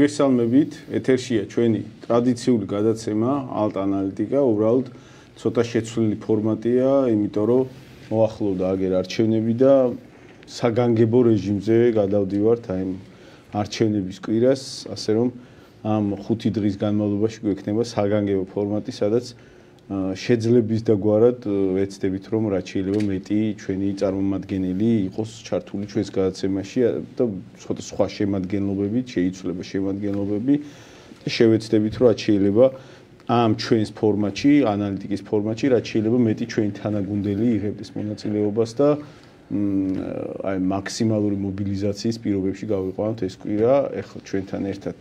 მოგესალმებით, ეთერშია ჩვენი ტრადიციული გადაცემა ალტ ანალიტიკა, უბრალოდ ცოტა შეცვლილი ფორმატია, იმიტომ რომ მოახლოვდა აგერ არჩევნები და საგანგებო რეჟიმზე გადავდივართ აი არჩევნების კვირას, ასე რომ ამ 5 დღის განმავლობაში გვექნება საგანგებო ფორმატი, სადაც შეძლების დაგვარად ვეცდებით რომ რაც შეიძლება მეტი ჩვენი წარმომადგენელი იყოს ჩართული ჩვენს გადაცემაში და ცოტა სხვა შემადგენლობებით შეიცვლება შემადგენლობები და შევეცდებით რომ რაც შეიძლება ამ ჩვენს ფორმატში ანალიტიკის ფორმატში რაც შეიძლება მეტი ჩვენი თანაგუნდელი იღებდეს მონაწილეობას და აი მაქსიმალური მობილიზაციის პირობებში გავიყვანოთ ეს კვირა ეხლა ჩვენთან ერთად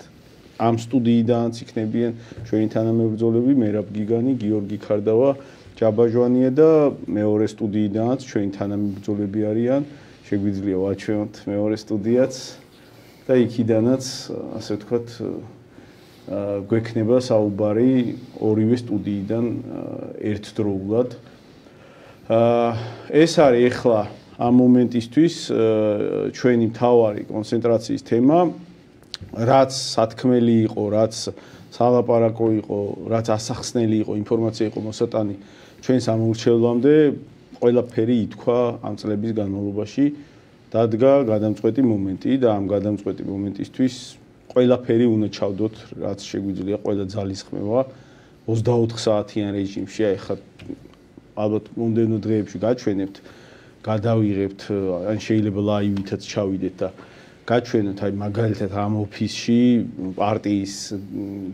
ამ სტუდიიდანაც იქნებიან ჩვენი თანამებრძოლები მერაბ გიგანი, გიორგი ქარდავა, ჯაბაჟვანია და მეორე სტუდიიდანაც ჩვენი თანამებრძოლები არიან. შეგვიძლია ვაჩვენოთ მეორე სტუდიაც და იქიდანაც ასე ვთქვათ გვექნება საუბარი ორივე სტუდიიდან ერთდროულად. ეს არის ეხლა ამ მომენტისთვის ჩვენი მთავარი კონცენტრაციის თემა. რაც სათქმელი იყო, რაც სალაპარაკო იყო, რაც ასახსნელი იყო, ინფორმაცია იყო მოსატანი ჩვენს ამორჩევლამდე, ყველაფერი ითქვა ამ წლების განმავლობაში, დადგა გადამწყვეტი მომენტი და ამ გადამწყვეტი მომენტისთვის ყველაფერი უნდა ჩავდოთ, რაც შეგვიძლია, ყველა ძალისხმევა 24 საათიან რეჟიმში, აი ხა ალბათ მომდევნო დღეებში გაჩვენებთ, გადავიღებთ, ან შეიძლება ლაივითაც ჩავიდეთ და გაჩვენოთ აი მაგალითად ამ ოფისში პარტიის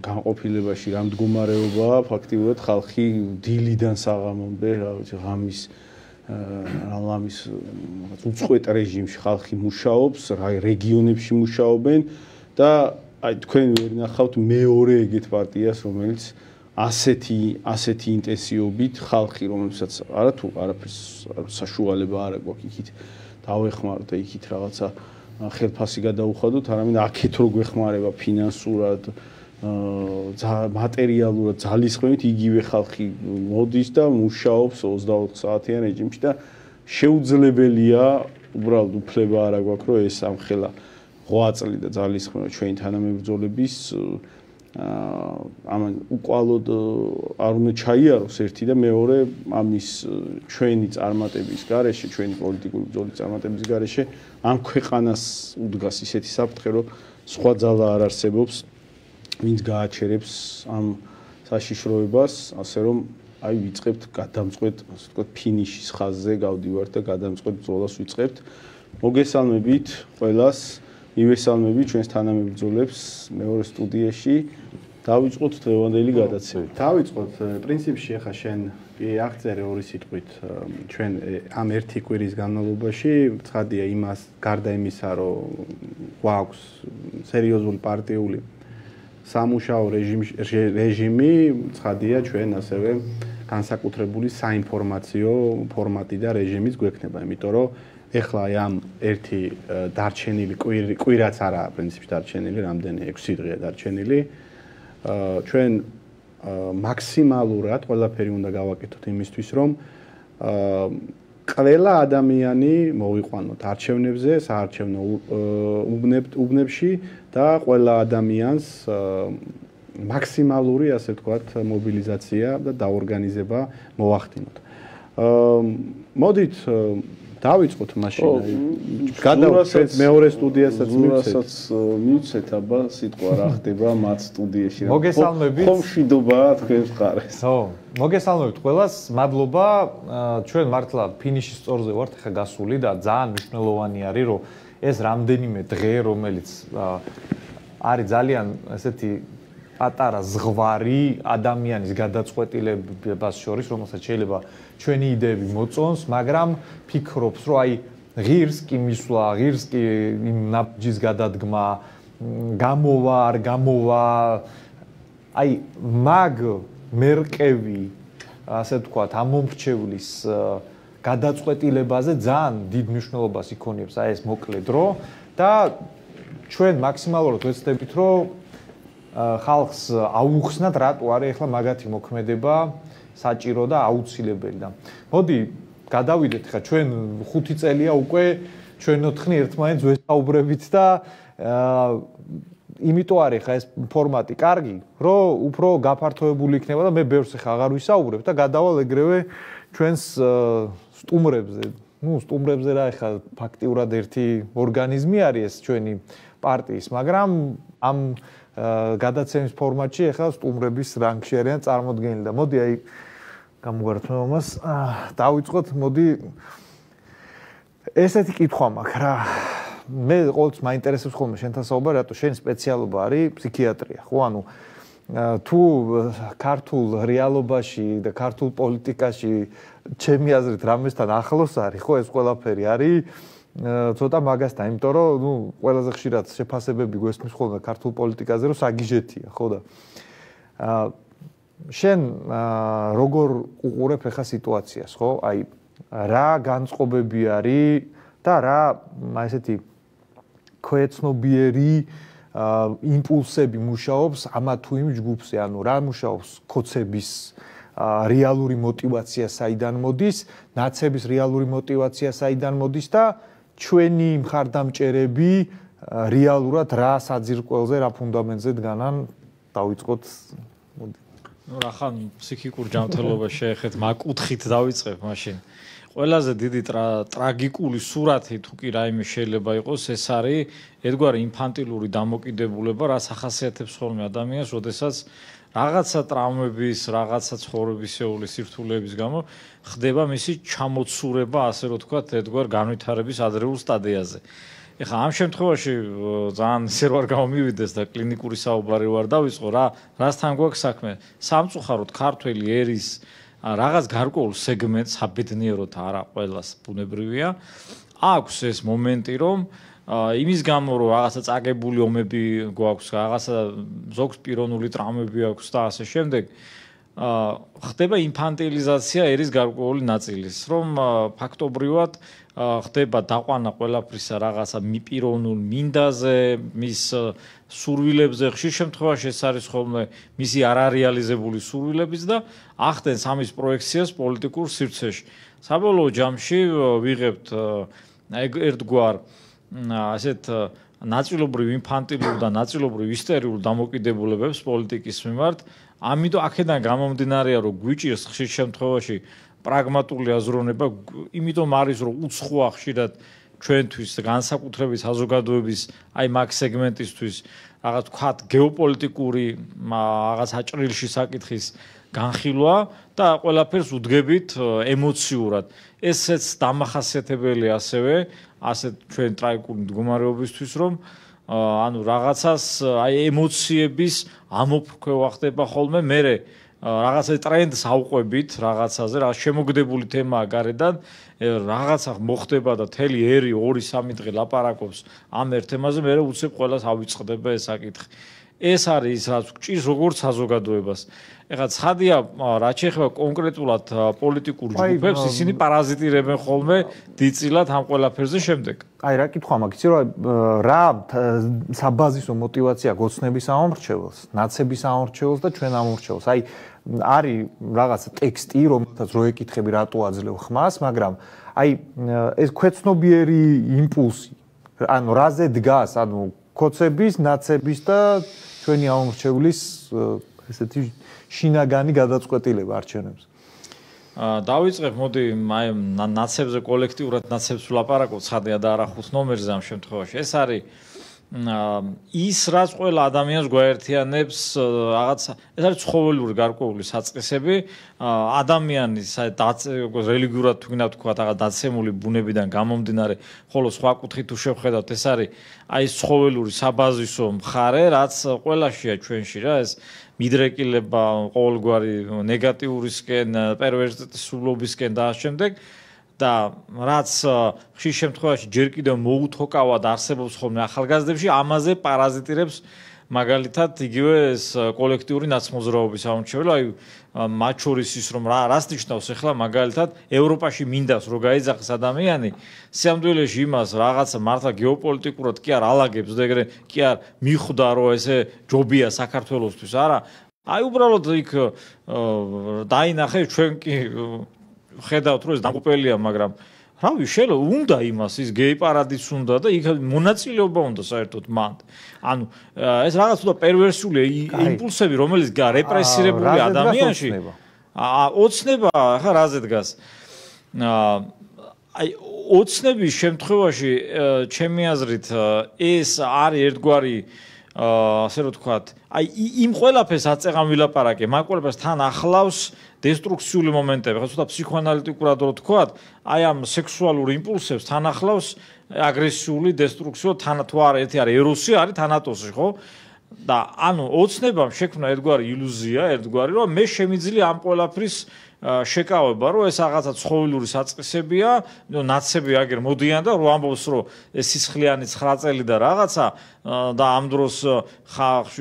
განყოფილებაში რა მდგომარეობაა ფაქტიურად ხალხი დილიდან საღამომდე რა ვიცი ღამის რამის უწყვეტ რეჟიმში ხალხი მუშაობს რა რეგიონებში მუშაობენ და აი თქვენ ვერ ნახავთ მეორე ეგეთ პარტიას რომელიც ასეთი ინტენსივობით ხალხი რომელსაც არათუ არაფერს საშუალება არ აქვს იქით დავეხმაროთ და იქით რაღაცა ხელფასი გადაუხადოთ, არამედ აქეთ რო გვეხმარება ფინანსურად, მატერიალურად, ძალისხმევით იგივე ხალხი მოდის და მუშაობს 24 საათიან რეჟიმში და შეუძლებელია, უბრალოდ უფლება არ აქვს, რომ ეს ამხელა ღვაწლი და ძალისხმევა ჩვენი თანამებრძოლების ამან უკვალოდ არ უნდა ჩაიაროს ერთი და მეორე ამის ჩვენი წარმატების გარეშე, ჩვენი პოლიტიკური ბრძოლის წარმატების გარეშე ამ ქვეყანას უდგას ისეთი საფრთხე, რომ სხვა ძალა არ არსებობს, ვინც გააჩერებს ამ საშიშროებას, ასე რომ აი ვიწყებთ გადამწყვეტ, ასე ვთქვათ, ფინიშის ხაზზე გავდივართ და გადამწყვეტ ბრძოლას ვიწყებთ. მოგესალმებით ყველას. მივესალმები ჩვენს თანამებრძოლებს მეორე სტუდიაში. დავიწყოთ დღევანდელი გადაცემა. დავიწყოთ პრინციპში ახლა შენ აღწერე ორი სიტყვით ჩვენ ამ ერთი კვირის განმავლობაში ცხადია იმას გარდა იმისა რომ გვაქვს სერიოზული პარტიული სამუშაო რეჟიმი ცხადია ჩვენ ასევე განსაკუთრებული საინფორმაციო ფორმატი და რეჟიმიც გვექნება იმიტომ რომ ეხლა ამ ერთი დარჩენილი კვირაც არა პრინციპში დარჩენილი რამდენი 6 დღეა დარჩენილი ჩვენ მაქსიმალურად ყველაფერი უნდა გავაკეთოთ იმისთვის რომ ყველა ადამიანი მოვიყვანოთ არჩევნებზე საარჩევნო უბნებში და ყველა ადამიანს მაქსიმალური ასე ვთქვათ მობილიზაცია და დაორგანიზება მოვახდინოთ მოდით დავიწყოთ მაშინ გადავწევთ მეორე სტუდიასაც მივცეთ აბა სიტყვა რა ხდება მათ სტუდიაში მოგესალმებით ხომ შვიდობაა თქვენს მხარეს ხო მოგესალმებით ყველას მადლობა ჩვენ მართლა ფინიშის სწორზე ვართ ხა გასული და ძალიან მნიშვნელოვანი არის რომ ეს რამდენიმე დღე რომელიც არის ძალიან ესეთი პატარა ზღვარი ადამიანის გადაწყვეტილებას შორის რომელსაც შეიძლება ჩვენი იდეები მოწონს, მაგრამ ფიქრობს, რომ აი ღირს კი მისვლა, ღირს კი იმ ნაბჯის გადადგმა, გამოვა, არ გამოვა, აი მაგ მერყევი, ასე ვთქვათ, ამომრჩევლის გადაწყვეტილებაზე ძალიან დიდ მნიშვნელობას იქონიებს აი ეს მოკლე დრო და ჩვენ მაქსიმალურად ვეცდებით, რომ ხალხს აუხსნათ რატო არის ახლა მაგათი მოქმედება საჭირო და აუცილებელი და მოდი გადავიდეთ ხა ჩვენ 5 წელია უკვე ჩვენ ოთხნი ერთმანეთს ვესაუბრებით და იმიტომ არის ხა ეს ფორმატი კარგი, რომ უფრო გაფართოებული იქნება და მე ბევრს ხა აღარ ვისაუბრებ და გადავალ ეგრევე ჩვენს სტუმრებზე. სტუმრებზე რა ხა ფაქტიურად ერთი ორგანიზმი არის ეს ჩვენი პარტიის, მაგრამ ამ გადაცემის ფორმატში ხა სტუმრების რანგში არიან წარმოდგენილი და მოდი აი გამოგართმევამას დავიწყოთ, მოდი ესეთი კითხვა მაქვს რა. მე ყოველთვის მაინტერესებს ხოლმე შენთან საუბარი, რატო შენი სპეციალობა არის ფსიქიატრია, ხო? ანუ თუ ქართულ რეალობაში და ქართულ პოლიტიკაში ჩემი აზრით რამესთან ახლოს არის, ხო, ეს ყველაფერი არის ცოტა მაგასთან, იმიტომ რომ ყველაზე ხშირად შეფასებები გვესმის ხოლმე ქართულ პოლიტიკაზე, რომ საგიჟეთია, ხო და შენ როგორ უყურებ ახლა სიტუაციას, ხო? აი რა განწყობები არის და რა ესეთი ქვეცნობიერი იმპულსები მუშაობს ამა თუ იმ ჯგუფზე, ანუ რა მუშაობს ქოცების რეალური მოტივაცია საიდან მოდის, ნაცების რეალური მოტივაცია საიდან მოდის და ჩვენი მხარდამჭერები რეალურად რა საძირკველზე, რა ფუნდამენტზე დგანან, დავიწყოთ მოდი. რახან ფსიქიკურ ჯანმრთელობას შეეხეთ მაგკუთხით დავიწყებ მაშინ. ყველაზე დიდი ტრაგიკული სურათი თუ კი რაიმე შეიძლება იყოს, ეს არის ერთგვარი ინფანტილური დამოკიდებულება, რაც ახასიათებს ხოლმე ადამიანს, როდესაც რაღაცა ტრაუმების, რაღაცა ცხოვრებისეული სირთულეების გამო ხდება მისი ჩამოცურება, ასე რომ თქვა, ერთგვარ განვითარების ადრეულ სტადიაზე. ეხლა ამ შემთხვევაში ძალიან ისე რომ არ გამომივიდეს და კლინიკური საუბარი ვარ დავიწყო, რასთან გვაქვს საქმე? სამწუხაროდ ქართველი ერის რაღაც გარკვეულ სეგმენტს აბედნიეროდ არა ყველას ბუნებრივია. აქვს ეს მომენტი, რომ იმის გამო რომ რაღაცა წაგებული ომები გვაქვს, რაღაცა ზოგს პიროვნული ტრაუმები აქვს და ასე შემდეგ, ხდება ინფანტილიზაცია ერის გარკვეული ნაწილის, რომ ფაქტობრივად ხდება დაყვანა ყველაფრისა რაღაცა პიროვნულ მინდაზე, მის სურვილებზე, ხშირ შემთხვევაში ეს არის ხოლმე მისი არარეალიზებული სურვილებიც და ახდენს ამის პროექციას პოლიტიკურ სივრცეში. საბოლოო ჯამში ვიღებთ ერთგვარ ასეთ ნაწილობრივ ინფანტილურ და ნაწილობრივ ისტორიულ დამოკიდებულებებს პოლიტიკის მიმართ. ამიტომ აქედან გამომდინარეა, რომ გვიჭირს ხშირ შემთხვევაში პრაგმატული აზროვნება, იმიტომ არის, რომ უცხოა ხშირად ჩვენთვის განსაკუთრებით საზოგადოების აი მაგ სეგმენტისთვის რაღაც ვთქვათ გეოპოლიტიკური რაღაც აჭრილში საკითხის განხილვა და ყველაფერს უდგებით ემოციურად. ესეც დამახასიათებელი ასევე ასეთ ჩვენ ტრაგიკული მდგომარეობისთვის, რომ ანუ რაღაცას აი ემოციების ამოფრქვევა ხდება ხოლმე, მერე რაღაცა ტრენდს ავყვებით რაღაცაზე, რა შემოგდებული თემაა გარედან, რაღაცა მოხდება და თელი ერი 2-3 დღე ლაპარაკობს ამ ერთ თემაზე, მერე უცებ ყველას ავიწყდება ეს საკითხი. ეს არის ის, რაც გვჭირს როგორც საზოგადოებას. ეხლა ცხადია, რაც შეეხება კონკრეტულად პოლიტიკურ ჯგუფებს, ისინი პარაზიტირებენ ხოლმე დიდწილად ამ ყველაფერზე შემდეგ. აი რა კითხვა მაქვს, იცი რომ რა საბაზისო მოტივაცია გოცნების ამორჩეველს, ნაცების ამორჩეველს და ჩვენ ამორჩეველს. აი არის რაღაც ტექსტი, რომელთაც რო ეკითხები რატო აძლევ ხმას, მაგრამ აი ეს ქვეცნობიერი იმპულსი, ანუ რაზე დგას, ანუ ქოცების, ნაცების და ჩვენი ამორჩევლის ესეთი შინაგანი გადაწყვეტილება არჩევნებზე. დავიწყებ, მოდი აი ნაცებზე კოლექტიურად ნაცებს ვლაპარაკობ, ცხადია და არა 5 ნომერზე ამ შემთხვევაში. ეს არის ის რაც ყველა ადამიანს გვაერთიანებს რაღაც ეს არის ცხოველური გარკვეული საწყისები ადამიანის რელიგიურად თუ გინდა ვთქვა რაღაც დაცემული ბუნებიდან გამომდინარე, ხოლო სხვა კუთხით თუ შევხედავთ, ეს არის აი ეს ცხოველური საბაზისო მხარე, რაც ყველაშია ჩვენში რა, ეს მიდრეკილება ყოველგვარი ნეგატიურისკენ, პერვერსიტულობისკენ და ამ შემდეგ და რაც ხშირ შემთხვევაში ჯერ კიდევ მოუთჰოკავად არსებობს ხოლმე ახალგაზრდებში, ამაზე პარაზიტირებს მაგალითად იგივე ეს კოლექტიური ნაცმოძრაობის ამორჩეველი, აი მათ შორის ის რომ რას ნიშნავს ახლა მაგალითად ევროპაში მინდას რო გაიძახეს ადამიანი, სიამდვილეში იმას რაღაცა მართლა გეოპოლიტიკურად კი არ ალაგებს და ეგრე კი არ მიხვდა რომ ესე ჯობია საქართველოსთვის, არა, აი უბრალოდ იქ დაინახე ჩვენ კი ხედავთ რომ ეს დამყუპელია, მაგრამ რავი, შეიძლება უნდა იმას ის გეი პარადის უნდა და იქ მონაწილეობა უნდა საერთოდ მან. ანუ ეს რაღაც უდა პერვერსული იმპულსები, რომელიც რეპრესირებული ადამიანში ოცნება, ხა რაზე დგას. აი ოცნების შემთხვევაში ჩემი აზრით ეს არის ერთგვარი ასე რომ ვთქვათ, აი იმ ყველაფერს აწეღან ვილაპარაკე, მაგ ყველაფერს თან ახლავს დესტრუქციული მომენტები, ხო ცოტა ფსიქოანალიტიკურად რო ვთქვათ, აი ამ სექსუალურ იმპულსებს თან ახლავს აგრესიული დესტრუქციო, თან თუ არა ერთი არის ეროსი, არის თანატოსი, ხო? და ანუ ოცნებამ შექმნა ერთგვარი ილუზია, ერთგვარი, რომ მე შემიძლია ამ ყველაფრის შეკავება, რომ ეს რაღაცა ცხოველური საწყისებია, ნაცები აგერ მოდიან და რო ამბობს, რომ ეს სისხლიანი 9 წელი და რაღაცა და ამ დროს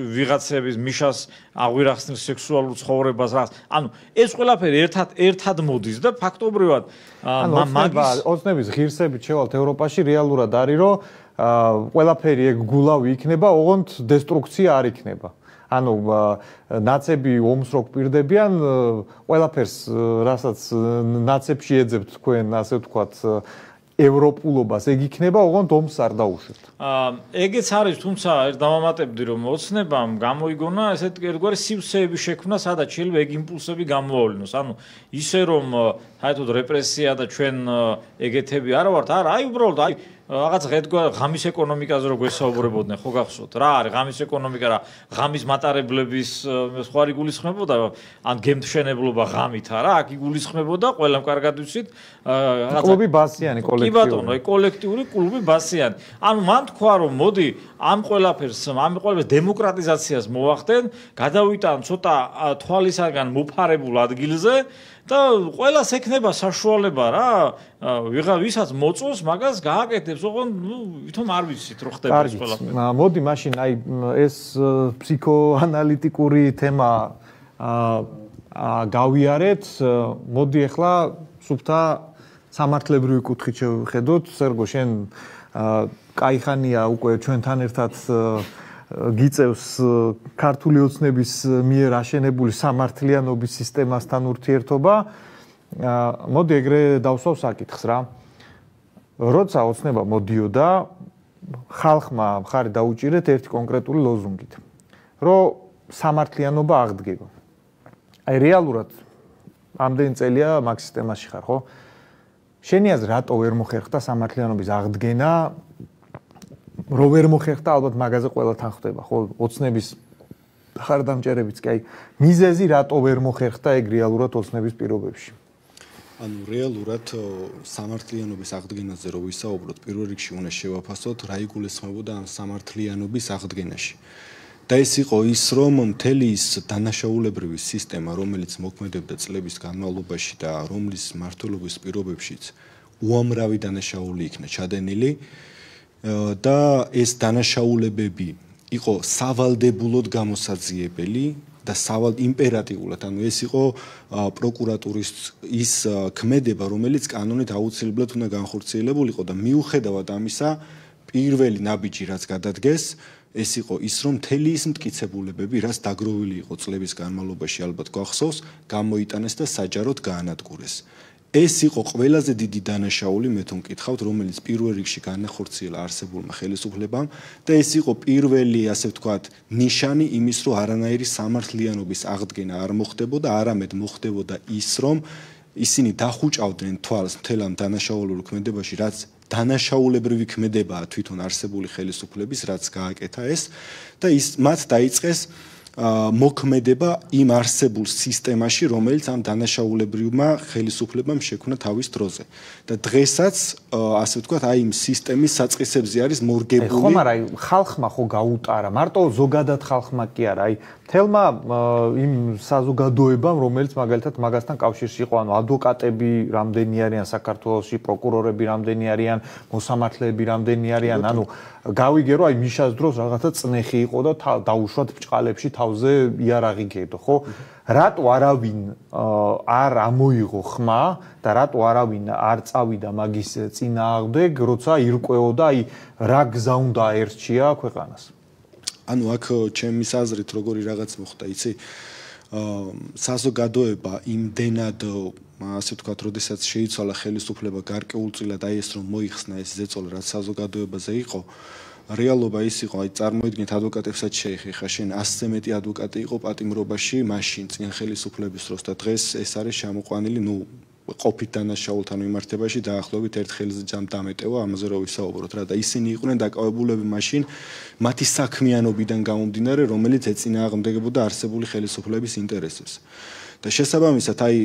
ვიღაცების მიშას აღვირახსნის სექსუალურ ცხოვრებას რაღაც. ანუ ეს ყველაფერი ერთად მოდის და ფაქტობრივად მაგის ოცნების ღირსებით შევალთ ევროპაში რეალურად არის, რომ ყველაფერი ეგ გულავი იქნება, ოღონდ დესტრუქცია არ იქნება. ანუ ნაცები ომს რო გვპირდებიან, ყველაფერს, რასაც ნაცებში ეძებთ თქვენ, ასე ვთქვათ, ევროპულობას, ეგ იქნება, ოღონდ ომს არ დაუშვებთ. ეგეც არის, თუმცა ერთ დავამატებდი, რომ ოცნებამ გამოიგონა ესეთი ერთგვარი სივსეების შექმნა, სადაც შეიძლება ეგ იმპულსები გამოავლინოს. ანუ ისე რომ საერთოდ რეპრესია და ჩვენ ეგეთები არ ვართ, არა, აი უბრალოდ აი რაღაც ღამის ეკონომიკაზე რო გვესაუბრებოდნენ, ხო გახსოვთ? რა არის ღამის ეკონომიკა, რა ღამის მატარებლების სხვა იგულისხმებოდა, ან გემთშენებლობა ღამით არა, აქ იგულისხმებოდა, ყველამ კარგად ვიცით, რაღაცა კლუბი ბასიანი კოლექტიური. კი ბატონო, კოლექტიური კლუბი ბასიანი. ანუ მან თქვა, რომ მოდი ამ ყველაფერს დემოკრატიზაციას მოვახდენ, გადავიტან ცოტა თვალისაგან მოფარებულ ადგილზე და ყველას ექნება საშუალება რა, ვისაც მოწონს, მაგას გააკეთებს, ოღონდ ვითომ არ ვიცით რო ხდება ეს ყველაფერი. მოდი მაშინ აი ეს ფსიქოანალიტიკური თემა გავიარეთ, მოდი ახლა სუფთა სამართლებრივი კუთხით შევხედოთ. სერგო, შენ კაიხანია უკვე ჩვენთან ერთად გიწევს ქართული ოცნების მიერ აშენებული სამართლიანობის სისტემასთან ურთიერთობა. მოდი ეგრე დავსვავ საკითხს რა. როცა ოცნება მოდიოდა, ხალხმა მხარი დაუჭირეთ ერთი კონკრეტული ლოზუნგით, რომ სამართლიანობა აღდგება. აი რეალურად ამდენი წელია მაგ სისტემაში ხარ, ხო? შენი აზრით, რატო ვერ მოხერხდა სამართლიანობის აღდგენა? რო ვერ მოხერხდა, ალბათ მაგაზე ყველა თან ხვდება, ხო? ოცნების ხარდამჭერებიც კი, აი მიზეზი რატო ვერ მოხერხდა ეგ რეალურად ოცნების პირობებში? ანუ რეალურად სამართლიანობის აღდგენაზე რო ვისაუბროთ, პირველ რიგში უნდა შევაფასოთ, რა იგულისხმებოდა ამ სამართლიანობის აღდგენაში. და ეს იყო ის, რომ მთელი ის დანაშაულებრივი სისტემა, რომელიც მოქმედებდა წლების განმავლობაში და რომლის მმართველობის პირობებშიც უამრავი დანაშაული იქნა ჩადენილი და ეს დანაშაულებები იყო სავალდებულოდ გამოსაძიებელი და იმპერატიულად, ანუ ეს იყო პროკურატურის ის ქმედება, რომელიც კანონით აუცილებლად უნდა განხორციელებულიყო და მიუხედავად ამისა, პირველი ნაბიჯი რაც გადადგეს, ეს იყო ის, რომ მთელი ის მტკიცებულებები, რაც დაგროვილი იყო წლების განმავლობაში, ალბათ გახსოვს, გამოიტანეს და საჯაროდ გაანადგურეს. ეს იყო ყველაზე დიდი დანაშაული, მე თვითონ მკითხავთ, რომელიც პირველ რიგში განახორციელა არსებულმა ხელისუფლებამ და ეს იყო პირველი, ასე ვთქვათ, ნიშანი იმის, რომ არანაირი სამართლიანობის აღდგენა არ მოხდებოდა, არამედ მოხდებოდა ის, რომ ისინი დახუჭავდნენ თვალს მთელ ამ დანაშაულურ ქმედებაში, რაც დანაშაულებრივი ქმედებაა თვითონ არსებული ხელისუფლების, რაც გააკეთა ეს და მათ დაიწყეს მოქმედება იმ არსებულ სისტემაში, რომელიც ამ დანაშაულებრივმა ხელისუფლებამ შექმნა თავის დროზე. და დღესაც, ასე ვთქვათ, აი იმ სისტემის საწყისებზე არის მორგებული. ხომ არა, აი ხალხმა ხო გაუტარა, მარტო ზოგადად ხალხმა კი არა, აი თელმა იმ საზოგადოებამ, რომელიც მაგალითად მაგასთან კავშირში იყო, ანუ ადვოკატები რამდენი არიან საქართველოში, პროკურორები რამდენი არიან, მოსამართლეები რამდენი არიან, ანუ გავიგე რომ აი მიშას დროს რაღაცა წნეხი იყო და დაუშვათ ბჭყალებში თავზე იარაღი გედო, ხო? რატო არავინ არ ამოიღო ხმა და რატო არავინ არ წავიდა მაგის წინააღმდეგ, როცა ირკვეოდა აი რა გზა უნდა აერჩია ქვეყანას? ანუ აქ ჩემის აზრით როგორი რაღაც მოხდა, იცი? საზოგადოება იმდენად ასე ვთქვათ, როდესაც შეიცვალა ხელისუფლება გარკვეულწილად აი ეს რომ მოიხსნა ეს ზეწოლა, რაც საზოგადოებაზე იყო, რეალობა ის იყო, აი წარმოიდგინეთ ადვოკატებსაც შეეხება, შენ 100-ზე მეტი ადვოკატი იყო პატიმრობაში მაშინ წინ ხელისუფლების დროს და დღეს ეს არის შემოყვანილი, ყოფით დანაშაულთან მიმართებაში დაახლოებით ერთ ხელზე დამეტევა, ამაზე რო ვისაუბროთ რა და ისინი იყვნენ დაკავებულები მაშინ მათი საქმიანობიდან გამომდინარე, რომელიც ეწინააღმდეგებოდა არსებული ხელისუფლების ინტერესებს. და შესაბამისად, აი,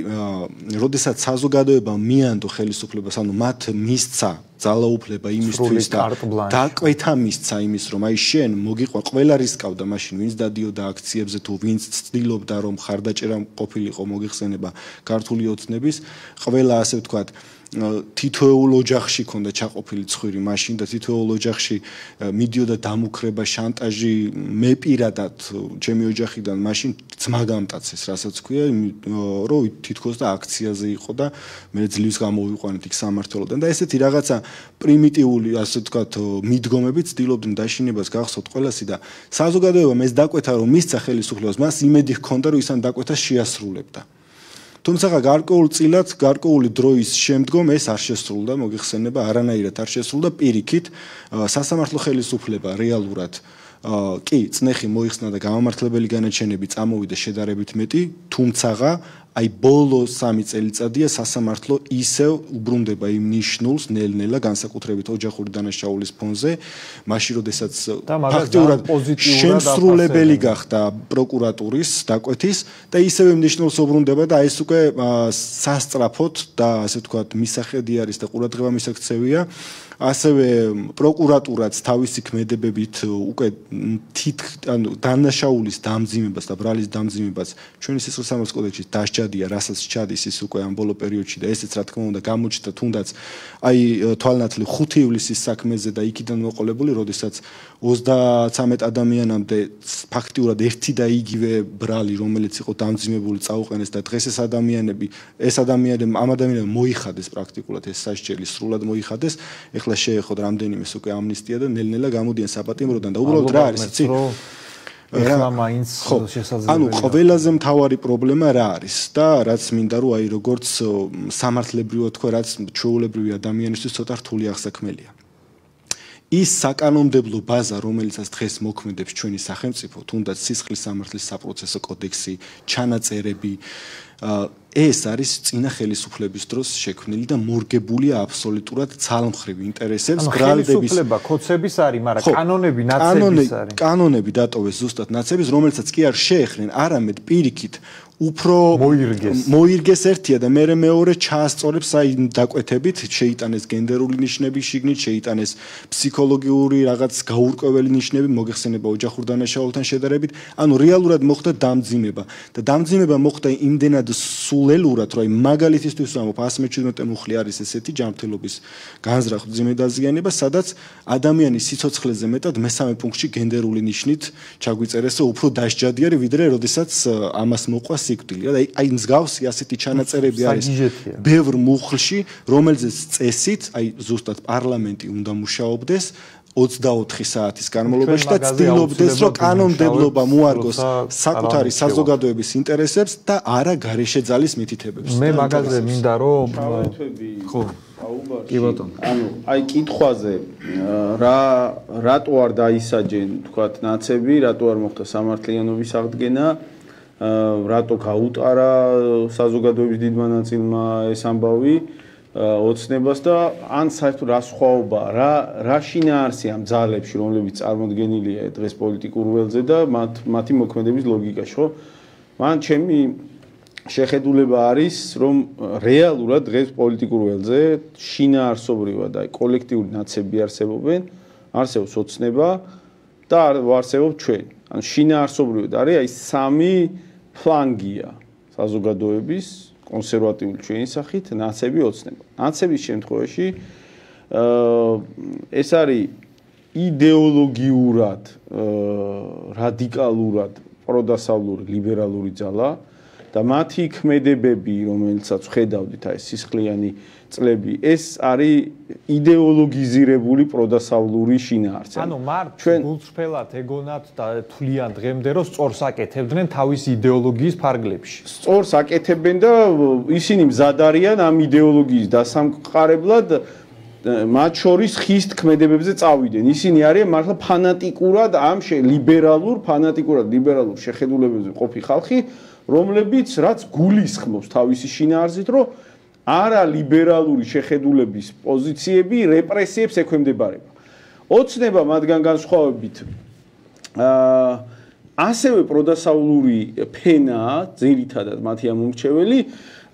როდესაც საზოგადოებამ მიანდო ხელისუფლებას, ანუ მათ მისცა ძალაუფლება იმისთვის და დაკვეთა მისცა იმის, რომ აი შენ მოგიყვა ყველა რისკავდა მაშინ, ვინც დადიოდა აქციებზე თუ ვინც ცდილობდა რომ ხარდაჭერა ყოფილიყო მოგიხსენება ქართული ოცნების, ყველა ასე ვთქვათ თითოეულ ოჯახში ქონდა ჩაყოფილი ცხვირი მაშინ და თითოეულ ოჯახში მიდიოდა დამუქრება, შანტაჟი, მე პირადად ჩემი ოჯახიდან მაშინ ძმა გამტაცეს, რასაც ქვია, რომ თითქოს და აქციაზე იყო და მე ძლივს გამოვიყვანეთ იქ სამართლოდან და ესეთი რაღაცა პრიმიტიული, ასე ვთქვათ, მიდგომები ცდილობდნენ დაშინებას გახსოვთ ყველასი და საზოგადოებამ ეს დაკვეთა რომ მისცა ხელისუფლებას, მას იმედი ჰქონდა რომ ის ამ დაკვეთას შეასრულებდა. თუმცა გარკვეულწილად, გარკვეული დროის შემდგომ ეს არ შესრულდა, მოგიხსენება, არანაირად არ შესრულდა, პირიქით სასამართლო ხელისუფლება რეალურად კი, წნეხი მოიხსნა და გამამართლებელი განაჩენები წამოვიდა შედარებით მეტი, თუმცა აი ბოლო 3 წელიწადია სასამართლო ისევ უბრუნდება იმ ნიშნულს ნელ-ნელა განსაკუთრებით ოჯახური დანაშაულის ფონზე, მაშინ როდესაც ფაქტიურად შემსრულებელი გახდა პროკურატურის დაკვეთის და ისევ იმ ნიშნულს უბრუნდება და ეს უკვე სასწრაფოდ და ასე ვთქვათ მისახედი არის და ყურადღება მისაქცევია. ასევე პროკურატურაც თავისი ქმედებებით უკვე დანაშაულის დამძიმებას და ბრალის დამძიმებას ჩვენი სიცოცხლის კოდექსში დასჯადია, რასაც ჩადის ის უკვე ამ ბოლო პერიოდში და ესეც რა თქმა უნდა გამოჩნდა თუნდაც აი თვალნათლი 5 ივლისის საქმეზე და იქიდან მოყოლებული, როდესაც 33 ადამიანამდე ფაქტიურად ერთი და იგივე ბრალი, რომელიც იყო დამძიმებული, წაუყენეს და დღეს ეს ადამიანები მოიხადეს პრაქტიკულად ეს სასჯელი სრულად მოიხადეს. ეხლა შეეხოთ რამდენიმე უკვე ამნისტია და ნელ-ნელა გამოდიან საპატიმროდან და უბრალოდ რა არის, იცი? ეხლა მაინც შესაძლებელია. ანუ ყველაზე მთავარი პრობლემა რა არის და რაც მინდა რომ აი როგორც სამართლებრივად თქვა, რაც ჩვეულებრივი ადამიანისთვის ცოტა რთული აღსაქმელია. ის საკანონმდებლო ბაზა, რომელიცაც დღეს მოქმედებს ჩვენი სახელმწიფო, თუნდაც სისხლის სამართლის საპროცესო კოდექსი, ჩანაწერები, ეს არის წინა ხელისუფლების დროს შექმნილი და მორგებულია აბსოლუტურად ძალმხრივ ინტერესებს, ბრალდების. ხელისუფლება კოცების არის, მაგრამ კანონები ნაცების არის. კანონები დატოვეს ზუსტად ნაცების, რომელსაც კი არ შეეხნენ, არამედ პირიქით უფრო მოირგეს ერთია და მეორე ჩაასწორებს აი დაკვეთებით, შეიტანეს გენდერული ნიშნები შიგნით, შეიტანეს ფსიქოლოგიური რაღაც გაურკვეველი ნიშნები, მოგეხსენება ოჯახურ დანაშაულთან შედარებით, ანუ რეალურად მოხდა დამძიმება და დამძიმება მოხდა იმდენად სულელურად, რომ აი მაგალითისთვის ვამბობ 117 მუხლი არის ესეთი ჯანმრთელობის განზრახ მძიმე დაზიანება, სადაც ადამიანის სიცოცხლეზე მეტად მესამე პუნქტში გენდერული ნიშნით ჩაგვიწერეს, რომ უფრო დასჯადიერი ვიდრე როდესაც ამას მოყვა სიკვდილი. აი მსგავსი ასეთი ჩანაწერები არის ბევრ მუხლში, რომელზეც წესით, აი ზუსტად პარლამენტი უნდა მუშაობდეს 24 საათის განმავლობაში და ცდილობდეს, რომ კანონმდებლობა მოარგოს საკუთარი საზოგადოების ინტერესებს და არა გარეშე ძალის მითითებებს. მე მაგაზე მინდა რომ ხო, კი ბატონო. ანუ აი კითხვაზე რატო არ დაისაჯენ, თქვათ, ნაცები, რატო არ მოხდა სამართლიანობის აღდგენა, რატო გაუტარა საზოგადოების დიდმა ნაწილმა ეს ამბავი ოცნებას და ან საერთოდ რა სხვაობა, რა შინაარსი ამ ძალებში, რომლებიც წარმოდგენილია დღეს პოლიტიკურ ველზე და მათი მოქმედების ლოგიკაში, ხო? მან ჩემი შეხედულება არის, რომ რეალურად დღეს პოლიტიკურ ველზე შინაარსობრივად აი კოლექტიური ნაცები არსებობენ, არსებობს ოცნება და არსებობს ჩვენ. ანუ შინაარსობრივად არის აი 3 ფლანგია საზოგადოების კონსერვატიული ჩვენი სახით ნაცები ოცნება. ნაცების შემთხვევაში ეს არის იდეოლოგიურად, რადიკალურად პროდასავლური ლიბერალური ძალა და მათი ქმედებები, რომელიცაც ხედავდით აი სისხლიანი წლები, ეს არის იდეოლოგიზირებული პროდასავლური შინაარსი. ანუ მართ გულწრფელად ეგონათ და თვლიან დღემდე რომ სწორს აკეთებდნენ თავის იდეოლოგიის ფარგლებში. სწორს აკეთებენ და ისინი მზად არიან ამ იდეოლოგიის დასამყარებლად მათ შორის ხის ქმედებებზე წავიდნენ. ისინი არიან მართლა ფანატიკურად ამ ლიბერალურ შეხედულებებზე ყოფი ხალხი, რომლებიც რაც გულისხმობს თავისი შინაარსით, რომ არა ლიბერალური შეხედულების პოზიციები რეპრესიებს ექვემდებარება. ოცნება მათგან განსხვავებით ასევე პროდასავლური ფენაა, ძირითადად მათი ამომრჩეველი,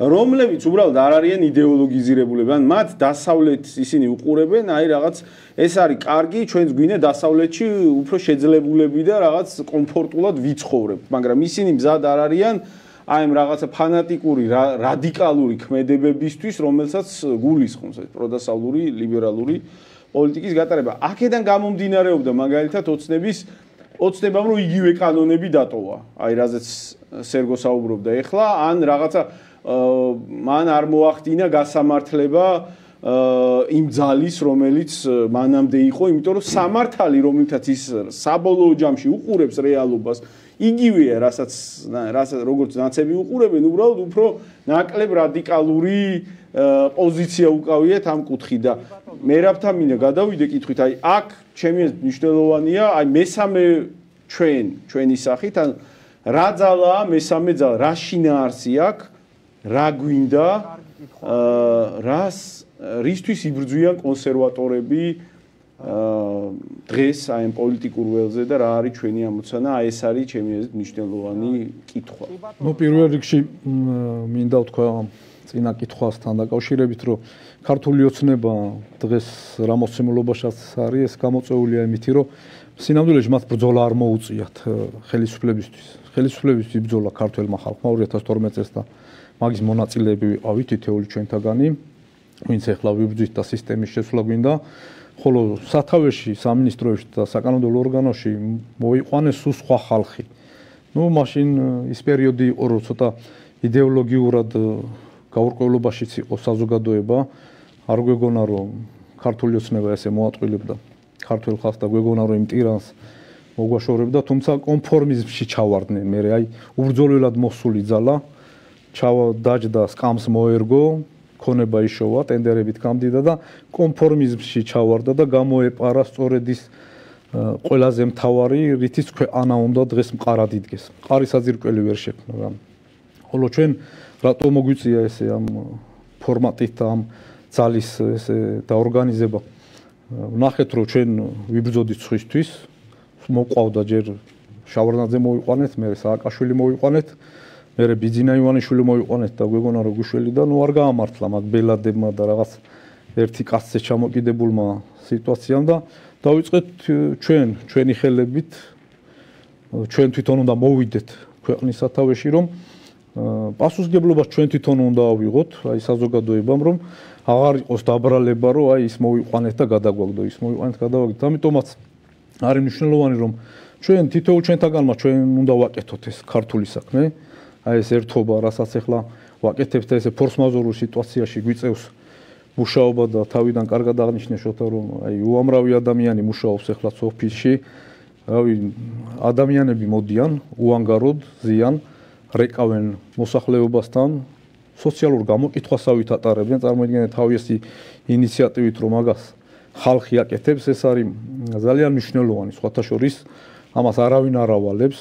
რომლებიც უბრალოდ არ არიან იდეოლოგიზირებულები, ან მათ დასავლეთს ისინი უყურებენ, აი რაღაც ეს არის კარგი, ჩვენს გვინდა დასავლეთში უფრო შეძლებულები და რაღაც კომფორტულად ვიცხოვრებთ, მაგრამ ისინი მზად არ არიან აი ამ რაღაცა ფანატიკური რადიკალური ქმედებებისთვის, რომელსაც გულისხმობს ეს პროდასავლური ლიბერალური პოლიტიკის გატარება. აქედან გამომდინარეობდა მაგალითად ოცნებამ რომ იგივე კანონები დატოვა. აი რაზეც სერგო საუბრობდა ეხლა, ან რაღაცა მან არ მოახდინა გასამართლება იმ ძალის, რომელიც მანამდე იყო, იმიტომ რომ სამართალი, რომელთაც ის საბოლოო ჯამში უყურებს რეალობას, იგივეა, რასაც როგორც ნაცები უყურებენ, უბრალოდ უფრო ნაკლებ რადიკალური პოზიცია უკავიათ ამ კუთხით და მერაბთან მინდა გადავიდე კითხვით, აი აქ ჩემი მნიშვნელოვანია, აი მესამე ჩვენი სახით, ან რა ძალაა მესამე ძალა, რა შინაარსი აქვს, რა გვინდა, რისთვის იბრძვიან კონსერვატორები დღეს აი ამ პოლიტიკურ ველზე და რა არის ჩვენი ამოცანა, აი ეს არის ჩემი აზრით მნიშვნელოვანი კითხვა. ნუ პირველ რიგში მინდა ვთქვა წინა კითხვასთან დაკავშირებით, რომ ქართული ოცნება დღეს რა მოცემულობაშიც არის, ეს გამოწვეულია იმითი, რომ სინამდვილეში მათ ბრძოლა არ მოუწიათ ხელისუფლებისთვის. ხელისუფლებისთვის იბრძოლა ქართველმა ხალხმა 2012 წელს და მაგის მონაწილეები ვიყავით თითოეული ჩვენთაგანი, ვინც ახლა ვიბრძვით და სისტემის შესვლა გვინდა. ხოლო სათავეში, სამინისტროებში და საკანონმდებლო ორგანოში მოიყვანეს სულ სხვა ხალხი. ნუ მაშინ ის პერიოდი იყო, რომ ცოტა იდეოლოგიურად გაურკვევლობაშიც იყო საზოგადოება. არ გვეგონა, რომ ქართული ოცნება ესე მოატყუილებდა ქართულ ხალხს და გვეგონა, რომ იმ ტირანს მოგვაშორებდა, თუმცა კონფორმიზმში ჩავარდნენ. მე აი უბრძოლველად მოსული ძალა დაჯდა, სკამს მოერგო, ქონება იშოვა, ტენდერებით გამდიდა და კონფორმიზმში ჩავარდა და გამოეპარა სწორედ ის ყველაზე მთავარი, რითიც ქვეყანა უნდა დღეს მყარად იდგეს. მყარი საძირკველი ვერ შექმნა. ხოლო ჩვენ რატო მოგვიწია ესე ამ ფორმატით და ამ ძალის ესე დაორგანიზება? ვნახეთ, რომ ჩვენ ვიბრძოდით სხვისთვის, მოყვავდა ჯერ შავარდნაძე მოიყვანეთ, მე სააკაშვილი მოიყვანეთ, მე ბიძინა ივანიშვილი მოიყვანეთ და გვეგონა რომ გუშველი და ნუ არ გაამართლა მათ ბელადებმა და რაღაც ერთი კაცზე ჩამოკიდებულმა სიტუაციამ და დავიწყეთ ჩვენი ხელებით ჩვენ თვითონ უნდა მოვიდეთ ქვეყნის სათავეში, რომ პასუხისგებლობას ჩვენ თვითონ უნდა ავიღოთ, აი საზოგადოებამ, რომ აღარ იყოს დაბრალება, რომ აი ის მოვიყვანეთ და გადაგვაგდო, ის მოვიყვანეთ, გადავაგდო. ამიტომაც არის მნიშვნელოვანი, რომ ჩვენ თითოეულ ჩვენთაგანმა ჩვენ უნდა ვაკეთოთ ეს ქართული საქმე. აი ეს ერთობა, რასაც ახლა ვაკეთებთ და ესე ფორს-მაჟორულ სიტუაციაში გვიწევს მუშაობა და თავიდან კარგად აღნიშნე შოთა, რომ აი უამრავი ადამიანი მუშაობს ახლა ოფისში. რავი, ადამიანები მოდიან, უანგაროდ ზიან, რეკავენ მოსახლეობასთან, სოციალურ გამოკითხვასავით ატარებენ, წარმოიდგინეთ თავისი ინიციატივით, რომ მაგას ხალხი აკეთებს, ეს არის ძალიან მნიშვნელოვანი. სხვათა შორის ამას არავინ არ ავალებს,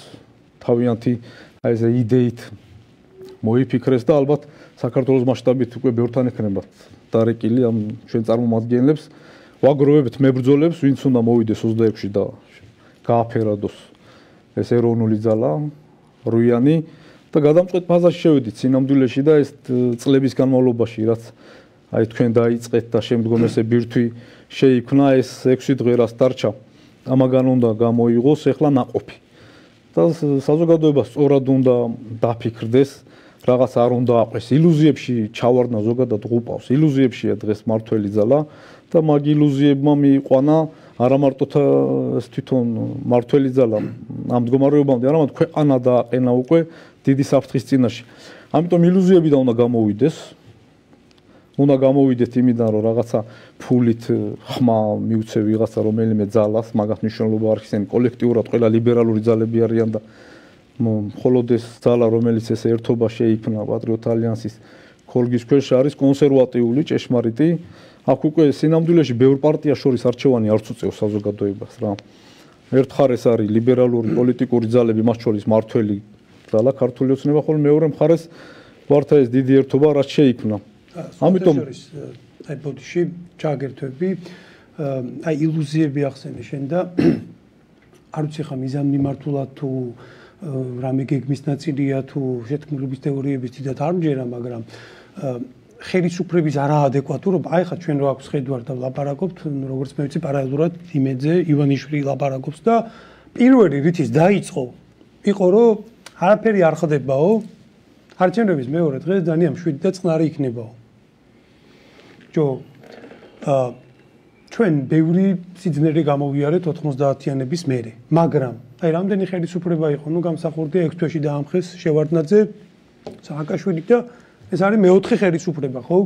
თავიანთი აი ეს იდეით მოიფიქრეს და ალბათ საქართველოს მასშტაბით უკვე ბევრთან ექნებათ დარეკილი ამ ჩვენ წარმომადგენლებს, ვაგროვებთ მებრძოლებს, ვინც უნდა მოვიდეს 26-ში და გააფერადოს ეს ეროვნული ძალა, რუიანი და გადამწყვეტ ფაზაში შევედით სინამდვილეში და ეს წლების განმავლობაში, რაც აი თქვენ დაიწყეთ და შემდგომ ესე ბირთვი შეიქმნა, ეს 6 დღე რაც დარჩა, ამაგან უნდა გამოიღოს ახლა ნაყოფი. და საზოგადოება სწორად უნდა დაფიქრდეს, რაღაც არ უნდა აყვეს. ილუზიებში ჩავარდნა ზოგადად ღუპავს. ილუზიებშია დღეს მართველი ძალა და მაგ ილუზიებმა მიიყვანა არა მარტო თვითონ მართველი ძალა ამ მდგომარეობამდე, არამედ ქვეყანა დააყენა უკვე დიდი საფრთხის წინაშე. ამიტომ ილუზიებიდან უნდა გამოვიდეს. უნდა გამოვიდეთ იმიდან, რომ რაღაცა ფულით ხმა მიუცე ვიღაცა რომელიმე ძალას, მაგას მნიშვნელობა არ ხსენ კოლექტიურად ყველა ლიბერალური ძალები არიან და მხოლოდ ეს ძალა, რომელიც ეს ერთობა შეიქმნა პატრიოტ ალიანსის ქოლგის ქვეშ არის კონსერვატიული, ჭეშმარიტი. აქ უკვე სინამდვილეში ბევრ პარტიას შორის არჩევანი არც უწევს საზოგადოებას რა. ერთ მხარეს არის ლიბერალური პოლიტიკური ძალები, მათ შორის მართველი ძალა ქართული ოცნება, ხოლო მეორე მხარეს ვართა ეს დიდი ერთობა, რაც შეიქმნა. ამიტომ აი ბოდიში ჩაგერთვები, აი ილუზიები ახსენე შენ და არ ვიცი ხა მიზანმიმართულად თუ რამე გეგმის ნაწილია თუ შეთქმულების თეორიების დიდად არ მჯერა, მაგრამ ხელისუფლების არაადეკვატურობა, აი ხა ჩვენ რო აქვს ხედვარ და ლაპარაკობთ, როგორც მე ვიცი, პარალელურად იმედზე ივანიშვილი ლაპარაკობს და პირველი რითიც დაიწყო იყო რომ არაფერი არ ხდებაო, არჩევნების მეორე დღეს დანიამ 7 და წყნარი იქნებაო. ჩვენ ბევრი სიძნელე გამოვიარეთ 90-იანების მერე, მაგრამ აი რამდენი ხელისუფლება იყო, ნუ გამსახურდია 6 თვეში დაამხეს შევარდნაძე, სააკაშვილი და ეს არის მეოთხე ხელისუფლება, ხო?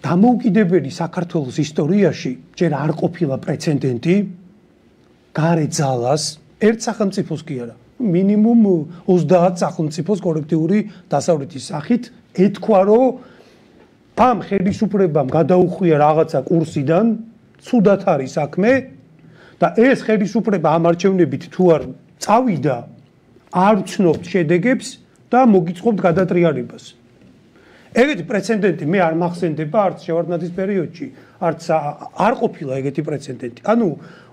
დამოუკიდებელი საქართველოს ისტორიაში ჯერ არ ყოფილა პრეცედენტი გარე ძალას ერთ სახელმწიფოს კი არა, მინიმუმ 30 სახელმწიფოს კოლექტიური დასავლეთის სახით ეთქვა, რომ ამ ხელისუფლებამ გადაუხვია რაღაცა კურსიდან, ცუდად არის საქმე და ეს ხელისუფლება ამ არჩევნებით თუ არ წავიდა, არ ვცნობთ შედეგებს და მოგიწყობთ გადატრიალებას. ეგეთი პრეცედენტი მე არ მახსენდება არც შევარდნაძის პერიოდში, არც არ ყოფილა ეგეთი პრეცედენტი. ანუ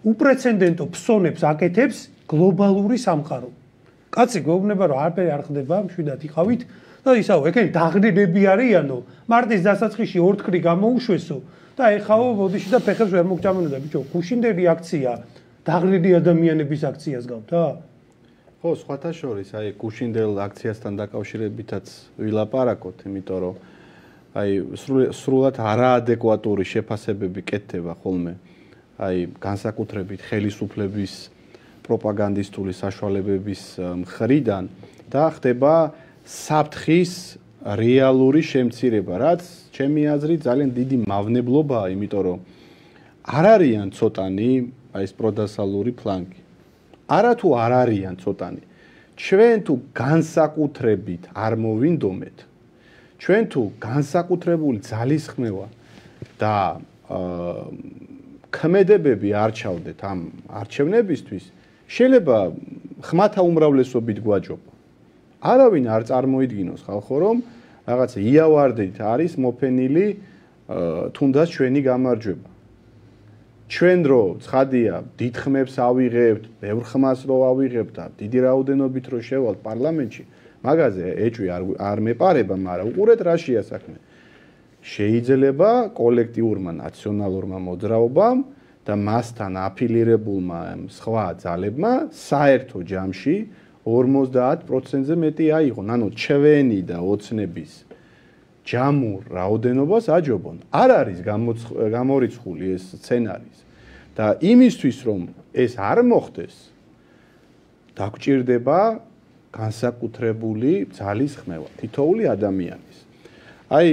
უპრეცედენტო ფსონებს აკეთებს გლობალური სამყარო. კაცი გვეუბნება რომ არაფერი არ ხდება, მშვიდად იყავით და ისაო, ეგენი დაღლილები არიანო, მარტის დასაწყისში ორთქლი გამოუშვესო და ეხაო ბოდიში და ფეხებს ვერ მოგჭამენო და ბიჭო, გუშინდელი აქცია დაღლილი ადამიანების აქციას გავდა? ხო, სხვათა შორის, აი გუშინდელ აქციასთან დაკავშირებითაც ვილაპარაკოთ, იმიტომ რომ აი სრულად არაადეკვატური შეფასებები კეთდება ხოლმე. აი განსაკუთრებით ხელისუფლების პროპაგანდისტული საშუალებების მხრიდან და ხდება საფრთხის რეალური შემცირება, რაც ჩემი აზრით ძალიან დიდი მავნებლობაა, იმიტომ რომ არ არიან ცოტანი აი ეს პროდასალური ფლანგი. არა თუ არ არიან ცოტანი. ჩვენ თუ განსაკუთრებით არ მოვინდომეთ, ჩვენ თუ განსაკუთრებული ძალისხმევა და ქმედებები არ ჩავდეთ ამ არჩევნებისთვის, შეიძლება ხმათა უმრავლესობით გვაჯობა. არავინ არ წარმოიდგინოს ხალხო, რომ რაღაცა იავარდით არის მოფენილი თუნდაც ჩვენი გამარჯვება. ჩვენ რო ცხადია დიდ ხმებს ავიღებთ, ბევრ ხმას რო ავიღებთ და დიდი რაოდენობით რო შევალთ პარლამენტში, მაგაზე ეჭვი არ მეპარება, მაგრამ უყურეთ რაშია საქმე. შეიძლება კოლექტიურმა ნაციონალურმა მოძრაობამ და მასთან აფილირებულმა სხვა ძალებმა საერთო ჯამში 50%-ზე მეტი აიღონ, ანუ ჩვენი და ოცნების ჯამურ რაოდენობას აჯობონ. არ არის გამორიცხული ეს სცენარი და იმისთვის რომ ეს არ მოხდეს, დაგჭირდება განსაკუთრებული ძალისხმევა თითოეული ადამიანის. აი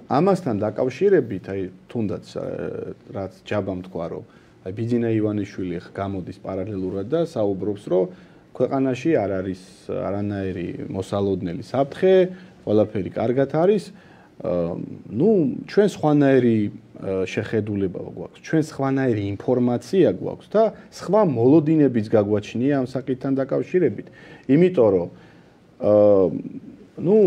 ამასთან დაკავშირებით, აი თუნდაც რაც ჯაბამ თქვა, რომ აი ბიძინა ივანიშვილი გამოდის პარალელურად და საუბრობს, რომ ქვეყანაში არ არის არანაირი მოსალოდნელი საფრთხე, ყველაფერი კარგად არის. ნუ ჩვენ სხვანაირი შეხედულება გვაქვს, ჩვენ სხვანაირი ინფორმაცია გვაქვს და სხვა მოლოდინებიც გაგვაჩნია ამ საკითხთან დაკავშირებით. იმიტომ რომ ნუ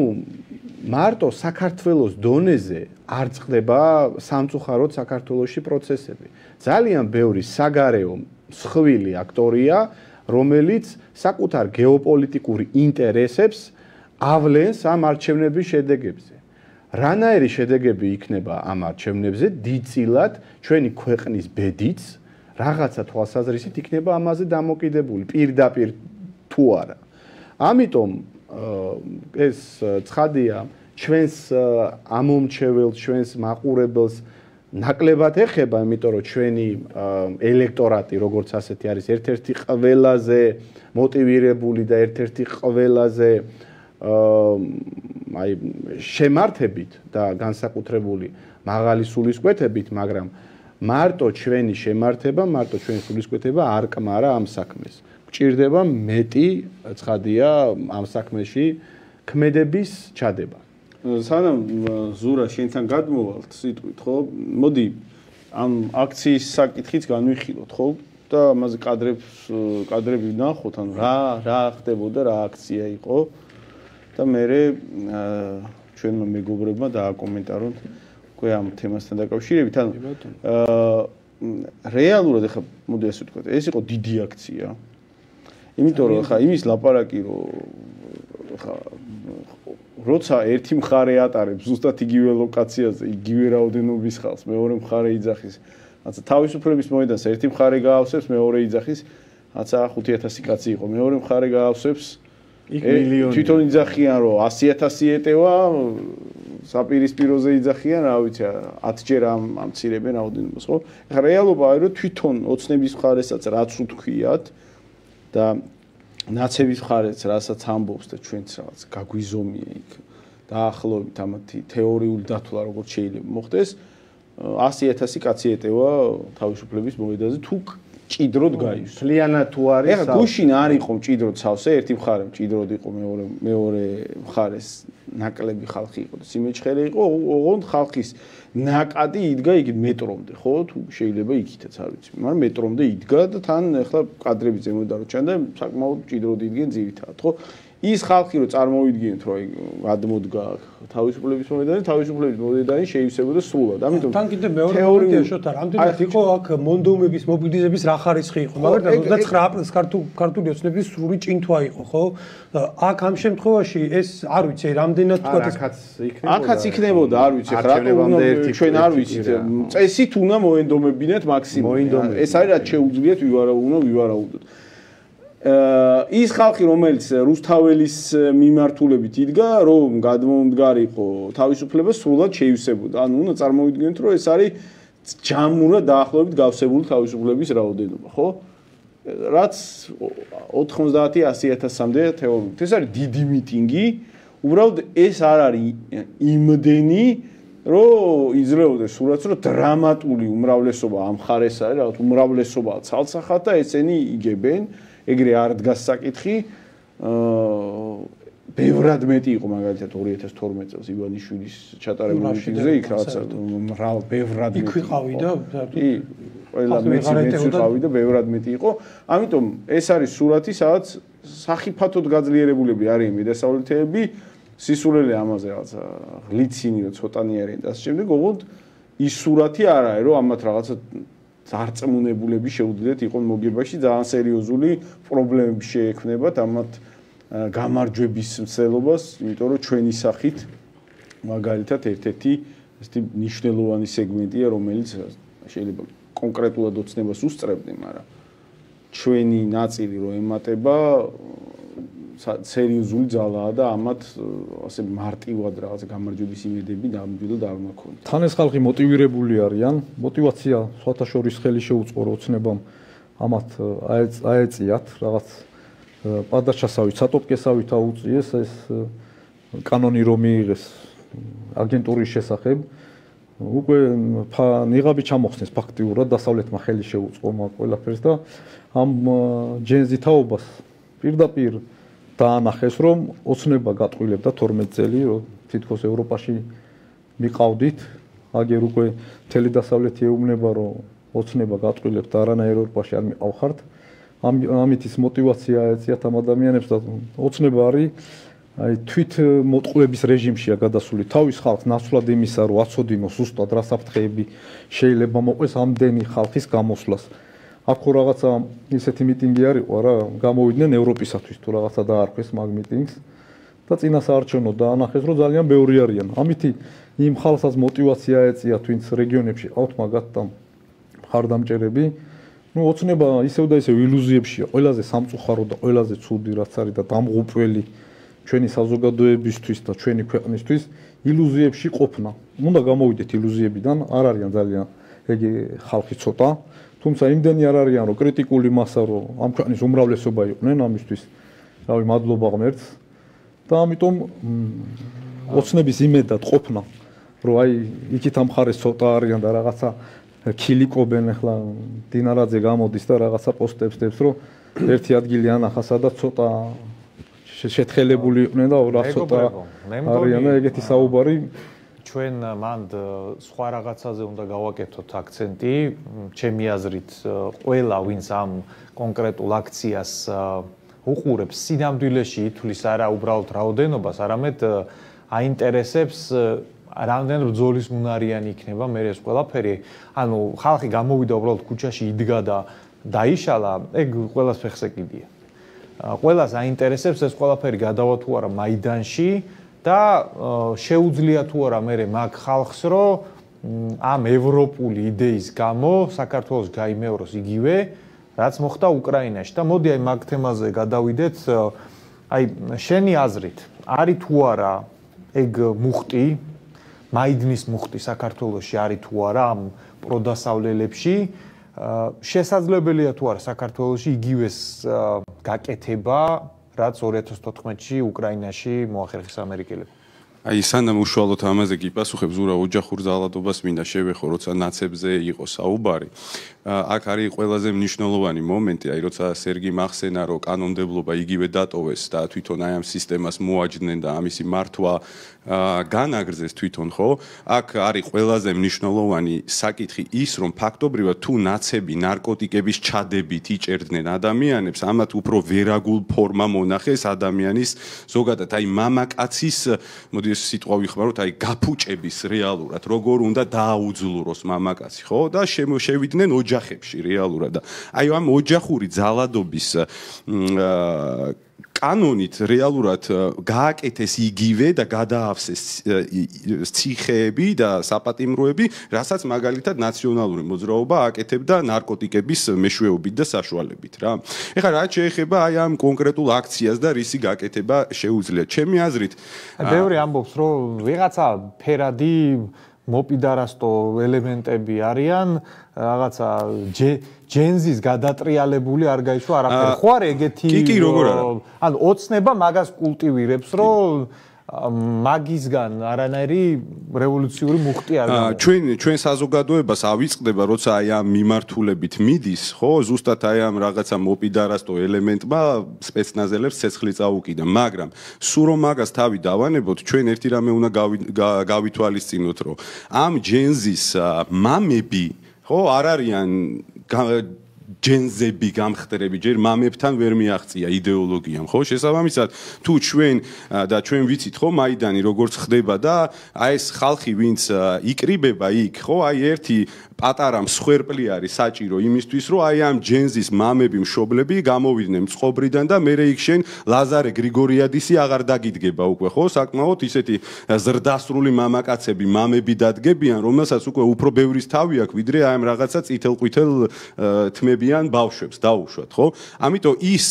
მარტო საქართველოს დონეზე არ წყდება სამწუხაროდ საქართველოში პროცესები. ძალიან ბევრი საგარეო მსხვილი აქტორია, რომელიც საკუთარ გეოპოლიტიკური ინტერესებს ავლენს ამ არჩევნების შედეგებზე. რანაირი შედეგები იქნება ამ არჩევნებზე, დიდწილად ჩვენი ქვეყნის ბედიც რაღაცა თვალსაზრისით იქნება ამაზე დამოკიდებული, პირდაპირ თუ არა. ამიტომ ეს ცხადია ჩვენს ამომრჩეველს, ჩვენს მაყურებელს ნაკლებად ეხება, იმიტომ რომ ჩვენი ელექტორატი როგორც ასეთი არის ერთ-ერთი ყველაზე მოტივირებული და ერთ-ერთი ყველაზე აი შემართებით და განსაკუთრებული მაღალი სულისკვეთებით, მაგრამ მარტო ჩვენი შემართება, მარტო ჩვენი სულისკვეთება არ კმარა ამ საქმეს. გჭირდება მეტი ცხადია ამ საქმეში ქმედების ჩადება. სანამ ზურა შენთან გადმოვალთ სიტყვით, ხო? მოდი ამ აქციის საკითხიც განვიხილოთ, ხო? და ამაზე კადრები ვნახოთ, ანუ რა ხდებოდა, რა აქცია იყო და მე ჩვენმა მეგობრებმა დააკომენტარონ უკვე ამ თემასთან დაკავშირებით, ანუ რეალურად ახლა მოდი ასე ვთქვათ, ეს იყო დიდი აქცია. იმიტომ რომ ახლა იმის ლაპარაკი რომ ახლა როცა ერთი მხარე ატარებს ზუსტად იგივე ლოკაციაზე, იგივე რაოდენობის ხალხს, მეორე მხარე იძახის, რაცა თავისუფლების მოედანს ერთი მხარე გაავსებს, მეორე იძახის, რაცა 5000 კაცი იყო, მეორე მხარე გაავსებს იქ მილიონი. თვითონ იძახიან რომ 100,000 ეტევა, საპირისპიროზე იძახიან, რა ვიცი, 10 ჯერ ამცირებენ რაოდენობას, ხო? ეხლა რეალობაა რომ თვითონ ოცნების მხარესაც რაც უთქვიათ და ნაცების მხარეც რასაც ამბობს და ჩვენც რაღაც გაგვიზომია იქ დაახლოებით ამათი თეორიული დათვლა როგორც შეიძლება მოხდეს 100,000 კაცი ეტევა თავისუფლების მოედანზე თუ ჭიდროდ გაივსო. მთლიანად თუ არის ეხლა გუშინ არ იყო ჭიდროდ სავსე, ერთი მხარე ჭიდროდ იყო, მეორე მხარეს ნაკლები ხალხი იყო და სიმეჩხერე იყო, ოღონდ ხალხის ნაკადი იდგა იქ მეტრომდე, ხო? თუ შეიძლება იქითაც არ ვიცი, მაგრამ მეტრომდე იდგა და თან ეხლა კადრები ზემოთ დარჩა და საკმაოდ ჭიდროდ იდგენ ძირითადად, ხო? ის ხალხი რომ წარმოვიდგინეთ, რომ გადმოდგა თავისუფლების მოედანი, თავისუფლების მოედანი შეივსებოდა სრულად. ამიტომ თან კიდე მეორე მომენტია შოთა, რამდენად იყო აქ მონდომების მობილიზების რა ხარისხი იყო, მაგრამ 29 აპრილს ქართული ოცნების სრული ჭინთვა იყო, ხო? აქ ამ შემთხვევაში ეს არ ვიცი, რამდენად თქვა აქაც იქნებოდა, არ ვიცი, ჩვენ არ ვიცით, წესით უნდა მოენდომებინათ მაქსიმუმ. ეს არის რაც შეუძლიათ ვივარაუდოთ. ის ხალხი რომელიც რუსთაველის მიმართულებით იდგა რომ გადმომდგარიყო თავისუფლება სრულად შეივსებოდა. ანუ უნდა წარმოვიდგინოთ რომ ეს არის ჯამურად დაახლოებით გავსებული თავისუფლების რაოდენობა, ხო? რაც 90-100,000-მდე თეორიულად. ეს არის დიდი მიტინგი. უბრალოდ ეს არ არის იმდენი რომ იძლეოდეს სურათს რომ დრამატული უმრავლესობა ამ ხარეს არის, რაღაც უმრავლესობა ცალსახად და ესენი იგებენ. ეგრე არ დგას საკითხი. ბევრად მეტი იყო მაგალითად 2012 წელს ივანიშვილის ჩატარებული მიტინგზე, იქ რაღაცა ბევრად მეტი. იქ ვიყავი და ყველა მეც ვიყავი და ბევრად მეტი იყო. ამიტომ ეს არის სურათი, სადაც სახიფათოდ გაძლიერებულები არიან მედასავლეთეები, სისულელე ამაზე რაღაცა გლიცინი რო ცოტანი არიან და ასე შემდეგ, ოღონდ ის სურათი არ არის, რომ ამათ რაღაცა ძარწმუნებულები შეუძლიათ იყონ მოგებაში, ძალიან სერიოზული პრობლემები შეექმნებათ ამათ გამარჯვების მცდელობას, იმიტომ რომ ჩვენი სახით მაგალითად ერთ-ერთი ესეთი მნიშვნელოვანი სეგმენტია, რომელიც შეიძლება კონკრეტულად ოცნებას უსწრებდნენ, მაგრამ ჩვენი ნაწილი რო ემატება სერიოზული ძალაა და ამათ ასე მარტივად რაღაც გამარჯვების იმედები ნამდვილად არ მაქვს. თან ეს ხალხი მოტივირებული არიან, мотиваცია სხვათა შორის ხელი შეუწყო ოცნებამ ამათ აეწიათ რაღაც პადაჩასავით, სატოპკესავით აუწიეს ეს კანონი რომ მიიღეს აგენტურის შესახებ. უკვე ნიღაბი ჩამოხსნეს ფაქტიურად დასავლეთმა ხელი შეუწყო მაგ ყველაფერს და ამ ჯენზი თაობას პირდაპირ დაანახეს რომ ოცნება გატყვილებდა 12 წელი რომ თითქოს ევროპაში მიყავდით აგერ უკვე მთელი დასავლეთი ეუბნება რომ ოცნება გატყვილებთ არანაირ ევროპაში არ მიყავხართ ამით ის мотиваცია ეწიათ ამ ადამიანებს და ოცნება არის აი თვით მოტყუების რეჟიმშია გადასული თავის ხალხს ნაცვლად იმისა რომ აცოდინოს ზუსტად რა საფრთხეები შეიძლება მოყვეს ამდენი ხალხის გამოსვლას აქ რაღაცა ისეთი მიტინგი არისო რა გამოვიდნენ ევროპისათვის თუ რაღაცა დაარქვეს მაგ მიტინგს და წინასაარჩევნო დაანახეს რომ ძალიან ბევრი არიან ამითი იმ ხალხსაც мотиваცია ეწია twins რეგიონებში ყავთ მაგათთან მხარდამჭერები ну ოცნება ისევ და ისევ ილუზიებშია ყველაზე სამწუხარო და ყველაზე ცუდი რაც არის და დამღუპველი ჩვენი საზოგადოებისთვის და ჩვენი ქვეყნისთვის ილუზიებში ყოფნა. უნდა გამოვიდეთ ილუზიებიდან, არ არიან ძალიან ეგ ხალხი ცოტა, თუმცა იმდენი არ არიან, რომ კრიტიკული მასა, რომ ამ ქვეყნის უმრავლესობა იყვნენ ამისთვის. რავი, მადლობა ღმერთს. და ამიტომ ოცნების იმედად ყოფნა, რომ აი იქით ამ ხარეს ცოტა არიან და რაღაცა ქილიკობენ, ახლა დინარაძე გამოდის და რაღაცა პოსტებს დებს, რომ ერთი ადგილი ანახა, სადაც ცოტა შეთხელებული იყვნენ და რა ცოტა არიან და ეგეთი საუბარი. ჩვენ მანდ სხვა რაღაცაზე უნდა გავაკეთოთ აქცენტი, ჩემი აზრით, ყველა ვინც ამ კონკრეტულ აქციას უყურებს, სინამდვილეში ითვლის არა უბრალოდ რაოდენობას, არამედ აინტერესებს რამდენ ბრძოლის უნარიანი იქნება მე ეს ყველაფერი. ანუ ხალხი გამოვიდა უბრალოდ ქუჩაში იდგა და დაიშალა, ეგ ყველას ფეხს ეკიდია. ყველას აინტერესებს ეს ყველაფერი გადავა თუ არა მაიდანში და შეუძლია თუ არა მე მაგ ხალხს რომ ამ ევროპული იდეის გამო საქართველოს გაიმეოროს იგივე რაც მოხდა უკრაინაში და მოდი აი მაგ თემაზე გადავიდეთ. აი შენი აზრით არის თუ არა ეგ მუხტი მაიდნის მუხტი საქართველოში არის თუ არა ამ პროდასავლელებში შესაძლებელია თუ არა საქართველოში იგივეს გაკეთება რაც 2014-ში უკრაინაში მოახერხეს ამერიკელებმა. აი სანამ უშუალოდ ამაზე კი პასუხებ ზურა ოჯახურ ძალადობას მინდა შევეხო როცა ნაცებზე იყო საუბარი. აქ არის ყველაზე მნიშვნელოვანი მომენტი, აი როცა სერგი მახსენა რომ კანონმდებლობა იგივე დატოვეს და თვითონ აი ამ სისტემას მოაჯდნენ და ამისი მართვა განაგრძეს თვითონ ხო? აქ არის ყველაზე მნიშვნელოვანი საკითხი ის რომ ფაქტობრივად თუ ნაცები ნარკოტიკების ჩადებით იჭერდნენ ადამიანებს, ამათ უფრო ვერაგულ ფორმა მონახეს ადამიანის ზოგადად აი მამაკაცის მოდი ეს სიტყვა ვიხმაროთ, აი გაფუჭების რეალურად როგორ უნდა დააუძლუროს მამაკაცი, ხო? და შევიდნენ ოჯახებში რეალურად და აი ამ ოჯახური ძალადობის კანონით რეალურად გააკეთეს იგივე და გადაავსეს ციხეები და საპატიმროები, რასაც მაგალითად ნაციონალური მოძრაობა აკეთებდა ნარკოტიკების მეშვეობით და საშუალებით რა. ეხლა რაც შეეხება აი ამ კონკრეტულ აქციას და რისი გაკეთება შეუძლია. ჩემი აზრით, ბევრი ამბობს, რომ ვიღაცა ფერადი მოპიდარასტო ელემენტები არიან, რაღაცა ჯენზის გადატრიალებული არ გაიშვა არაფერი. ხო არ ეგეთი კი როგორ არა. ანუ ოცნება მაგას კულტივირებს, რომ მაგისგან არანაირი რევოლუციური მუხტი არ გამოდის. ჩვენ საზოგადოებას ავიწყდება, როცა აი ამ მიმართულებით მიდის, ხო, ზუსტად აი ამ რაღაცა მოპიდარასტო ელემენტმა სპეცნაზელებს ცეცხლი წაუკიდა, მაგრამ სულ რომ მაგას თავი დავანებოთ, ჩვენ ერთი რამე უნდა გავითვალისწინოთ, რომ ამ ჯენზის მამები, ხო, არ არიან ჯენზები გამხდრები, ჯერ მამებთან ვერ მიაღწია იდეოლოგიამ, ხო? შესაბამისად, თუ ჩვენ და ჩვენ ვიცით, ხო, მაიდანი როგორც ხდება და აი ეს ხალხი, ვინც იკრიბება იქ, ხო, აი ერთი პატარა მსხვერპლი არის საჭირო იმისთვის, რომ აი ამ ჯენზის მამები, მშობლები გამოვიდნენ წყობრიდან და მერე იქ შენ ლაზარე გრიგორიადისი აღარ დაგიდგება უკვე, ხო? საკმაოდ ისეთი ზრდასრული მამაკაცები, მამები დადგებიან, რომელსაც უკვე უფრო ბევრის თავი აქვს, ვიდრე აი ამ რაღაცა წითელ-ყვითელ თმებიან ბავშვებს დაუშვათ, ხო? ამიტომ ის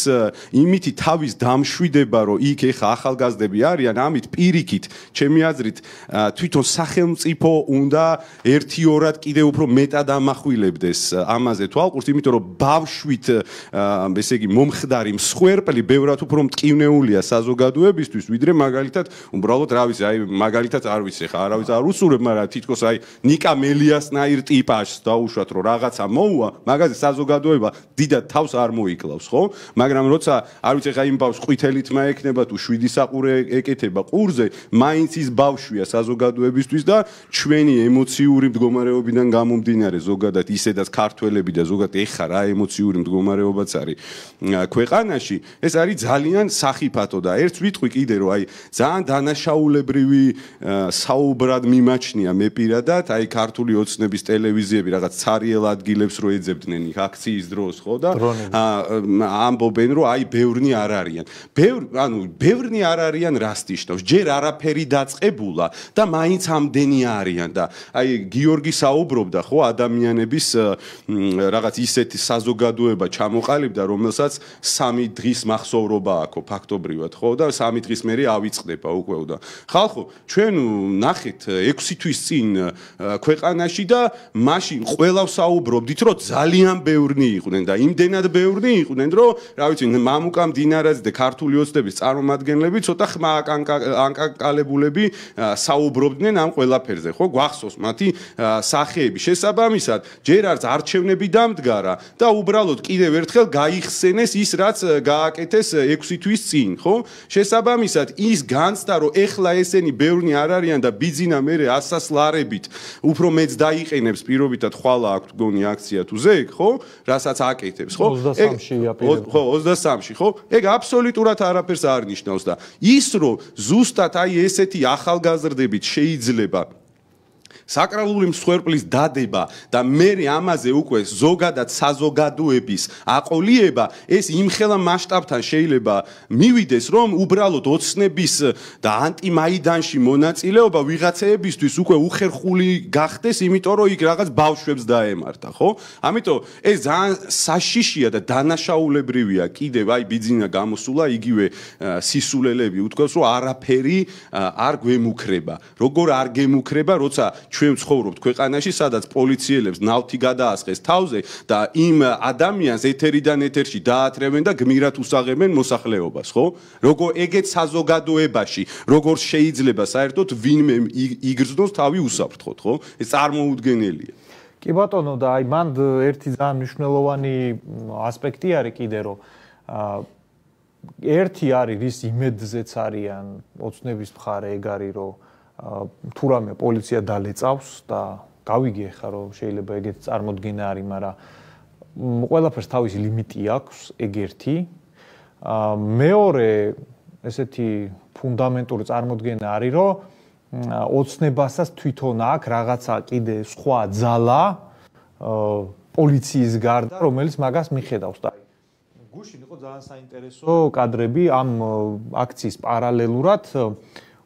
იმითი თავის დამშვიდება, რომ იქ ეხა ახალგაზრდები არიან, ამით პირიქით, ჩემი აზრით, თვითონ სახელმწიფო უნდა ერთიორად კიდევ უფრო მეტად ამახვილებდეს ამაზე თვალყურს, იმიტომ რომ ბავშვით, ესე იგი, მომხდარი მსხვერპლი ბევრად უფრო მტკივნეულია საზოგადოებისთვის, ვიდრე მაგალითად, უბრალოდ რა ვიცი, აი მაგალითად არ ვიცი, ხა არავის არ უსურებ, მაგრამ თითქოს აი ნიკა მელიასნაირ ტიპაშს დაუშვათ, რომ რაღაცა მოუვა, მაგაზე საზოგადოება დიდად თავს არ მოიკლავს, ხო? მაგრამ როცა არ ვიცი, ხა იმ ბავშვს ყვითელი თმა ექნება თუ 7 საყურე ეკეთება ყურზე, მაინც ის ბავშვია საზოგადოებისთვის და ჩვენი ემოციური მდგომარეობიდან გამომდინარე ზოგადად ისედაც ქართველები და ზოგადად ეხა რა ემოციური მდგომარეობაც არის ქვეყანაში, ეს არის ძალიან სახიფათო და ერთს ვიტყვი კიდე, რომ აი ძალიან დანაშაულებრივი საუბრად მიმაჩნია მე პირადად, აი ქართული ოცნების ტელევიზიები რაღაც ცარიელ ადგილებს რო ეძებდნენ იქ აქციის დროს, ხო და ამბობენ, რომ აი ბევრნი არ არიან. ბევრნი არ არიან რასტიშნავს, ჯერ არაფერი დაწყებულა და მაინც ამდენი არიან და აი გიორგი საუბრობდა, ხო, ადამიანების რაღაც ისეთი საზოგადოება ჩამოყალიბდა, რომელსაც 3 დღის მახსოვრობა აქვს ფაქტობრივად, ხო და 3 დღის მერე ავიწყდება უკვე და ხალხო, ჩვენ ნახეთ 6 თვის წინ ქვეყანაში და მაშინ ყველა საუბრობდით, რომ ძალიან ბევრნი იყვნენ და იმდენად ბევრნი იყვნენ, რომ რა ვიცი, მამუკა მდინარაძე და ქართული ოცნების წარმომადგენლები ცოტა ხმა აკანკალებულები საუბრობდნენ ამ ყველაფერზე, ხო? გვახსოვს მათი სახეები. შესაბამისად, ჯერ არც არჩევნები დამდგარა და უბრალოდ კიდევ ერთხელ გაიხსენეს ის, რაც გააკეთეს 6 თვის წინ, ხო? შესაბამისად, ის განცდა, რომ ეხლა ესენი ბევრნი არ არიან და ბიძინა მერე ასასლარებით უფრო მეც დაიყენებს პირობითად ხვალა აქვს გონი აქცია თუ ზეგ, ხო? რასაც აკეთებს, ხო? 23-ში აპირებდა. ხო, 23-ში, ხო? ეგ აბსოლუტურად არაფერს არ ნიშნავს და ის რომ ზუსტად აი ესეთი ახალგაზრდებით შეიძლება საკრალური მსხვერპლის დადება და მე ამაზე უკვე ზოგადად საზოგადოების აყოლიება ეს იმხელა მასშტაბთან შეიძლება მივიდეს რომ უბრალოდ ოცნების და ანტიმაიდანში მონაწილეობა ვიღაცეებისთვის უკვე უხერხული გახდეს, იმიტომ რომ იქ რაღაც ბავშვებს დაემართა, ხო? ამიტომ ეს ძალიან საშიშია და დანაშაულებრივია კიდევ აი ბიძინა გამოსულა იგივე სისულელები უთქვას რომ არაფერი არ გვემუქრება. როგორ არ გემუქრება, როცა ჩვენ ცხოვრობთ ქვეყანაში, სადაც პოლიციელებს ნავთი გადაასხეს თავზე და იმ ადამიანს ეთერიდან ეთერში დაათრევენ და გმირად უსაღებენ მოსახლეობას, ხო? როგორ ეგეთ საზოგადოებაში, როგორ შეიძლება საერთოდ ვინმე იგრძნოს თავი უსაფრთხოდ, ხო? ეს წარმოუდგენელია. კი ბატონო, და აი მან ერთი ძალიან მნიშვნელოვანი ასპექტი არის კიდე, რომ ერთი არის რის იმედზეც არიან ოცნების მხარე ეგ არის, რომ თუ რამე პოლიცია დალეწავს და გავიგე ხა რომ შეიძლება ეგეთ წარმოდგენა არის, მაგრამ ყველაფერს თავისი ლიმიტი აქვს, ეგ ერთი. მეორე ესეთი ფუნდამენტური წარმოდგენა არის, რომ ოცნებასაც თვითონ აქვს რაღაცა კიდე სხვა ძალა პოლიციის გარდა, რომელიც მაგას მიხედავს და გუშინ იყო ძალიან საინტერესო კადრები ამ აქციის პარალელურად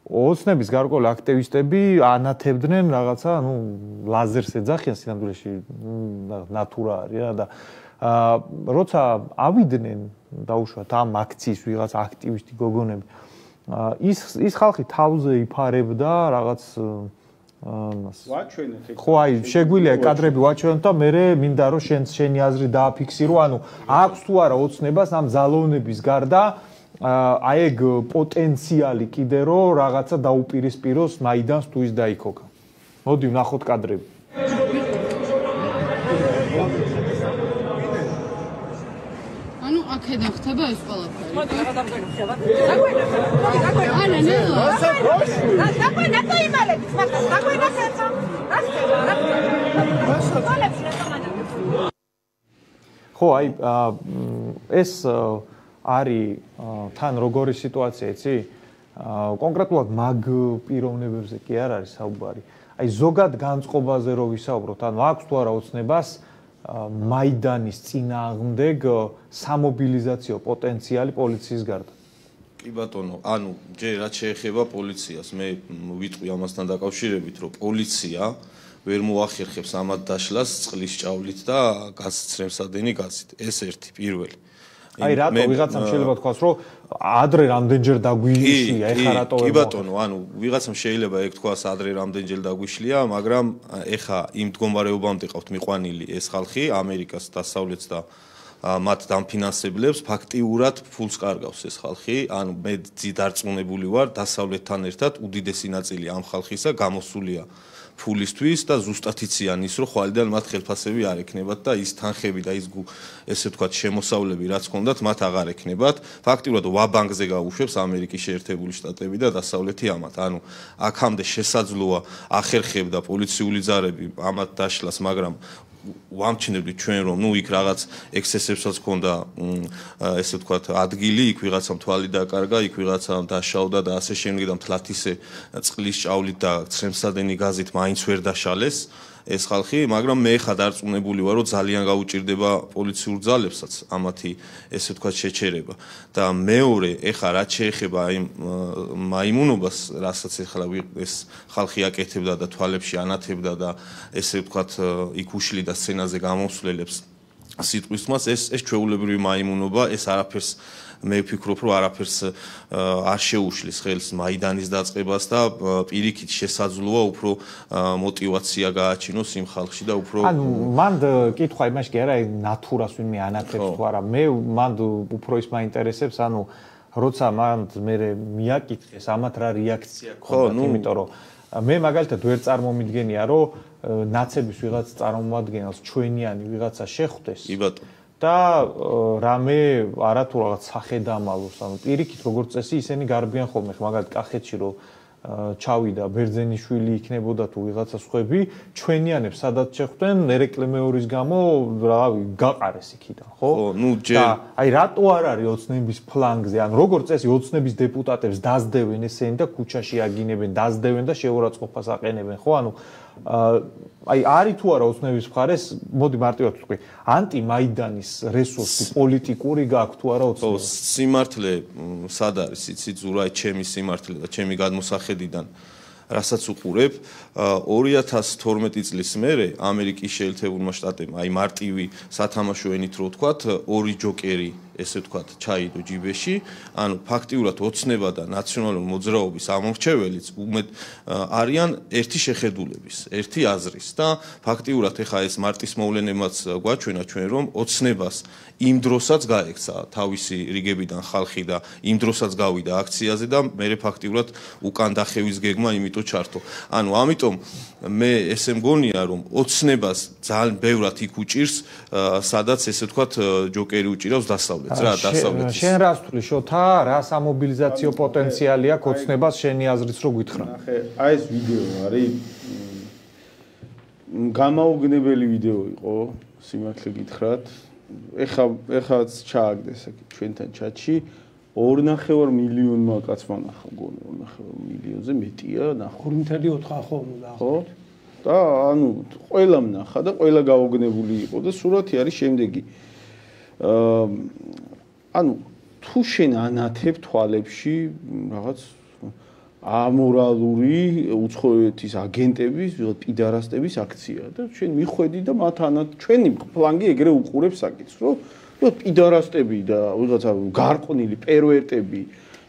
ოცნების გარკვეული აქტივისტები ანათებდნენ რაღაცა, ლაზერს ეძახიან სინამდვილეში, ნატურა არის რა და როცა ავიდნენ დაუშვათ ამ აქციის ვიღაც აქტივისტი გოგონები, ის ხალხი თავზე იფარებდა რაღაც ვაჩვენეთ ეგ. ხო, აი, შეგვიძლია კადრები ვაჩვენოთ და მე მინდა რომ შენი აზრი დააფიქსირო, ანუ აქვს თუ არა ოცნებას ამ ძალოვნების გარდა აი ეგ პოტენციალი კიდე რომ რაღაცა დაუპირისპიროს მაიდანს თუ ის დაიქოქა. მოდი ვნახოთ კადრები. ანუ აქედან ხდება ეს ყველაფერი. მოდი რა დამზაგებია. დაგვენა. არა, ნელა. დაგვენა და იმალებს, მაგრამ დაგვენა ხერხა. რა ხდება? რა ხდება? ხო, აი ეს არის თან როგორი სიტუაცია, იცი? კონკრეტულად მაგ პიროვნებებზე კი არ არის საუბარი. აი ზოგად განწყობაზე რო ვისაუბროთ, ანუ აქვს თუ არა ოცნებას მაიდანის წინააღმდეგ სამობილიზაციო პოტენციალი პოლიციის გარდა. კი ბატონო, ანუ ჯერ რაც შეეხება პოლიციას, მე ვიტყვი ამასთან დაკავშირებით, რომ პოლიცია ვერ მოახერხებს ამათ დაშლას წყლის ჭავლით და გასცრემსადენი გაზით. ეს ერთი პირველი. აი რატო ვიღაცამ შეიძლება თქვას რომ ადრე რამდენჯერ დაგვიშლია, ეხა რატო ვერ კი ბატონო, ანუ ვიღაცამ შეიძლება ეგ თქვას ადრე რამდენჯერ დაგვიშლია, მაგრამ ეხა იმ მდგომარეობამდე ყავთ მიყვანილი ეს ხალხი ამერიკას დასავლეთს და მათ დამფინანსებლებს ფაქტიურად ფულს კარგავს ეს ხალხი, ანუ მე დარწმუნებული ვარ დასავლეთთან ერთად უდიდესი ნაწილი ამ ხალხისა გამოსულია ფულისთვის და ზუსტად იციან ის, რომ ხვალიდან მათ ხელფასები არ ექნებათ და ის თანხები და ის ესე ვთქვათ შემოსავლები რაც ჰქონდათ, მათ აღარ ექნებათ. ფაქტიურად ვაბანკზე გაუშვებს ამერიკის შეერთებული შტატები და დასავლეთი ამათ. ანუ აქამდე შესაძლოა ახერხებდა პოლიციული ძალები ამათ დაშლას, მაგრამ ვამჩნევდით ჩვენ რომ იქ რაღაც ექსესებსაც ჰქონდა ესე ვთქვათ ადგილი, იქ ვიღაცამ თვალი დაკარგა, იქ ვიღაცამ დაშავდა და ასე შემდეგ და მთლათ ისე წყლის ჭავლით და ცრემსადენი გაზით მაინც ვერ დაშალეს ეს ხალხი, მაგრამ მე ხა დარწმუნებული ვარ, რომ ძალიან გაუჭირდება პოლიციურ ძალებსაც ამათი ესე ვთქვათ შეჩერება. და მეორე, ეხა რაც შეეხება აი მაიმუნობას, რასაც ეხლა ეს ხალხი აკეთებდა და თვალებში ანათებდა და ესე ვთქვათ იქ უშლიდა სცენაზე გამოსვლელებს სიტყვის თმას, ეს ჩვეულებრივი მაიმუნობა, ეს არაფერს მე ვფიქრობ, რომ არაფერს არ შეუშლის ხელს მაიდანის დაწყებას და პირიქით შესაძლოა უფრო мотиваცია გააჩინოს იმ ხალხში და უფრო ანუ მან კითხვა იმაში კი არა ნატურას ვინმე ანათებს თუ არა მე მან უფრო ის მაინტერესებს ანუ როცა მან მე მიაკითხეს ამათ რა რეაქცია ქონდა იმიტომ რომ მე მაგალითად ვერ წარმომიდგენია რომ ნაცების ვიღაც წარმომადგენელს ჩვენიანი ვიღაცა შეხვდეს კი ბატონო და რამე არათუ რაღაც სახედამალოს ანუ პირიქით როგორც წესი ისინი გარბიან ხოლმე მაგალითად კახეთში რომ ჩავიდა ბერძენიშვილი იქნებოდა თუ ვიღაცა სხვები ჩვენიანებს სადაც შეხვდნენ ერეკლე მეორის გამო რავი გაყარეს იქიდან ხო ნუ ჯერ და აი რატო არ არის ოცნების ფლანგზე ანუ როგორც წესი ოცნების დეპუტატებს დაძდევენ ესენი და ქუჩაში აგინებენ დაძდევენ და შეურაცხყოფას აყენებენ ხო ანუ აი არის თუ არა ოცნების მხარეს მოდი მარტივად ვთქვი ანტიმაიდანის რესურსი პოლიტიკური გააქვს თუ არა ოცნების სიმართლე სად არის იცი ზურაი ჩემი სიმართლე და ჩემი გადმოსახედიდან რასაც უყურებ 2012 წლის მერე ამერიკის შეერთებულმა შტატებმა აი მარტივი სათამაშო ენით რო ვთქვათ ორი ჯოკერი ესე ვთქვათ ჩაიდო ჯიბეში ანუ ფაქტიურად ოცნება და ნაციონალური მოძრაობის ამორჩეველიც უმეტ არიან ერთი შეხედულების ერთი აზრის და ფაქტიურად ეხა ეს მარტის მოვლენებაც გვაჩვენა ჩვენ რომ ოცნებას იმ დროსაც გაექცა თავისი რიგებიდან ხალხი და იმ დროსაც გავიდა აქციაზე და მე ფაქტიურად უკან დახევის გეგმა იმიტომ ჩართო ანუ ამიტომ მე ესე მგონია რომ ოცნებას ძალიან ბევრად იქ უჭირს სადაც ესე ვთქვათ ჯოკერი უჭირავს დასავლეთს რა დასავლეთის შენ რას თვლი შოთა რა სამობილიზაციო პოტენციალი აქვს ოცნებას შენი აზრით რო გითხრა ნახე აი ეს ვიდეო არის გამაუგნებელი ვიდეო იყო სიმართლე გითხრათ ეხაც ჩააგდეს აქ ჩვენთან ჩატში 2.5 მილიონმა კაცმა ნახა მგონი 2.5 მილიონზე მეტია ნახო 2.4 ხო ხო და ანუ ყველამ ნახა და ყველა გაუგნებული იყო და სურათი არის შემდეგი ანუ თუ შენ ანათებ თვალებში რაღაც ამორალური უცხოეთის აგენტების პიდარასტების აქცია და შენ მიხვედი და მათ ჩვენი ფლანგი ეგრე უყურებს საკითხს რომ პიდარასტები და ვიღაცა გარყვნილი პერვერტები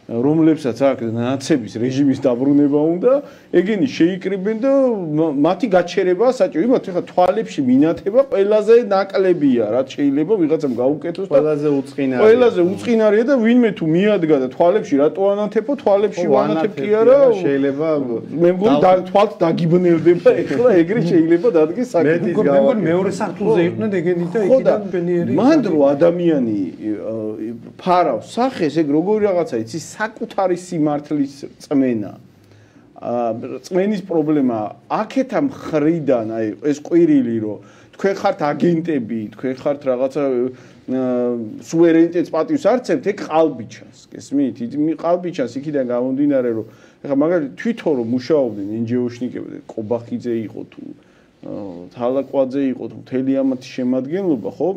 რომლებსაც აქ ნაცების რეჟიმის დაბრუნება უნდა ეგენი შეიკრიბენ და მათი გაჩერებაა საჭირო იმათ ხა თვალებში მინათება ყველაზე ნაკლებია რაც შეიძლება ვიღაცამ გაუკეთოს და ყველაზე უწყინარია და ვინმე თუ მიადგა და თვალებში რატო ანათებო თვალებში ვანათებ კი არა შეიძლება მე მგონი თვალთ დაგიბნელდება ეხლა ეგრე შეიძლება დადგეს საკითხი მე მგონი მეორე სართულზე იყვნენ ეგენი და იქიდან ბენიერი მან დრო ადამიანი ფარავს სახეს ეგ როგორი რაღაცა იცი საკუთარი სიმართლის წმენა წმენის პრობლემა აქეთა მხრიდან აი ეს ყვირილი რომ თქვენ ხართ აგენტები თქვენ ხართ რაღაცა სუვერენიტეტს პატივს არცევთ ეგ ყალბი ჩანს გესმით ყალბი ჩანს იქიდან გამომდინარე რომ ეხლა მაგალითად თვითონ რომ მუშაობდნენ NGO-შნიკები კობახიძე იყო თუ თალაკვაძე იყო თუ მთელი ამათი შემადგენლობა ხო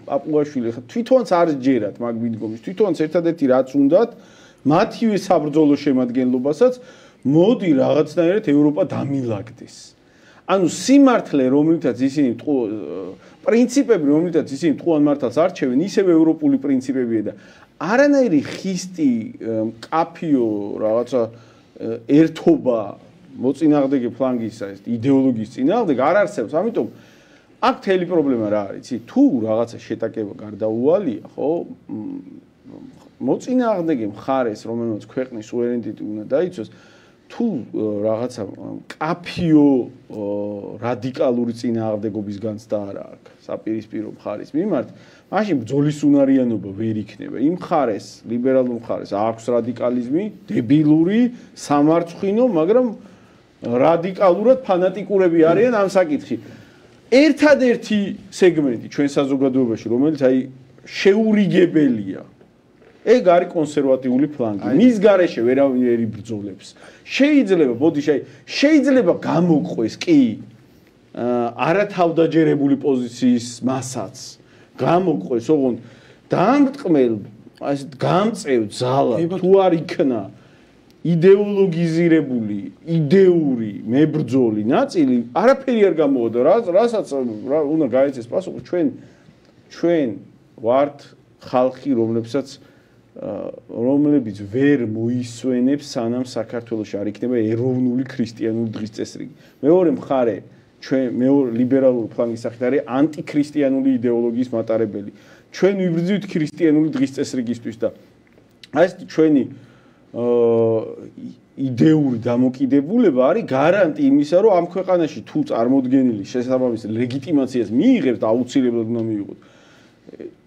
პაპუაშვილი ხა თვითონაც არ ჯერათ მაგ მიდგომის თვითონაც ერთადერთი რაც უნდათ მათივე საბრძოლო შემადგენლობასაც მოდი რაღაცნაირად ევროპა დამილაგდეს ანუ სიმართლე რომელთაც ისინი პრინციპები რომელთაც ისინი ტყუან მართალს არჩევენ ისევ ევროპული პრინციპებია და არანაირი ხისტი კაფიო რაღაცა ერთობა მოწინააღმდეგე ფლანგისა ეს იდეოლოგიის წინააღმდეგ არ არსებობს ამიტომ აქ თელი პრობლემა რა არის იცი თუ რაღაცა შეტაკება გარდაუვალია ხო მოწინააღმდეგე მხარეს რომელმაც ქვეყნის სუვერენიტეტი უნდა დაიცვას თუ რაღაცა კაფიო რადიკალური წინააღმდეგობის განცდა არ აქვს საპირისპირო მხარის მიმართ მაშინ ბრძოლის უნარიანობა ვერ იქნება იმ მხარეს ლიბერალურ მხარეს აქვს რადიკალიზმი დებილური სამარცხვინო მაგრამ რადიკალურად ფანატიკურები არიან ამ საკითხში ერთადერთი სეგმენტი ჩვენ საზოგადოებაში რომელიც აი შეურიგებელია ეგ არის კონსერვატიული ფლანგი მის გარეშე ვერავინ იბრძოლებს შეიძლება ბოდიში აი შეიძლება გამოყვეს კი არათავდაჯერებული პოზიციის მასაც გამოყვეს, ოღონდ დამტყმელ, ასე გამწევ ძალა თუ არ იქნა იდეოლოგიზირებული, იდეური, მებრძოლი ნაწილი, არაფერი არ გამოვიდა, რასაც უნდა გაეცეს პასუხი, ჩვენ ვართ ხალხი, რომლებიც ვერ მოისვენებს, სანამ საქართველოში არ იქნება ეროვნული ქრისტიანული დღის წესრიგი. მეორე მხარე, მეორე ლიბერალური ფლანგის სახით არის ანტიქრისტიანული იდეოლოგიის მატარებელი. ჩვენ ვიბრძვით ქრისტიანული დღის წესრიგისთვის და აი ეს ჩვენი იდეური დამოკიდებულება არის გარანტი იმისა, რომ ამ ქვეყანაში თუ წარმოდგენილი შესაბამის ლეგიტიმაციას მიიღებს და აუცილებლად უნდა მიიღოს,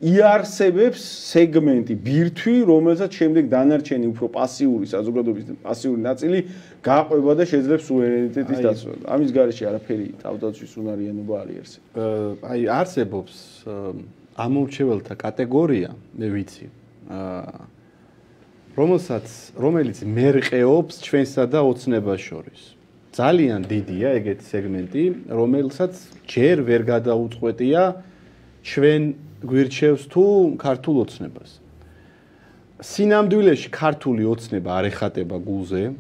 იარსებებს სეგმენტი, ბირთვი, რომელსაც შემდეგ დანარჩენი უფრო პასიური საზოგადოების პასიური ნაწილი გაყვება და შეძლებს სუვერენიტეტის დაცვა. ამის გარეშე არაფერი თავდაცვის უნარიანობა არ იარსება. აი არსებობს ამორჩეველთა კატეგორია, მე ვიცი, რომელიც მერყეობს ჩვენსა და ოცნებას შორის. ძალიან დიდია ეგეთი სეგმენტი, რომელსაც ჯერ ვერ გადაუწყვეტია ჩვენ გვირჩევს თუ ქართულ ოცნებას. სინამდვილეში ქართული ოცნება არ ეხატება გულზე.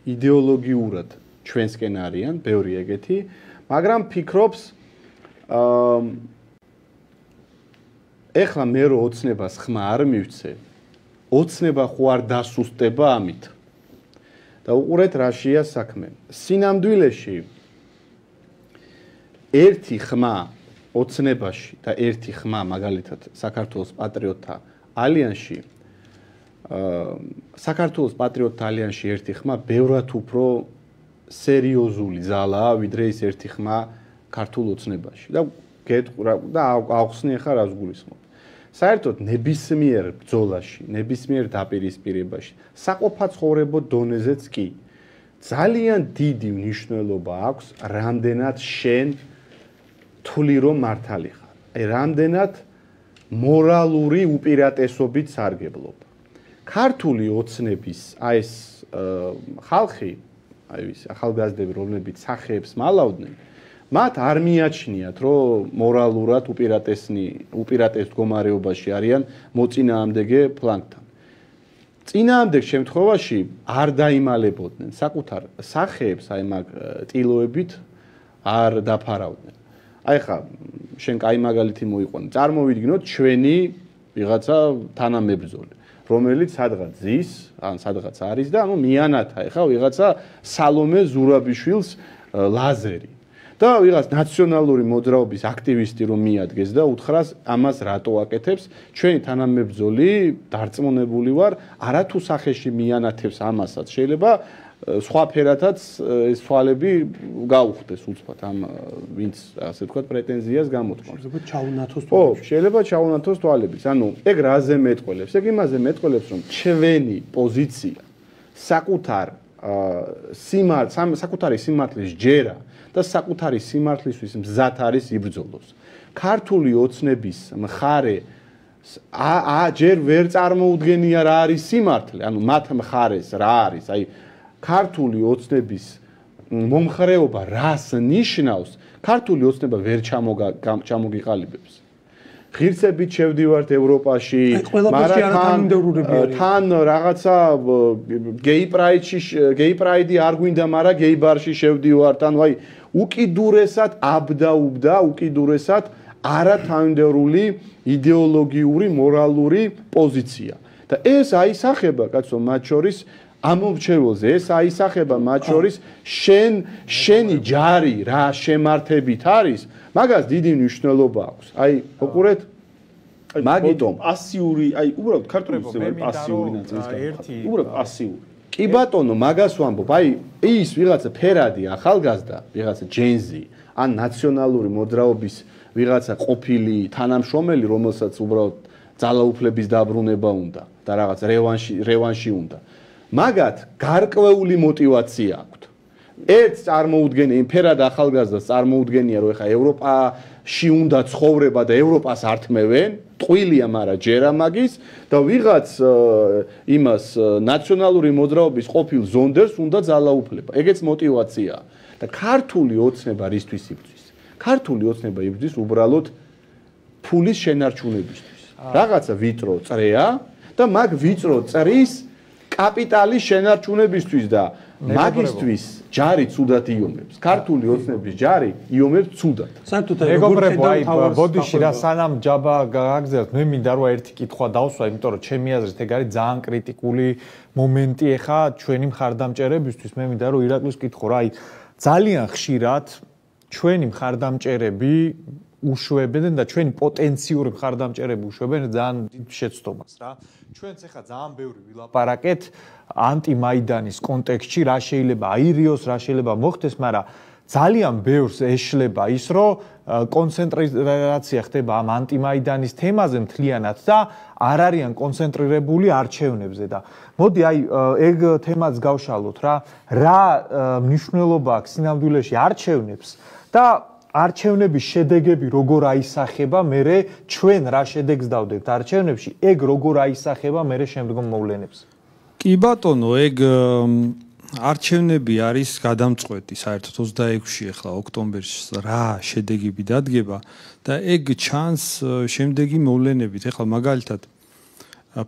იდეოლოგიურად ჩვენსკენ არიან, ბევრი ეგეთი, მაგრამ ფიქრობს ეხლა მე რო ოცნებას ხმა არ მივცე, ოცნება ხო არ დასუსტება ამით. და უყურეთ რაშია საქმე. სინამდვილეში ერთი ხმა ოცნებაში და ერთი ხმა მაგალითად საქართველოს პატრიოტთა ალიანსში საქართველოს პატრიოტთა ალიანსში ერთი ხმა ბევრად უფრო სერიოზული ძალაა ვიდრე ის ერთი ხმა ქართულ ოცნებაში და აღხსნი ახლა რას გულისხმობ. საერთოდ ნებისმიერ ბრძოლაში, ნებისმიერ დაპირისპირებაში, საყოფაცხოვრებო დონეზეც კი ძალიან დიდი მნიშვნელობა აქვს რამდენად შენ თვლი რომ მართალი ხარ. აი რამდენად მორალური უპირატესობით სარგებლობ. ქართული ოცნების აი ეს ხალხი, აი ის ახალგაზრდები, რომლებიც სახეებს მალავდნენ, მათ არ მიაჩნიათ, რომ მორალურად უპირატეს მდგომარეობაში არიან მოწინააღმდეგე ფლანგთან. წინააღმდეგ შემთხვევაში არ დაიმალებოდნენ, საკუთარ სახეებს აი მაგ ტილოებით არ დაფარავდნენ. აი ხა შენ კაი მაგალითი მოიყვანე. წარმოვიდგინოთ ჩვენი ვიღაცა თანამებრძოლი, რომელიც სადღაც ზის, ან სადღაც არის და ანუ მიანათა ხა ვიღაცა სალომე ზურაბიშვილს ლაზერი. და ვიღაც ნაციონალური მოძრაობის აქტივისტი რომ მიადგეს და უთხრას ამას რატო აკეთებს, ჩვენი თანამებრძოლი დარწმუნებული ვარ, არათუ სახეში მიანათებს ამასაც, შეიძლება სხვა ფერათაც ეს თვალები გაუხდეს უცბად ამ ვინც ასე ვთქვათ პრეტენზიას გამოთქვამს. შეიძლება ჩაუნათოს თვალები. ხო, შეიძლება ჩაუნათოს თვალებიც. ანუ ეგ რაზე მეტყველებს? ეგ იმაზე მეტყველებს, რომ ჩვენი პოზიცია საკუთარი სიმართლის ჯერა და საკუთარი სიმართლისთვის მზად არის იბრძოლოს. ქართული ოცნების მხარე ჯერ ვერ წარმოუდგენია რა არის სიმართლე, ანუ მათ მხარეს რა არის, აი ქართული ოცნების მომხრეობა რას ნიშნავს, ქართული ოცნება ვერ ჩამოგიყალიბებს. ღირსებით შევდივართ ევროპაში, მაგრამ თან რაღაცა გეი პრაიდი არ გვინდა, მაგრამ გეი ბარში შევდივართ, ანუ აი უკიდურესად აბდაუბდა, უკიდურესად არათავდაცვიანი იდეოლოგიური, მორალური პოზიცია. და ეს აისახება, კაცო, მათ შორის ამომრჩეველზე, ეს აისახება მათ შორის შენი ჯარი რა შემართებით არის, მაგას დიდი მნიშვნელობა აქვს. აი, უყურეთ, მაგიტომ პასიური, აი, უბრალოდ ქართული ოცნება პასიური ნაწილის ერთი. უბრალოდ პასიური. კი ბატონო, მაგას ვამბობ, აი, ის ვიღაცა ფერადი ახალგაზრდა, ვიღაცა ჯენზი, ან ნაციონალური მოძრაობის ვიღაცა ყოფილი თანამშრომელი, რომელსაც უბრალოდ ძალაუფლების დაბრუნება უნდა და რაღაც რევანში უნდა. მაგათ გარკვეული мотиваცია აქვთ. ერთს წარმოუდგენია, იმ ფერად ახალგაზრდას წარმოუდგენია, რომ ეხა ევროპა უნდა ცხოვრება და ევროპას ართმევენ, ტყუილია, მაგრამ ჯერა მაგის და ვიღაც იმას ნაციონალური მოძრაობის ყოფილ ზონდერს უნდა ძალაუფლება. ეგეც мотиваციაა. და ქართული ოცნება რისთვის იბრძვის? ქართული ოცნება იბრძვის უბრალოდ ფულის შენარჩუნებისთვის. რაღაცა ვიწრო წრეა და მაგ ვიწრო წრის კაპიტალის შენარჩუნებისთვის და მაგისტვის ჯარი ცუდად იომებს. ქართული ოცნების ჯარი იომებს ცუდად. მეგობრებო, აი ბოდიში რა სანამ ჯაბა გაგზავნოთ, მე მინდა რომ ერთი კითხვა დავსვა, იმიტომ რომ ჩემი აზრით ეგ არის ძალიან კრიტიკული მომენტი ახლა ჩვენი მხარდამჭერებისთვის. მე მინდა რომ ირაკლის კითხო რა, აი ძალიან ხშირად ჩვენი მხარდამჭერები უშვებენ და ჩვენი პოტენციური მხარდამჭერები უშვებენ ძალიან დიდ შეცდომას რა. ჩვენც ახლა ძალიან ბევრი ვილაპარაკეთ ანტიმაიდანის კონტექსტში, რა შეიძლება აირიოს, რა შეიძლება მოხდეს, მაგრამ ძალიან ბევრს ეშლება ის, რომ კონცენტრაცია ხდება ამ ანტიმაიდანის თემაზე მთლიანად და არ არიან კონცენტრირებული არჩევნებზე და მოდი აი ეგ თემაც გავშალოთ რა მნიშვნელობა აქვს სინამდვილეში არჩევნებს და არჩევნების შედეგები როგორ აისახება, მერე ჩვენ რა შედეგს დავდებთ არჩევნებში, ეგ როგორ აისახება მერე შემდგომ მოვლენებს. კი ბატონო, ეგ არჩევნები არის გადამწყვეტი საერთოდ 26-ში ახლა ოქტომბერში რა შედეგები დადგება და ეგ ჩანს შემდეგი მოვლენებით. ახლა მაგალითად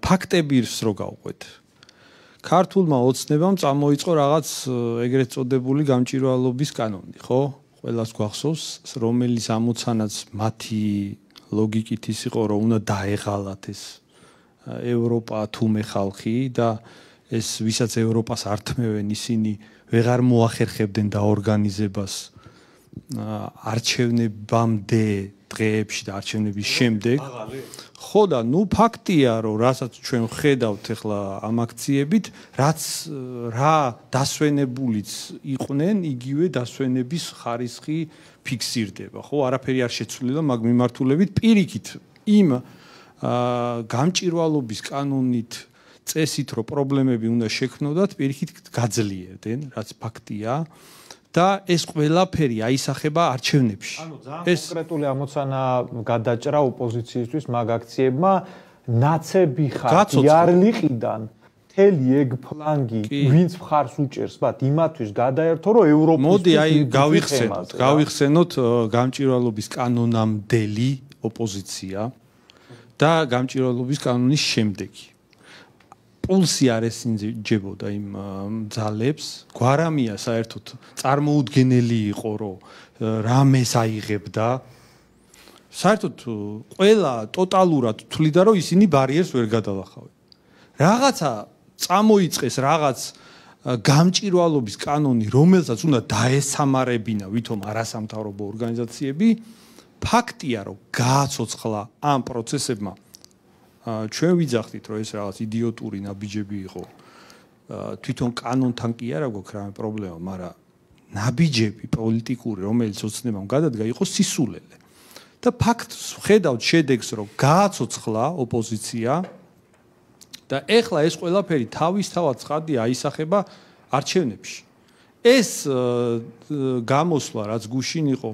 ფაქტებს რო გავყვეთ. ქართულმა ოცნებამ წამოიწყო რაღაც ეგრეთ წოდებული გამჭვირვალობის კანონი, ხო? ყველას გვახსოვს, რომელიც ამოცანაც მათი ლოგიკით ის იყო, რომ უნდა დაეღალათ ეს ევროპა თუმე ხალხი და ეს ვისაც ევროპას ართმევენ ისინი ვეღარ მოახერხებდნენ დაორგანიზებას არჩევნებამდე დღეებში და არჩევნების შემდეგ. ხო და ნუ ფაქტია, რომ რასაც ჩვენ ხედავთ ახლა ამ აქციებით, რაც რა დასვენებულიც იყვნენ, იგივე დასვენების ხარისხი ფიქსირდება. ხო, არაფერი არ შეცვლილა მაგ მიმართულებით პირიქით იმ გამჭვირვალობის კანონით წესით რომ პრობლემები უნდა შექმნოდათ, პირიქით გაძლიერდნენ, რაც ფაქტია. და ეს ყველაფერი აისახება არჩევნებში. ანუ ძალიან კონკრეტული ამოცანა გადაჭრა ოპოზიციისთვის მაგ აქციებმა ნაცები ხარ იარლიყიდან მთელი ეგ ფლანგი ვინც მხარს უჭერს მათ იმათვის გადაერთო რომ ევროპის მოდი აი გავიხსენოთ გამჭვირვალობის კანონამდელი ოპოზიცია და გამჭვირვალობის კანონის შემდეგი. პულსი არ ესინჯებოდა იმ ძალებს, გვარამია საერთოდ წარმოუდგენელი იყო, რომ რამეს აიღებდა. საერთოდ ყველა ტოტალურად თვლიდა, რომ ისინი ბარიერს ვერ გადალახავენ. რაღაცა წამოიწყეს რაღაც გამჭვირვალობის კანონი, რომელსაც უნდა დაესამარებინა ვითომ არასამთავრობო ორგანიზაციები, ფაქტია, რომ გააცოცხლა ამ პროცესებმა ჩვენ ვიძახდით რომ ეს რაღაც იდიოტური ნაბიჯები იყო თვითონ კანონთან კი არა გვაქვს რამე პრობლემა, მაგრამ ნაბიჯები პოლიტიკური რომელიც ოცნებამ გადადგა იყო სისულელე და ფაქტს ხედავთ შედეგს რომ გააცოცხლა ოპოზიცია და ეხლა ეს ყველაფერი თავისთავად ცხადია აისახება არჩევნებში. ეს გამოსვლა რაც გუშინ იყო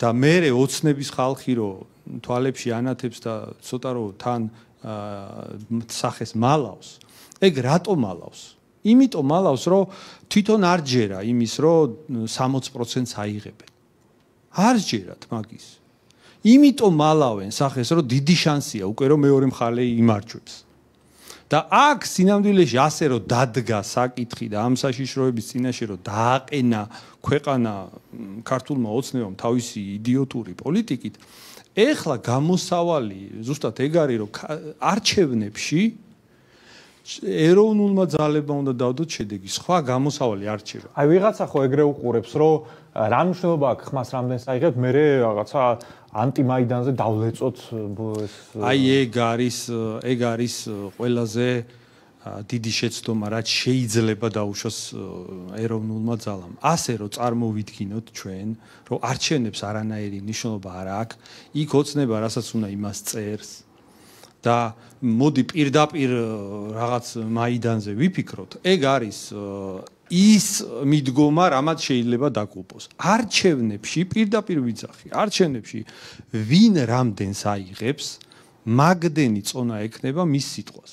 და მერე ოცნების ხალხი რო თვალებში ანათებს და ცოტა რო თან სახეს მალავს. ეგ რატომ მალავს? იმიტომ მალავს, რომ თვითონ არ ჯერა იმის, რომ 60%-ს აიღებენ. არ ჯერათ მაგის. იმიტომ მალავენ სახეს, რომ დიდი შანსია უკვე რომ მეორე მხარე იმარჯვებს. და აქ სინამდვილეში ასე რომ დადგა საკითხი და ამ საშიშროების წინაშე რომ დააყენა ქვეყანა ქართულმა ოცნებამ თავისი იდიოტური პოლიტიკით, ეხლა გამოსავალი ზუსტად ეგ არის რომ არჩევნებში ეროვნულმა ძალებმა უნდა დავდოთ შედეგი. სხვა გამოსავალი არ რჩება. აი ვიღაცა ხო ეგრე უყურებს, რომ რა მნიშვნელობა აქვს ხმას რამდენს აიღებთ, მე რაღაცა ანტიმაიდანზე დავლეწოთ ეს. აი ეგ არის ყველაზე დიდი შეცდომა, რაც შეიძლება დაუშვას ეროვნულმა ძალამ. ასე რომ წარმოვიდგინოთ ჩვენ, რომ არჩევნებს არანაირი მნიშვნელობა არ აქვს, იქ ოცნება რასაც უნდა იმას წერს. და მოდი პირდაპირ რაღაც მაიდანზე ვიფიქროთ. ეგ არის ის მიდგომა რამაც შეიძლება დაგუპოს. არჩევნებში პირდაპირ ვიძახი, არჩევნებში ვინ რამდენს აიღებს, მაგდენი წონა ექნება მის სიტყვას.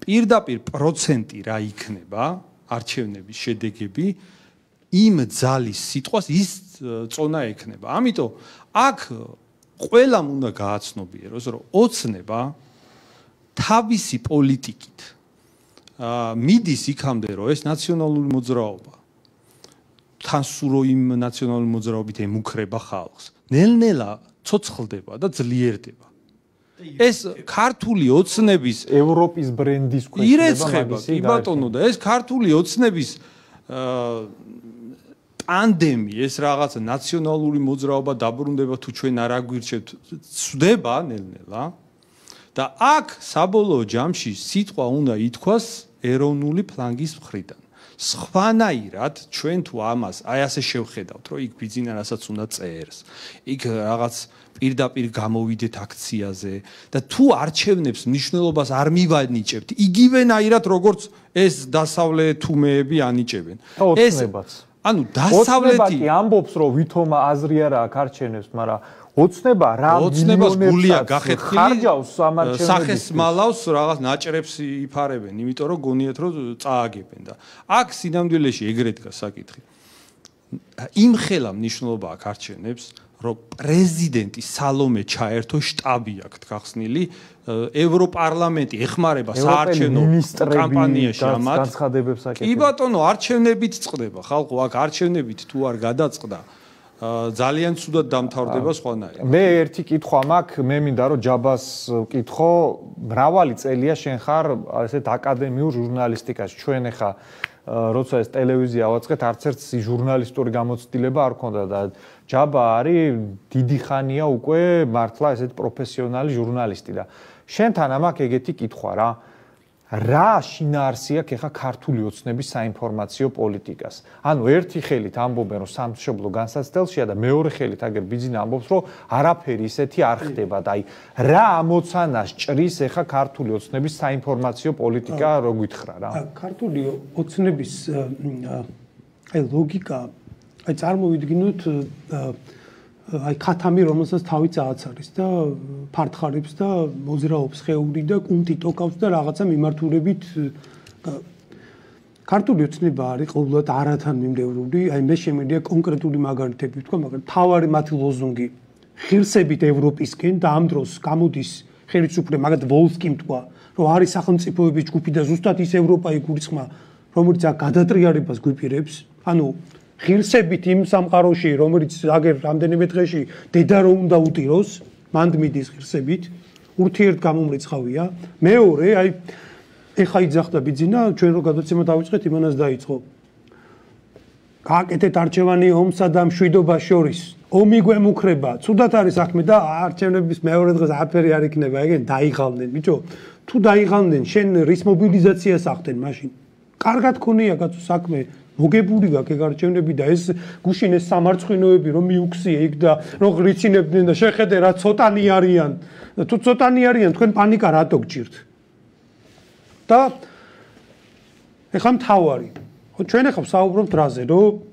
პირდაპირ პროცენტი რა იქნება არჩევნების შედეგები, იმ ძალის სიტყვას ის წონა ექნება. ამიტომ აქ ყველამ უნდა გააცნობიეროს, რომ ოცნება თავისი პოლიტიკით მიდის იქამდე, რომ ეს ნაციონალური მოძრაობა თან სულ იმ ნაციონალური მოძრაობით ემუქრება ხალხს. ნელ-ნელა ცოცხლდება და ძლიერდება. ეს ქართული ოცნების ევროპის ბრენდის ქვეშ ირეცხება, კი ბატონო, და ეს ქართული ოცნების ტანდემი, ეს რაღაცა ნაციონალური მოძრაობა დაბრუნდება თუ ჩვენ არ აგვირჩევთ, ცვდება ნელ-ნელა. და აქ საბოლოო ჯამში სიტყვა უნდა ითქვას ეროვნული ფლანგის მხრიდან. სხვანაირად ჩვენ თუ ამას აი ასე შევხედავთ, რომ იქ ბიძინა რასაც უნდა წერს, იქ რაღაც პირდაპირ გამოვიდეთ აქციაზე და თუ არჩევნებს მნიშვნელობას არ მივანიჭებთ, იგივენაირად როგორც ეს დასავლეთ თუმეები ანიჭებენ. ეს ანუ დასავლეთი ამბობს, რომ ვითომა აზრი არ აქვს არჩევნებს, მაგრამ ოცნება რა გულია გახეთქილი ხარჯავს სამარჩევნებს სახესმალავს რაღაც ნაჭრებს იფარებენ, იმიტომ რომ გონიათ რომ წააგებენ და აქ სინამდვილეში ეგრეთ დგას საკითხი. იმხელა მნიშვნელობა აქვს არჩევნებს, რომ პრეზიდენტი სალომე ჩაერთო შტაბი აქვს გახსნილი, ევროპარლამენტი ეხმარება საარჩევნო კამპანიაში ამათ განცხადებებს აკეთებს. კი ბატონო, არჩევნებით წყდება ხალხო, აქ არჩევნებით თუ არ გადაწყდა ძალიან ცუდად დამთავრდება სხვანაირად. მე ერთი კითხვა მაქვს, მე მინდა რომ ჯაბას ვკითხო, მრავალი წელია შენ ხარ ესეთ აკადემიურ ჟურნალისტიკაში. ჩვენ ახლა როცა ეს ტელევიზია ავაწყეთ, არც ერთ ჟურნალისტური გამოცდილება არ ქონდა და ჯაბა არის დიდი ხანია უკვე მართლა ესეთ პროფესიონალი ჟურნალისტი და შენთან ამაქვს ეგეთი კითხვა რა. რა შინაარსი აქვს ახლა ქართული ოცნების საინფორმაციო პოლიტიკას? ანუ ერთი ხელით ამბობენ, რომ სამშობლო განსაცდელშია და მეორე ხელით აგერ ბიძინა ამბობს, რომ არაფერი ისეთი არ ხდება და აი რა ამოცანას ჭრის ახლა ქართული ოცნების საინფორმაციო პოლიტიკა, რო გითხრა რა? ქართული ოცნების აი ლოგიკა, აი წარმოვიდგინოთ აი ქათამი, რომელსაც თავი წააცარეს და ფართხარებს და მოძრაობს ხეული და კუნთი ტოკავს და რაღაცა მიმართულებით ქართული ოცნება არის ყოველდღე არათან მიმდევრული, აი მე შემიძლია კონკრეტული მაგალითები ვთქვა, მაგრამ თავარი მათი ლოზუნგი ღირსებით ევროპისკენ და ამ დროს გამოდის ხელისუფლება, მაგათ ვოლსკიმ თქვა, რომ არის სახელმწიფოების ჯგუფი და ზუსტად ის ევროპა იგულისხმა, რომელიც აქ გადატრიალებას გვიპირებს, ანუ ღირსებით იმ სამყაროში, რომელიც აგერ რამდენიმე დღეში დედა რო უნდა უტიროს, მანდ მიდის ღირსებით, ურთიერთგამომრიცხავია. მეორე, აი ეხა იძახდა ბიძინა, ჩვენ რო გადაცემა დავიწყეთ, იმანაც დაიწყო. გააკეთეთ არჩევანი ომსა და მშვიდობას შორის. ომი გვემუქრება, ცუდად არის საქმე და არჩევნების მეორე დღეს აფერი არ იქნება, ეგენ დაიღალნენ, ბიჭო. თუ დაიღალნენ, შენ რის მობილიზაციას ახდენ მაშინ? კარგად ქონია კაცო საქმე. მოგებული გაქვს ეგ არჩევნები და ეს გუშინ ეს სამარცხვინოები რომ მიუქსიე იქ და რომ ღრიცინებდნენ და შეხედე რა ცოტანი არიან და თუ ცოტანი არიან თქვენ პანიკა რატო გჭირთ და ეხლა მთავარი ხო ჩვენ ახლა ვსაუბრობთ რაზე რომ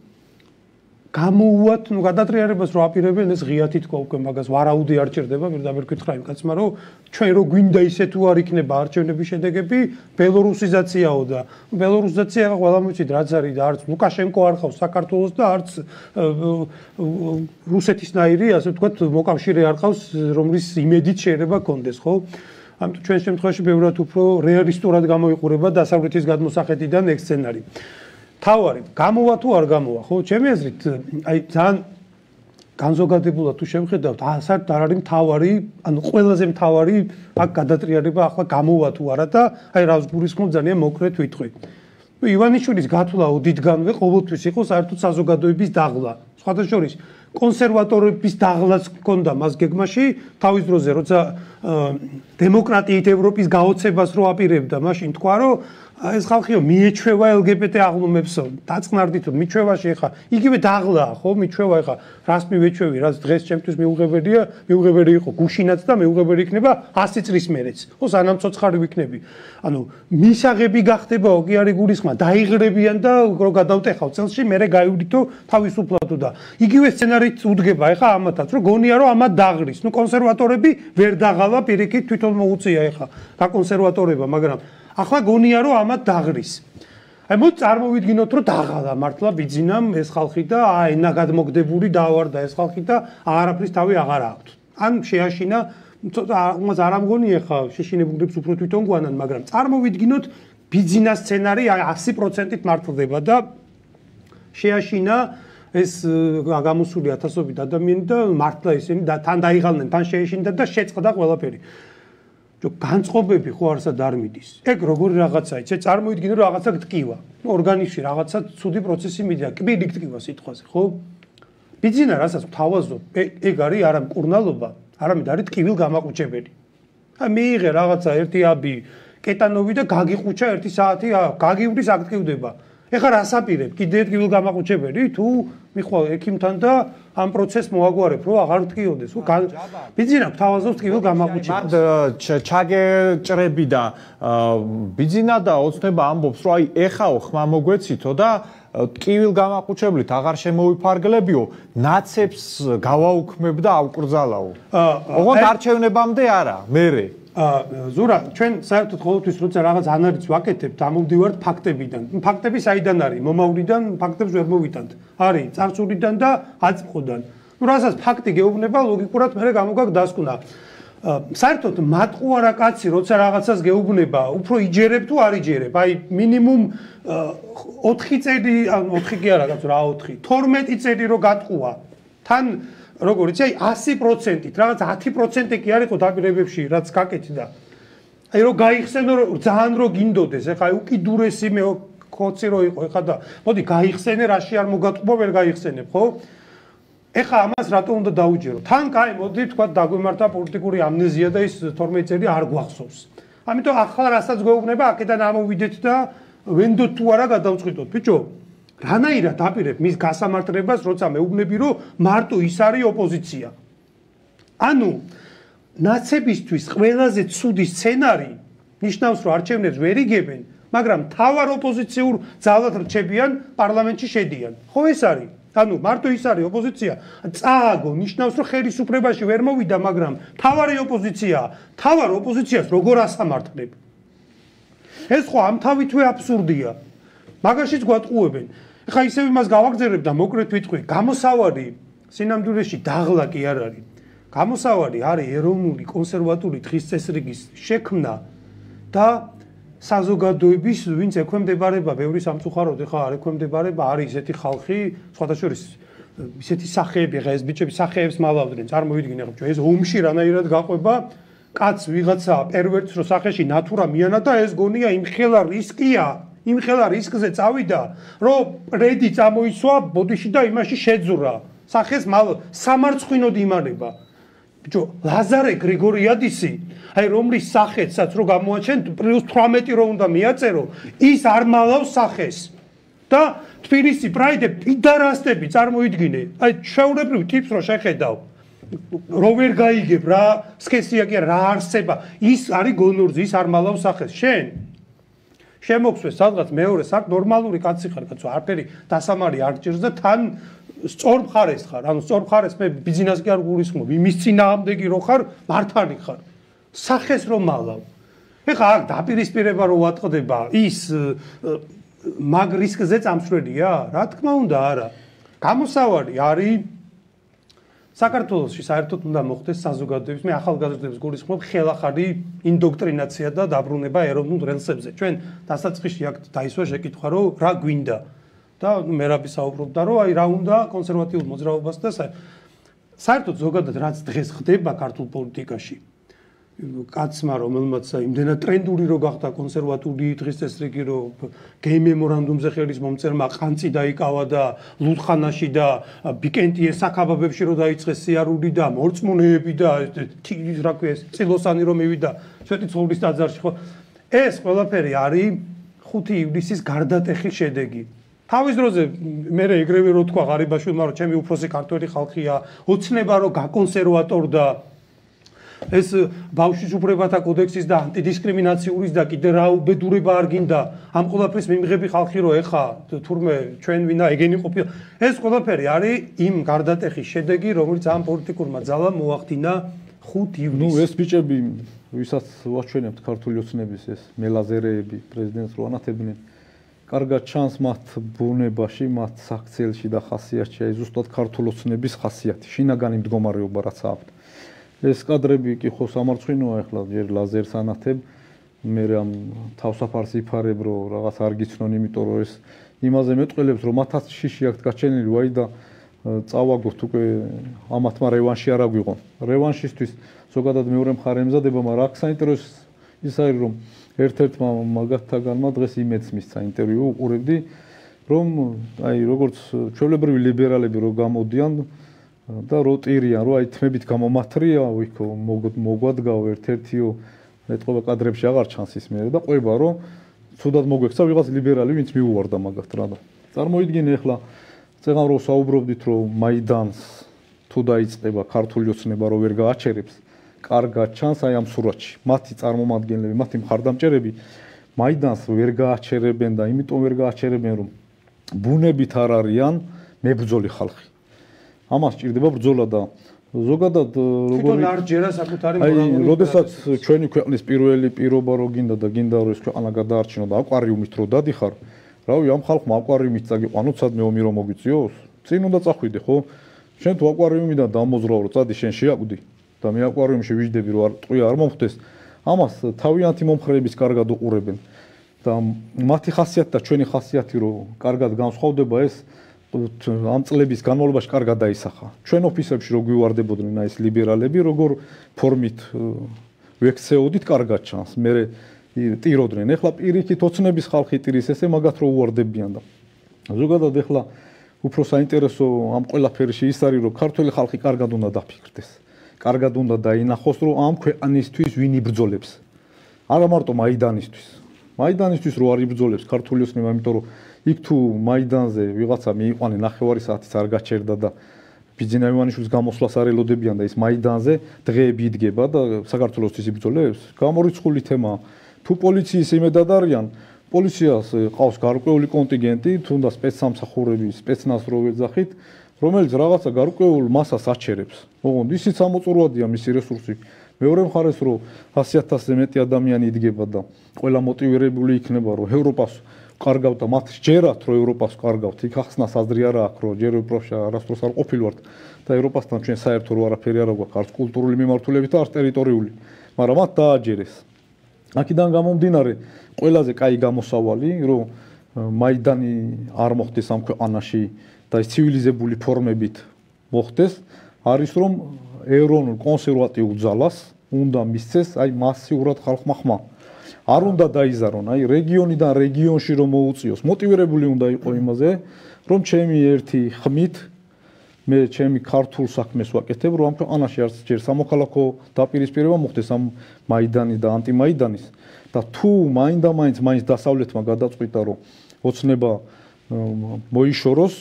გამოუვათ ნუ გადატრიალებას რო აპირებენ ეს ღიათი თქვა უკვე მაგას ვარაუდი არ ჭირდება პირდაპირ გითხრა იმ კაცმა რომ ჩვენ რო გვინდა ისე თუ არ იქნება არჩევნების შედეგები ბელორუსიზაციაო და ბელორუსიზაცია ყველა მოიცით რაც არის და არც ლუკაშენკო არ ხავს საქართველოს და არც რუსეთისნაირი ასე ვთქვათ მოკავშირე არ ხავს რომლის იმედით შეიძლება კონდეს ხო ამიტომ ჩვენ შემთხვევაში ბევრად უფრო რეალისტურად გამოიყურება დასავლეთის გადმოსახედიდან ეგ სცენარი თავარი გამოვა თუ არ გამოვა ხო ჩემი აზრით აი ძალიან განზოგადებულად თუ შევხედავთ ასად არ არის მთავარი ანუ ყველაზე მთავარი აქ გადატრიალება ახლა გამოვა თუ არა და აი რას გულისხმობ ძალიან მოკლედ ვიტყვი ნუ ივანიშვილის გათვლა ოდითგანვე ყოველთვის იყო საერთოდ საზოგადოების დაღლა სხვათა შორის კონსერვატორების დაღლაც ჰქონდა მას გეგმაში თავის დროზე, როცა დემოკრატიით ევროპის გაოცებას რო აპირებდა, მაშინ თქვა, რომ ეს ხალხიო მიეჩვევა LGBT აღლუმებსო, დაწყნარდით მიჩვევაში ხა, იგივე დაღლაა, ხო, მიჩვევა ხა, რას მივეჩვევი, რაც დღეს ჩემთვის მიუღებელია, მიუღებელი იყო გუშინაც და მიუღებელი იქნება 100 წლის მერეც. ხო, სანამ ცოცხალი ვიქნები. ანუ მისაღები გახდებაო კი არის გულისხმა, დაიღრებიან და რო გადავტეხავ წელში, მერე გაივლითო თავისუფლად და იგივე სცენარით უდგება ხა ამათაც, რომ გონია რომ ამათ დაღრის. ნუ კონსერვატორები ვერ დაღალა პირიქით თვითონ მოუწია ხა, გაკონსერვატორება, მაგრამ ახლა გონია რომ ამათ დაღრის. აი მოდი წარმოვიდგინოთ რომ დაღალა მართლა ბიძინამ ეს ხალხი და ენა გადმოგდებული დაავარდა ეს ხალხი და არაფრის თავი აღარ აქვთ. ან შეაშინა მას არ ამგონია ხა შეშინებულებს უფრო თვითონ გვანან, მაგრამ წარმოვიდგინოთ ბიძინა სცენარი 100%-ით მართლდება და შეაშინა ეს გამოსული ათასობით ადამიანი და მართლა ისინი თან დაიღალნენ, თან შეეშინდა და შეწყდა ყველაფერი. განწყობები ხო არსად არ მიდის. ეგ როგორი რაღაცაა, იცი, წარმოიდგინე რომ რაღაცა გტკივა. ორგანიზმში რაღაცა ცუდი პროცესი მიდია, კბილი გტკივა სიტყვაზე, ხო? ბიძინა რასაც თავაზობ, ეგ არის არა მკურნალობა, არამედ არის ტკივილ გამაყუჩებელი. აი მიიღე რაღაცა ერთი აბი კეტანოვი და გაგიყუჩა 1 საათი, გაგივრის აქტივდება. ეხლა რას აპირებ? კიდე ტკივილ გამაყუჩებელი თუ მიხვალ ექიმთან და ამ პროცესს მოაგვარებ, რომ აღარ ტკიოდეს. ბიძინა თავაზობს ტკივილ გამაყუჩებელს. ჩაგეჭრები და ბიძინა და ოცნება ამბობს, რომ აი ეხაო ხმა მოგვეცითო და ტკივილ გამაყუჩებლით აღარ შემოვიფარგლებიო, ნაცებს გავაუქმებ და ავკრძალაო. ოღონდ არჩევნებამდე არა, მერე. ზურა, ჩვენ საერთოდ ყოველთვის როცა რაღაც ანალიზს ვაკეთებთ, ამოვდივართ ფაქტებიდან. ფაქტები საიდან არის? მომავლიდან ფაქტებს ვერ მოვიტანთ. არის წარსულიდან და აწმყოდან. ნუ რასაც ფაქტი გეუბნება, ლოგიკურად მე გამოგაქვს დასკვნა. საერთოდ მატყუარა კაცი, როცა რაღაცას გეუბნება, უფრო იჯერებ თუ არ იჯერებ. აი მინიმუმ 4 წელი, 4 კი არა, რა 4, 12 წელი რო გატყუა. თან როგორიც აი 100%-ით, რაღაც 10% კი არ იყო დაპირებებში, რაც გაკეთდა. აი რო გაიხსენო, ძალიან რო გინდოდეს, ეხლა აი უკიდურესი მე ხოცი რო იყო, ეხლა და მოდი გაიხსენე, რაში არ მოგატყუა, ვერ გაიხსენებ, ხო? ეხლა ამას რატო უნდა დაუჯერო? თან კაი, მოდი თქვა დაგვემართა პოლიტიკური ამნეზია და ის 12 წელი არ გვახსოვს. ამიტომ ახლა რასაც გვეუბნება, აქედან ამოვიდეთ და ვენდოთ თუ არა გადავწყვიტოთ, ბიჭო. რანაირად აპირებ მის გასამართლებას, როცა მეუბნები, რომ მარტო ის არის ოპოზიცია. ანუ ნაცებისთვის ყველაზე ცუდი სცენარი ნიშნავს, რომ არჩევნებს ვერ იგებენ, მაგრამ თავარ ოპოზიციურ ძალად რჩებიან, პარლამენტში შედიან. ხო ეს არის? ანუ მარტო ის არის ოპოზიცია. წააგო ნიშნავს, რომ ხელისუფლებაში ვერ მოვიდა, მაგრამ თავარი ოპოზიციაა. თავარ ოპოზიციას როგორ ასამართლებ? ეს ხო ამ თავითვე აბსურდია. მაგაშიც გვატყუებენ. ეხლა ისევ იმას გავაგზავნებ და მოკლედ ვიტყვი, გამოსავალი სინამდვილეში დაღლა კი არ არის. გამოსავალი არის ეროვნული კონსერვატული დღის წესრიგის შექმნა და საზოგადოების, ვინც ექვემდებარება ბევრი სამწუხაროდ, ეხლა არ ექვემდებარება, არის ისეთი ხალხი, სხვათა შორის ისეთი სახეები, ეხლა ეს ბიჭები სახეებს მალავდნენ, წარმოვიდგინე, ხო, ეს ომში რანაირად გაყვება, კაც ვიღაცა პერვერტს რო სახეში ნატურა მიანა და ეს გონია იმხელა რისკია. იმხელა რისკზე წავიდა, რომ რედი წამოისვა ბოდიში და იმაში შეძურა. სახეს სამარცხვინოდ იმალება. ბიჭო, ლაზარე გრიგორიადისი, აი რომლის სახეცაც რო გამოაჩენ, პლუს 18 რო უნდა მიაწერო, ის არ მალავს სახეს. და თბილისი პრაიდე პიდარასტები წარმოიდგინე. აი შეულებრივ ტიპს რო შეხედავ. რო ვერ გაიგებ რა, სქესია კი რა არსება. ის არის გონორძი, ის არ მალავს სახეს. შენ შემოგვსვეს სადღაც მეორე საკ ნორმალური კაცი ხარ, კაცო, არაფერი დასამარი არ გჭირს და თან სწორ მხარეს ხარ. ანუ სწორ მხარეს მე ბიზნეს კი არ გულისხმობ. იმის წინააღმდეგი რო ხარ, მართალი ხარ. სახეს რომ მალავ. ეხლა აქ დაპირისპირება რო ვატყდება, ის მაგ რისკზე წამსვლელია? რა თქმა უნდა, არა. გამოსავალი არის საქართველოში საერთოდ უნდა მოხდეს საზოგადოების, მე ახალგაზრდებს გულისხმობ, ხელახალი ინდოქტრინაცია და დაბრუნება ეროვნულ რელსებზე. ჩვენ დასაწყისში აქ დაისვა შეკითხვა, რომ რა გვინდა და მე რაბი საუბრობდა, რომ აი რა უნდა კონსერვატიულ მოძრაობას და საერთოდ ზოგადად რაც დღეს ხდება ქართულ პოლიტიკაში. კაცმა რომელმაც იმდენად ტრენდული რო გახდა კონსერვატული დღის წესრიგი რო გეი მემორანდუმზე ხელის მომწერმა ყანწი დაიკავა და ლუდხანაში და ბიკენტიეს საქაბაბებში რო დაიწყეს სიარული და მორწმუნეები და რა ქვია ეს წილოსანი რომ მივიდა სვეტი ცხოვრის ტაძარში ხო ეს ყველაფერი არის 5 ივლისის გარდატეხის შედეგი თავის დროზე მე ეგრევე რო თქვა ღარიბაშვილმა რომ ჩემი უფროსი ქართველი ხალხია ოცნება რომ გაკონსერვატორდა ეს ბავშვის უფლებათა კოდექსის და ანტიდისკრიმინაციის და კიდე რა უბედურება არ გინდა ამ ყველაფრის მიმღები ხალხი რო ეხა თურმე ჩვენ ვინა ეგენი ყოფილა ეს ყველაფერი არის იმ გარდატეხის შედეგი რომელიც ამ პოლიტიკურმა ძალამ მოახდინა 5 ივლისს ნუ ეს ბიჭები ვისაც ვაჩვენებთ ქართული ოცნების ეს მელაზერეები პრეზიდენტს რო ანათებდნენ კარგად ჩანს მათ ბუნებაში მათ საქციელში და ხასიათში აი ზუსტად ქართული ოცნების ხასიათი შინაგანი მდგომარეობა რაც აქვთ ეს კადრები კი ხო სამარცხინოა ახლა ჯერ ლაზერს ანათებ მე რამ თავსაფარს იფარებ რომ რაღაც არ გიცნონ იმიტომ რომ ეს იმაზე მეტყველებს რომ მათაც შიში აქვს გაჩენილი ვაი და წავაგოთ უკვე ამათმა რევანში არ აგვიღონ რევანშისთვის ზოგადად მეორე მხარე ემზადება მაგრამ აქ საინტერესო ის არის რომ ერთ-ერთმა მაგათთაგანმა დღეს იმედს მისცა ინტერვიუ უყურებდი რომ აი როგორც ჩვეულებრივი ლიბერალები რო გამოდიან და როტირიან რო აი თმებით გამომათრია ვიქო მოგვადგავ ერთ-ერთიო მეტყობა კადრებში აღარ ჩანს ის მე და ყვება რომ ცუდად მოგვექცა ვიღაც ლიბერალი ვინც მიუვარდა მაგათ რა და წარმოიდგინე ახლა წეგან რო საუბრობდით რომ მაიდანს თუ დაიწყება ქართული ოცნება რო ვერ გააჩერებს კარგად ჩანს აი ამ სურათში მათი წარმომადგენლები მათი მხარდამჭერები მაიდანს ვერ გააჩერებენ და იმიტომ ვერ გააჩერებენ რომ ბუნებით არ არიან მებრძოლი ხალხი ამას ჭირდება ბრძოლა და ზოგადად როგორი თვითონ არ ჯერა საკუთარი მორალური აი როდესაც ჩვენი ქვეყნის პირველი პირობა რო გინდა და გინდა რომ ეს ქვეყანა გადაარჩინო და აკვარიუმით რო დადიხარ რავი ამ ხალხმა აკვარიუმით წაგიყვანოთ სადმე ომი რომ მოგიწიოს წინ უნდა წახვიდე ხო შენ თუ აკვარიუმიდან დამოზრაო რომ წადი შენ შეაკვდი და მე აკვარიუმში ვიждები რომ არ ტყვია არ მომხდეს ამას თავიანთი მომხრეების კარგად უყურებენ და მათი ხასიათი და ჩვენი ხასიათი რომ კარგად განსხვავდება ეს ამ წლების განმავლობაში კარგად დაისახა. ჩვენ ოფისებში რო გვივარდებოდნენ აი ეს ლიბერალები, როგორ ფორმით ვექცეოდით კარგად ჩანს. მე ტიროდნენ. ეხლა პირიქით ოცნების ხალხი ტირის ესე მაგათ რო უვარდებიან და ზოგადად ეხლა უფრო საინტერესო ამ ყველაფერში ის არის რომ ქართველი ხალხი კარგად უნდა დაფიქრდეს. კარგად უნდა დაინახოს რომ ამ ქვეყანისთვის ვინ იბრძოლებს. არა მარტო მაიდანისთვის. მაიდანისთვის რო არ იბრძოლებს ქართული ოცნება, იმიტომ რომ იქ თუ მაიდანზე ვიღაცა მიიყვანე ნახევარი საათის არ გაჩერდა და ბიძინა ივანიშვილის გამოსვლას არ ელოდებიან და ის მაიდანზე დღეები იდგება და საქართველოსთვის იბრძოლებს. გამორიცხული თემაა. თუ პოლიციის იმედად არიან, პოლიციას ყავს გარკვეული კონტინგენტი, თუნდაც სპეცსამსახურები, სპეცნაზ რო ვეძახით, რომელიც რაღაცა გარკვეულ მასას აჩერებს. ოღონდ ისიც ამოწურვადია მისი რესურსი. მეორე მხარეს რომ 100,000-ზე მეტი ადამიანი იდგება და ყველა მოტივირებული იქნება რომ ევროპას კარგავთ და მათ ჯერათ რომ ევროპას კარგავთ. იქ ახსნა საზრი არა აქვს რომ ჯერ ევროპაში არასდროს არ ყოფილვართ და ევროპასთან ჩვენ საერთო რო არაფერი არ აქვს, არც კულტურული მიმართულებით და არც ტერიტორიული. მაგრამ მათ დააჯერეს. აქედან გამომდინარე ყველაზე კაი გამოსავალი რომ მაიდანი არ მოხდეს ამ ქვეყანაში და ის ცივილიზებული ფორმებით მოხდეს არის რომ ეროვნულ კონსერვატიულ ძალას უნდა მისცეს აი მასიურად ხალხმა ხმა. არ უნდა დაიზარონ აი რეგიონიდან რეგიონში რომ მოუწიოს. მოტივირებული უნდა იყოს იმაზე რომ ჩემი ერთი ხმით მე ჩემი ქართულ საქმეს ვაკეთებ რომ ამ ქვეყანაში არც ჯერ სამოქალაქო დაპირისპირება მოხდეს ამ მაიდანი და ანტიმაიდანის და თუ მაინდა-მაინც დასავლეთმა გადაწყვიტა რომ ოცნება მოიშოროს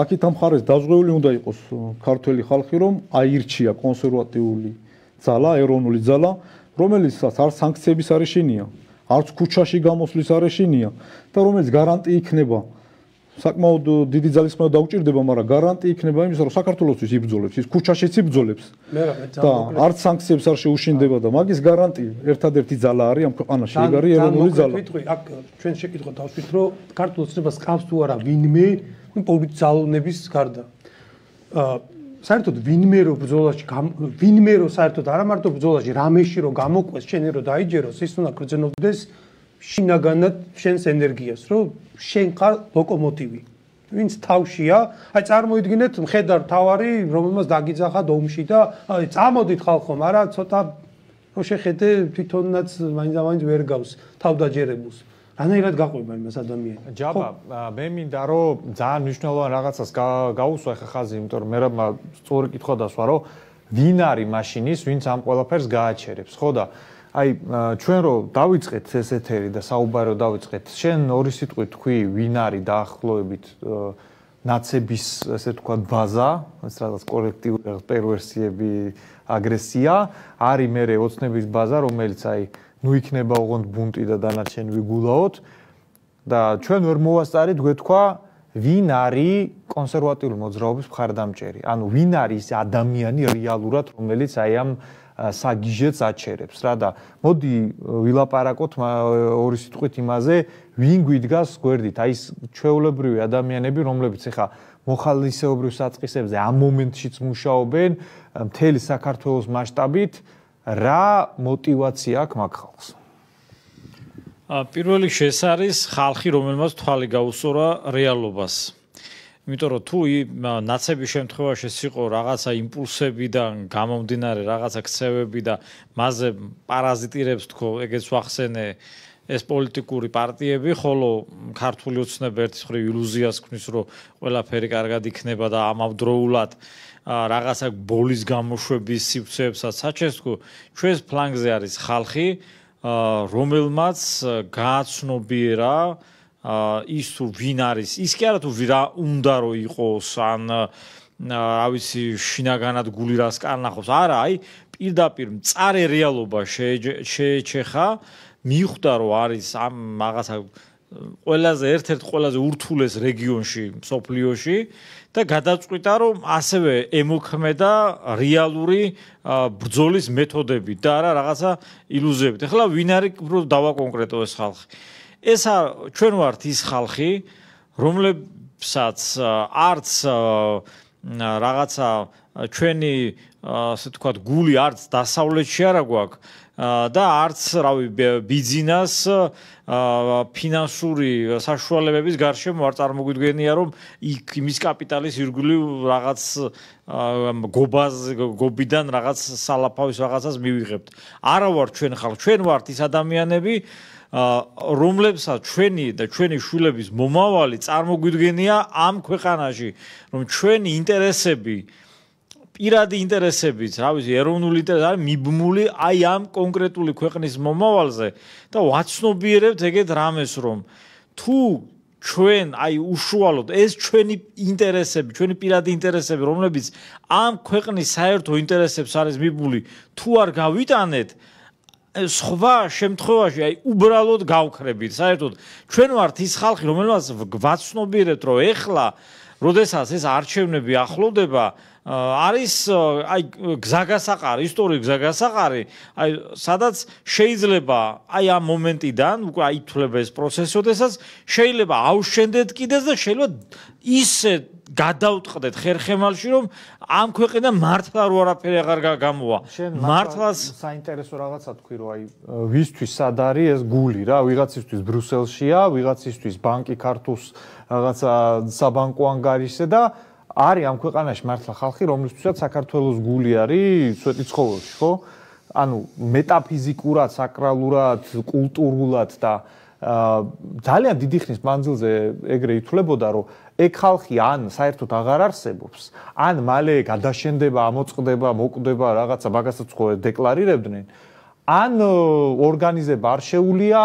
აქეთ ამ ხარეს დაზღვეული უნდა იყოს ქართველი ხალხი რომ აირჩია კონსერვატიული ძალა, ეროვნული ძალა, რომელიცაც არ სანქციების არ ეშინია, არც ქუჩაში გამოსვლის არ ეშინია და რომელიც გარანტი იქნება საკმაოდ დიდი ძალისხმევა დაუჭირდება, მაგრამ გარანტი იქნება იმისა, რომ საქართველოსთვის იბრძოლებს, ის ქუჩაშიც იბრძოლებს. და არც სანქციებს არ შეუშინდება და მაგის გარანტი ერთადერთი ძალა არის ამ ქვეყანაში, ეგ არის ეროვნული ძალა. აქ ჩვენ შეკითხვა დავსვით, რომ ქართულ ოცნებას ყავს თუ არა ვინმე პოლიტზალონების გარდა. საერთოდ ვინმე რო ბრძოლაში ვინმე რო საერთოდ არა მარტო ბრძოლაში რამეში რო გამოყვეს შენი რო დაიჯეროს ის უნდა გრძნობდეს შინაგანად შენს ენერგიას რომ შენ ხარ ლოკომოტივი ვინც თავშია აი წარმოიდგინეთ მხედარ თავარი რომელმაც დაგიძახა ომში და აი წამოდით ხალხო მაგრამ ცოტა ხო შეხედე თვითონაც მაინც ვერ გავს თავდაჯერებულს. რანაირად გაყვება იმას ადამიანს. ჯაბა, მე მინდა რომ ძალიან მნიშვნელოვან რაღაცას გაუსვა ხა ხაზი, იმიტომ რომ მე სწორი კითხვა დასვა, რომ ვინ არის მაშინის, ვინც ამ ყველაფერს გააჩერებს, ხო და აი ჩვენ რო დავიწყეთ ეს ეთერი და საუბარი რო დავიწყეთ, შენ ორი სიტყვით თქვი, ვინ არის დაახლოებით ნაცების, ესე ვთქვათ, ბაზა, ეს რაღაც კოლექტიური პერვერსიები, აგრესია, არის მე ოცნების ბაზა, რომელიც აი ნუ იქნება ოღონდ ბუნტი და დანარჩენი ვიგულაოთ და ჩვენ ვერ მოვასწარით გვეთქვა ვინ არის კონსერვატიული მოძრაობის მხარდამჭერი. ანუ ვინ არის ადამიანი რეალურად, რომელიც აი ამ საგიჟეთს აჩერებს რა და მოდი ვილაპარაკოთ ორი სიტყვით იმაზე, ვინ გვიდგას გვერდით. აი ეს ჩვეულებრივი ადამიანები, რომლებიც ეხა მოხალისეობრივ საწყისებზე ამ მომენტშიც მუშაობენ მთელი საქართველოს მასშტაბით, რა мотивация აქვს მაგ ხალხს? პირველ რიგში ეს არის ხალხი, რომელმაც თვალი გაუსწორა რეალობას. იმიტომ რომ თუ ნაცების შემთხვევაში იყო რაღაცა იმპულსებიდან გამომდინარე რაღაცა ქცევები და მასზე პარაზიტირებს თქო, ეგეც ვახსენე ეს პოლიტიკური პარტიები, ხოლო ქართული ოცნება ერთის მხრივ ილუზიას ქმნის, რომ ყველაფერი კარგად იქნება და ამავდროულად რაღაცა ბოლის გამოშვების სივრცეებსაც საჩეს თქო, ჩვენს ფლანგზე არის ხალხი, რომელმაც გააცნობიერა ის თუ ვინ არის, ის კი არა თუ რა უნდა რომ იყოს, ან რა ვიცი, შინაგანად გული რას კარნახობს, არა, აი პირდაპირ მწარე რეალობა შეეჩეხა, მიხვდა რომ არის ამ რაღაცა ერთ-ერთ ყველაზე ურთულეს რეგიონში, მსოფლიოში და გადაწყვიტა რომ ასევე ემოქმედა რეალური ბრძოლის მეთოდებით და არა რაღაცა ილუზიებით. ეხლა ვინ არის უფრო დავაკონკრეტო ეს ხალხი? ეს ჩვენ ვართ ის ხალხი, რომლებსაც არც რაღაცა ჩვენი ასე ვთქვათ გული არც დასავლეთში არა გვაქვს და არც რავი ბიზნეს ფინანსური საშუალებების გარშემო არ წარმოგვიდგენია რომ იმის კაპიტალის ირგვლივ რაღაც გობიდან რაღაც სალაფავის რაღაცას მივიღებთ. არა ვარ ჩვენ ხალხი, ჩვენ ვართ ის ადამიანები, რომლებსაც ჩვენი და ჩვენი შვილების მომავალი წარმოგვიდგენია ამ ქვეყანაში, რომ ჩვენი ინტერესები პირადი ინტერესებით, რა ვიცი, ეროვნული ინტერესი არის მიბმული აი ამ კონკრეტული ქვეყნის მომავალზე და ვაცნობიერებთ ეგეთ რამეს, რომ თუ ჩვენ აი უშუალოდ ეს ჩვენი ინტერესები, ჩვენი პირადი ინტერესები, რომლებიც ამ ქვეყნის საერთო ინტერესებს არის მიბმული, თუ არ გავიტანეთ, სხვა შემთხვევაში აი უბრალოდ გავქრებით. საერთოდ ჩვენ ვართ ის ხალხი, რომელმაც ვაცნობიერებთ, რომ ეხლა, როდესაც ეს არჩევნები ახლოვდება, არის აი გზაგასაყარი, ისტორიული გზაგასაყარი, აი სადაც შეიძლება აი ამ მომენტიდან უკვე აითვლება ეს პროცესი, როდესაც შეიძლება ავშენდეთ კიდეც და შეიძლება ისე გადავტყდეთ ხერხემალში, რომ ამ ქვეყნიდან მართლა რო არაფერი აღარ გამოვა. მართლაც საინტერესო რაღაცა თქვი, რომ აი ვისთვის სად არის ეს გული რა, ვიღაცისთვის ბრიუსელშია, ვიღაცისთვის ბანკი ქართულს რაღაცა საბანკო ანგარიშზე და არის ამ ქვეყანაში მართლა ხალხი, რომლისთვისაც საქართველოს გული არის სვეტიცხოველში, ხო? ანუ მეტაფიზიკურად, საკრალურად, კულტურულად და ძალიან დიდი ხნის მანძილზე ეგრე ითვლებოდა, რომ ეგ ხალხი ან საერთოდ აღარ არსებობს, ან მალე გადაშენდება, ამოწყდება, მოკვდება, რაღაცა მაგასაც ხო დეკლარირებდნენ, ან ორგანიზება არ შეუულია,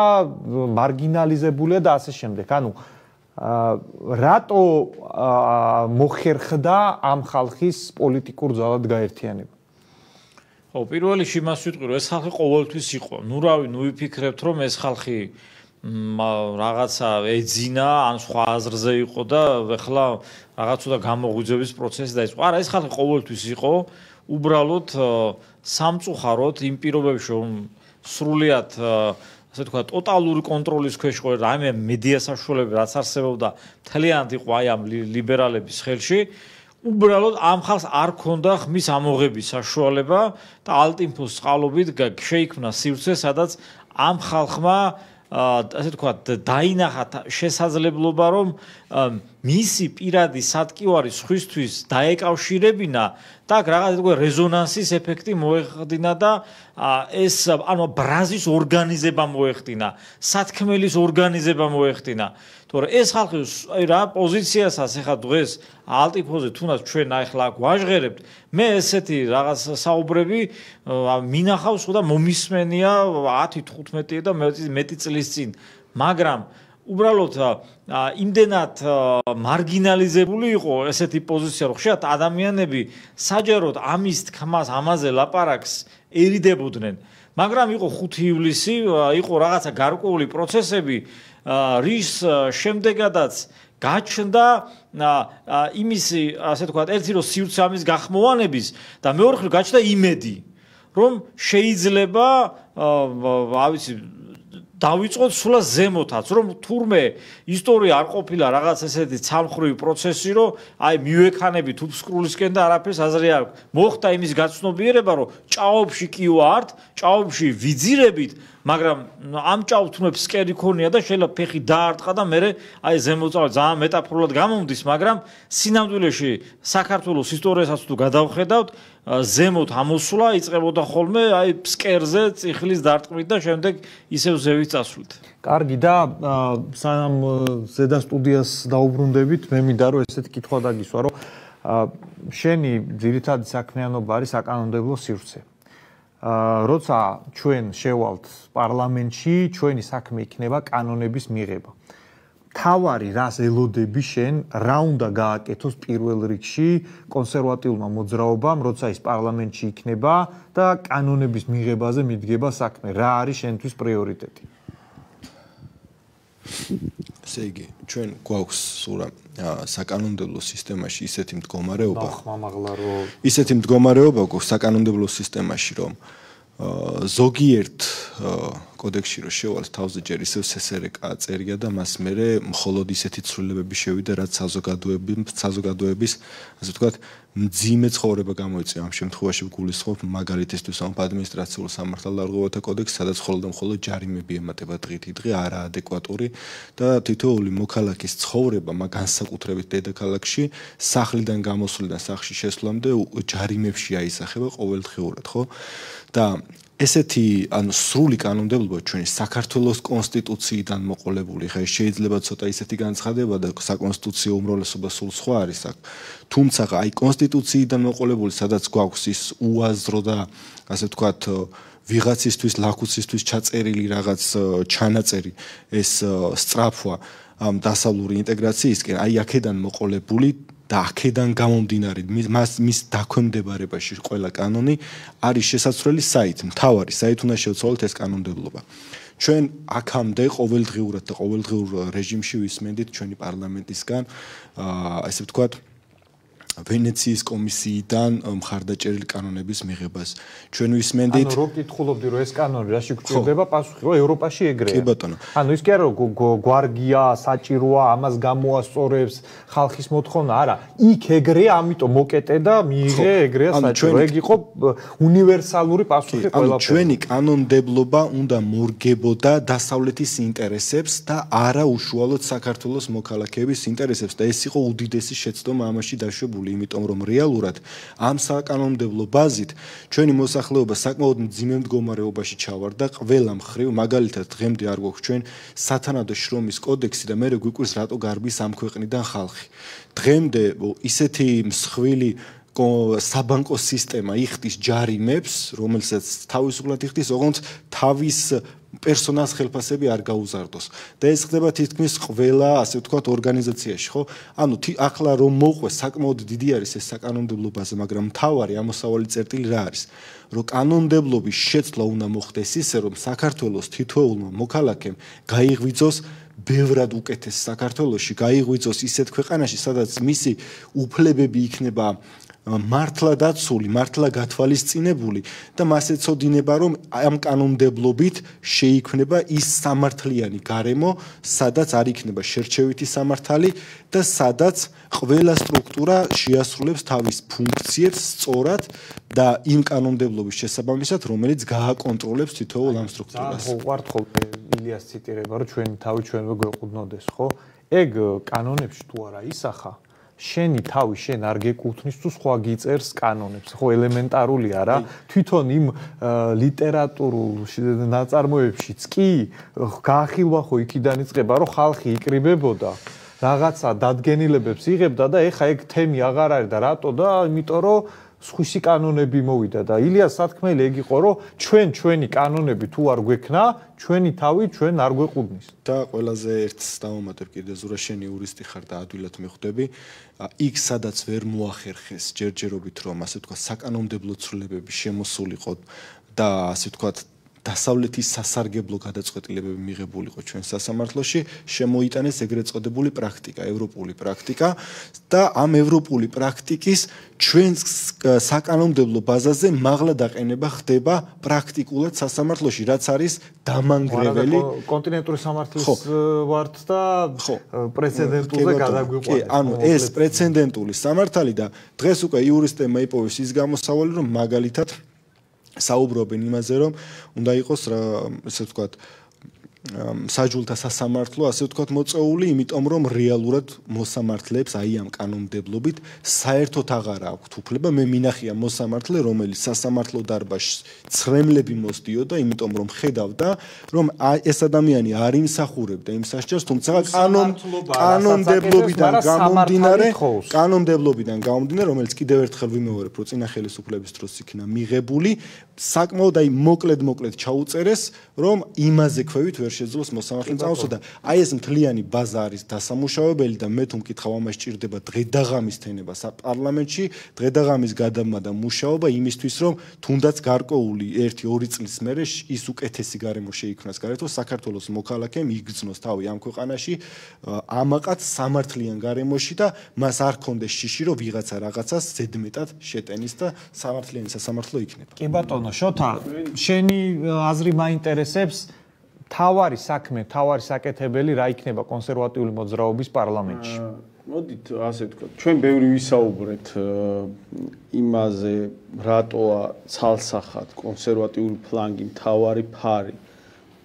მარგინალიზებულია და ასე შემდეგ. ანუ რატო მოხერხდა ამ ხალხის პოლიტიკურ ძალად გაერთიანება? ხო, პირველ რიგში იმას ვიტყვი, რომ ეს ხალხი ყოველთვის იყო. ნუ რავი, ნუ ვიფიქრებთ, რომ ეს ხალხი რაღაცა ეძინა, ან სხვა აზრზე იყო და ეხლა რაღაც უდა გამოღვიძების პროცესი დაიწყო. არა, ეს ხალხი ყოველთვის იყო, უბრალოდ სამწუხაროდ იმ პირობებში, რომ სრულიად ასე ვთქვათ, ტოტალური კონტროლის ქვეშ იყო რაიმე მედია საშუალებები, რაც არსებობდა, მთლიანად იყო აი ამ ლიბერალების ხელში. უბრალოდ ამ ხალხს არ ქონდა ხმის ამოღების საშუალება და ალტინფოს წყალობით შეიქმნა სივრცე, სადაც ამ ხალხმა ასე თქვა დაინახა შესაძლებლობა რომ მისი პირადი სატკივარი სხვისთვის დაეკავშირებინა და რაღაც თქვა რეზონანსის ეფექტი მოეხდინა და ეს ანუ ბრაზის ორგანიზება მოეხდინა, სათქმელის ორგანიზება მოეხდინა. თორე ეს ხალხი აი რა პოზიციასაც ახლა დღეს ალტიფოზე თუნდაც ჩვენ ახლა გვაჟღერებთ, მე ესეთი რაღაც საუბრები მინახავს და მომისმენია 10-15 და მეტი წლის წინ, მაგრამ უბრალოდ იმდენად მარგინალიზებული იყო ესეთი პოზიცია, რომ ხშირად ადამიანები საჯაროდ ამის თქმას, ამაზე ლაპარაკს ერიდებოდნენ, მაგრამ იყო 5 ივლისი, იყო რაღაცა გარკვეული პროცესები, რის შემდეგადაც გაჩნდა იმის, ასე თქვა, ერთი რომ სივრცე ამის გახმოვანების და მეორე მხრივ გაჩნდა იმედი, რომ შეიძლება, ავიცი დავიწყოთ სულაც ზემოთაც, რომ თურმე ისტორია არ ყოფილა რაღაც ესეთი ცალმხრივი პროცესი, რომ აი მივექანებით უფსკრულისკენ და არაფერს აზრი არ აქვს. მოხდა იმის გაცნობიერება, რომ ჭაობში კი ვართ, ჭაობში ვიძირებით, მაგრამ ამ ჭაობ თურმე ფსკერი ქონია და შეიძლება ფეხი დაარტყა და მე აი ზემოწავალ ძალიან მეტაფორულად გამომდის, მაგრამ სინამდვილეში საქართველოს ისტორიასაც თუ გადავხედავთ, ზემოთ ამოსვლა იწყებოდა ხოლმე აი ფსკერზე წიხლის დარტყმით და შემდეგ ისევ ზევით წასვლით. კარგი და სანამ ზედა სტუდიას დაუბრუნდებით, მე მინდა რომ ესეთი კითხვა დაგისვა, რომ შენი ძირითადი საქმიანობა არის საკანონმდებლო სივრცე. როცა ჩვენ შევალთ პარლამენტში, ჩვენი საქმე იქნება კანონების მიღება. თავარი რას ელოდები შენ, რა უნდა გააკეთოს პირველ რიგში კონსერვატიულმა მოძრაობამ, როცა ის პარლამენტში იქნება და კანონების მიღებაზე მიდგება საქმე. რა არის შენთვის პრიორიტეტი? ესე იგი, ჩვენ გვაქვს სურა საკანონმდებლო სისტემაში ისეთი მდგომარეობა. ისეთი მდგომარეობა გვაქვს საკანონმდებლო სისტემაში, რომ ზოგიერთ კოდექსში რომ შევალთ თავზე ჯერ ისევ სსრკ წერია და მას მერე მხოლოდ ისეთი ცვლილებები შევიდა, რაც საზოგადოების, ასე ვთქვათ, მძიმე ცხოვრება გამოიწვია. ამ შემთხვევაში ვგულისხმობ მაგალითისთვის ამ ადმინისტრაციულ სამართალდარღვევათა კოდექსს, სადაც მხოლოდ და მხოლოდ ჯარიმები ემატება დღითიდღე არაადეკვატური და თითოეული მოქალაქის ცხოვრება, განსაკუთრებით დედაქალაქში, სახლიდან გამოსვლიდან სახლში შესვლამდე ჯარიმებში აისახება ყოველდღიურად, ხო? და ესეთი ანუ სრული კანონმდებლობა ჩვენი საქართველოს კონსტიტუციიდან მოყოლებული, ხა შეიძლება ცოტა ისეთი განცხადება და საკონსტიტუციო უმრავლესობა სულ სხვა არის აქ. თუმცა აი კონსტიტუციიდან მოყოლებული, სადაც გვაქვს ის უაზრო და ასე ვთქვათ ვიღაცისთვის, ლაქუცისთვის ჩაწერილი რაღაც ჩანაწერი, ეს სწრაფვა ამ დასავლური ინტეგრაციისკენ, აი აქედან მოყოლებული და აქედან გამომდინარე მის დაქვემდებარებაში ყველა კანონი არის შესაძლებელი საით, მთავარი საით უნდა შევცვალოთ ეს კანონმდებლობა. ჩვენ აქამდე ყოველდღიურად და ყოველდღიურ რეჟიმში ვისმენდით ჩვენი პარლამენტისგან, ასე ვთქვათ, ვენეციის კომისიიდან მხარდაჭერილი კანონების მიღებას. ჩვენ ვისმენდით ანუ რო კითხულობდი რომ ეს კანონი რაში გვჭირდება, პასუხი რომ ევროპაში ეგრეა. კი ბატონო. ანუ ის კი არა რომ გვარგია, საჭიროა, ამას გამოასწორებს ხალხის მოთხოვნა, არა. იქ ეგრეა, ამიტომ მოკეტე და მიიღე ეგრეა საჭირო. ეგ იყო უნივერსალური პასუხი ყველაფერს. ანუ ჩვენი კანონმდებლობა უნდა მორგებოდა დასავლეთის ინტერესებს და არა უშუალოდ საქართველოს მოქალაქეების ინტერესებს და ეს იყო უდიდესი შეცდომა ამაში დაშვებული. იმიტომ რომ რეალურად ამ საკანონმდებლო ბაზით ჩვენი მოსახლეობა საკმაოდ მძიმე მდგომარეობაში ჩავარდა ყველა მხრივ, მაგალითად დღემდე არ გვაქვს ჩვენ სათანადო შრომის კოდექსი და მე გვიკვირს რატო გარბის ამ ქვეყნიდან ხალხი. დღემდე ისეთი მსხვილი საბანკო სისტემა იხდის ჯარიმებს, რომელსაც თავისუფლად იხდის, ოღონდ თავის პერსონალს ხელფასები არ გაუზარდოს. და ეს ხდება თითქმის ყველა, ასე ვთქვათ, ორგანიზაციაში, ხო? ანუ ახლა რომ მოყვეს საკმაოდ დიდი არის ეს საკანონმდებლო ბაზა, მაგრამ მთავარი ამოსავალი წერტილი რა არის? რომ კანონმდებლობის შეცვლა უნდა მოხდეს ისე, რომ საქართველოს თითოეულმა მოქალაქემ გაიღვიძოს ბევრად უკეთეს საქართველოში, გაიღვიძოს ისეთ ქვეყანაში, სადაც მისი უფლებები იქნება მართლა დაცული, მართლა გათვალისწინებული და მას ეცოდინება, რომ ამ კანონმდებლობით შეიქმნება ის სამართლიანი გარემო, სადაც არ იქნება შერჩევითი სამართალი და სადაც ყველა სტრუქტურა შეასრულებს თავის ფუნქციებს სწორად და იმ კანონმდებლობის შესაბამისად, რომელიც გააკონტროლებს თითოეულ ამ სტრუქტურას. უყვართ ხოლმე ილიას ციტირება, რომ ჩვენი თავი ჩვენვე გვეყუდნოდეს, ხო? ეგ კანონებში თუ არა ისახა, შენი თავი შენ არ გეკუთვნის თუ სხვა გიწერს კანონებს, ხო, ელემენტარულია რა. თვითონ იმ ლიტერატურულ ნაწარმოებშიც კი გაახილვა ხო იქიდან იწყება, რომ ხალხი იკრიბებოდა, რაღაცა დადგენილებებს იღებდა და ეხა ეგ თემი აღარ არის და რატო და იმიტომ რომ სხვისი კანონები მოვიდა და ილიას სათქმელი ეგ იყო რომ ჩვენი კანონები თუ არ გვექნა ჩვენი თავი ჩვენ არ გვეყუდნის და ყველაზე ერთს დავუმატებ კიდე ზურა შენი იურისტი ხარ და ადვილად მიხვდები იქ სადაც ვერ მოახერხეს ჯერჯერობით რომ ასე ვთქვა საკანონმდებლო ცვლილებები შემოსულიყო და ასე ვთქვა დასავლეთის სასარგებლო გადაწყვეტილებები მიღებულიყო ჩვენ სასამართლოში შემოიტანეს ეგრეთ წოდებული პრაქტიკა ევროპული პრაქტიკა და ამ ევროპული პრაქტიკის ჩვენ საკანონმდებლო ბაზაზე მაღლა დაყენება ხდება პრაქტიკულად სასამართლოში რაც არის დამანგრეველი კონტინენტური სამართლის ვართ და პრეცედენტულზე გადაგვიყვანეთ ანუ ეს პრეცედენტული სამართალი და დღეს უკვე იურისტებმა იპოვეს ის გამოსავალი რომ მაგალითად საუბრობენ იმაზე რომ უნდა იყოს რა ესე ვთქვათ საჯულთა სასამართლო ასე ვთქვათ მოწეული იმიტომ რომ რეალურად მოსამართლეებს აი ამ კანონმდებლობით საერთოდ აღარ აქვთ უფლება მე მინახია მოსამართლე რომელიც სასამართლო დარბაზში ცრემლები მოსდიოდა იმიტომ რომ ხედავდა რომ ეს ადამიანი არ იმსახურებდა იმ სასჯელს თუმცა კანონმდებლობიდან გამომდინარე რომელიც კიდევ ერთხელ ვიმეორებ რომ წინა ხელისუფლების დროს იქნა მიღებული საკმაოდ აი მოკლედ ჩაუწერეს რომ იმაზე ქვევით ვერ შეძლოს მოსამართლემ წამოსვა და აი ეს მთლიანი ბაზა არის დასამუშავებელი და მე თუ მკითხავ ამას ჭირდება დღედაღამის თენება საპარლამენტში დღედაღამის გადაბმა და მუშაობა იმისთვის რომ თუნდაც გარკვეული 1-2 წლის მერე ის უკეთესი გარემო შეიქმნას გარეთო საქართველოს მოქალაქემ იგრძნოს თავი ამ ქვეყანაში ამაყად სამართლიან გარემოში და მას არ კონდეს შიში რომ ვიღაცა რაღაცას ზედმეტად შეტენის და სამართლიანი სასამართლო იქნება კი ბატონო შოთა შენი აზრი მაინტერესებს თავარი საქმე, თავარი საკეთებელი რა იქნება კონსერვატიული მოძრაობის პარლამენტში. მოდით ასე ვთქვათ, ჩვენ ბევრი ვისაუბრეთ იმაზე, რატოა ცალსახად კონსერვატიული ფლანგი თავარი ფარი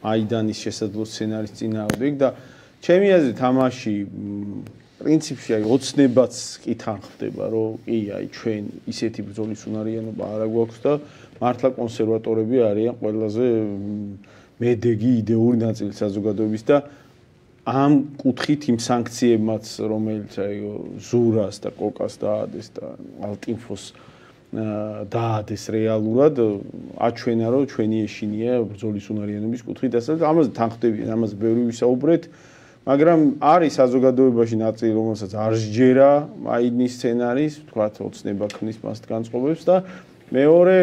მაიდანის შესაძლო სცენარის წინააღმდეგ და ჩემი აზრით ამაში პრინციპში აი ოცნებაც კი თან ხდება, რომ კი აი ჩვენ ისეთი ბრძოლის უნარიანობა არა გვაქვს და მართლა კონსერვატორები არიან ყველაზე მედეგი იდეური ნაწილი საზოგადოების და ამ კუთხით იმ სანქციებმაც რომელიც აი ზურას და კოკას დაადეს და ალტინფოს დაადეს რეალურად აჩვენა რომ ჩვენი ეშინია ბრძოლის უნარიანობის კუთხით ასე ამაზე თან ხდებიან ამაზე ბევრი ვისაუბრეთ მაგრამ არის საზოგადოებაში ნაწილი რომელსაც არ სჯერა მაიდნის სცენარის თქვათ ოცნება ქმნის მას განწყობებს და მეორე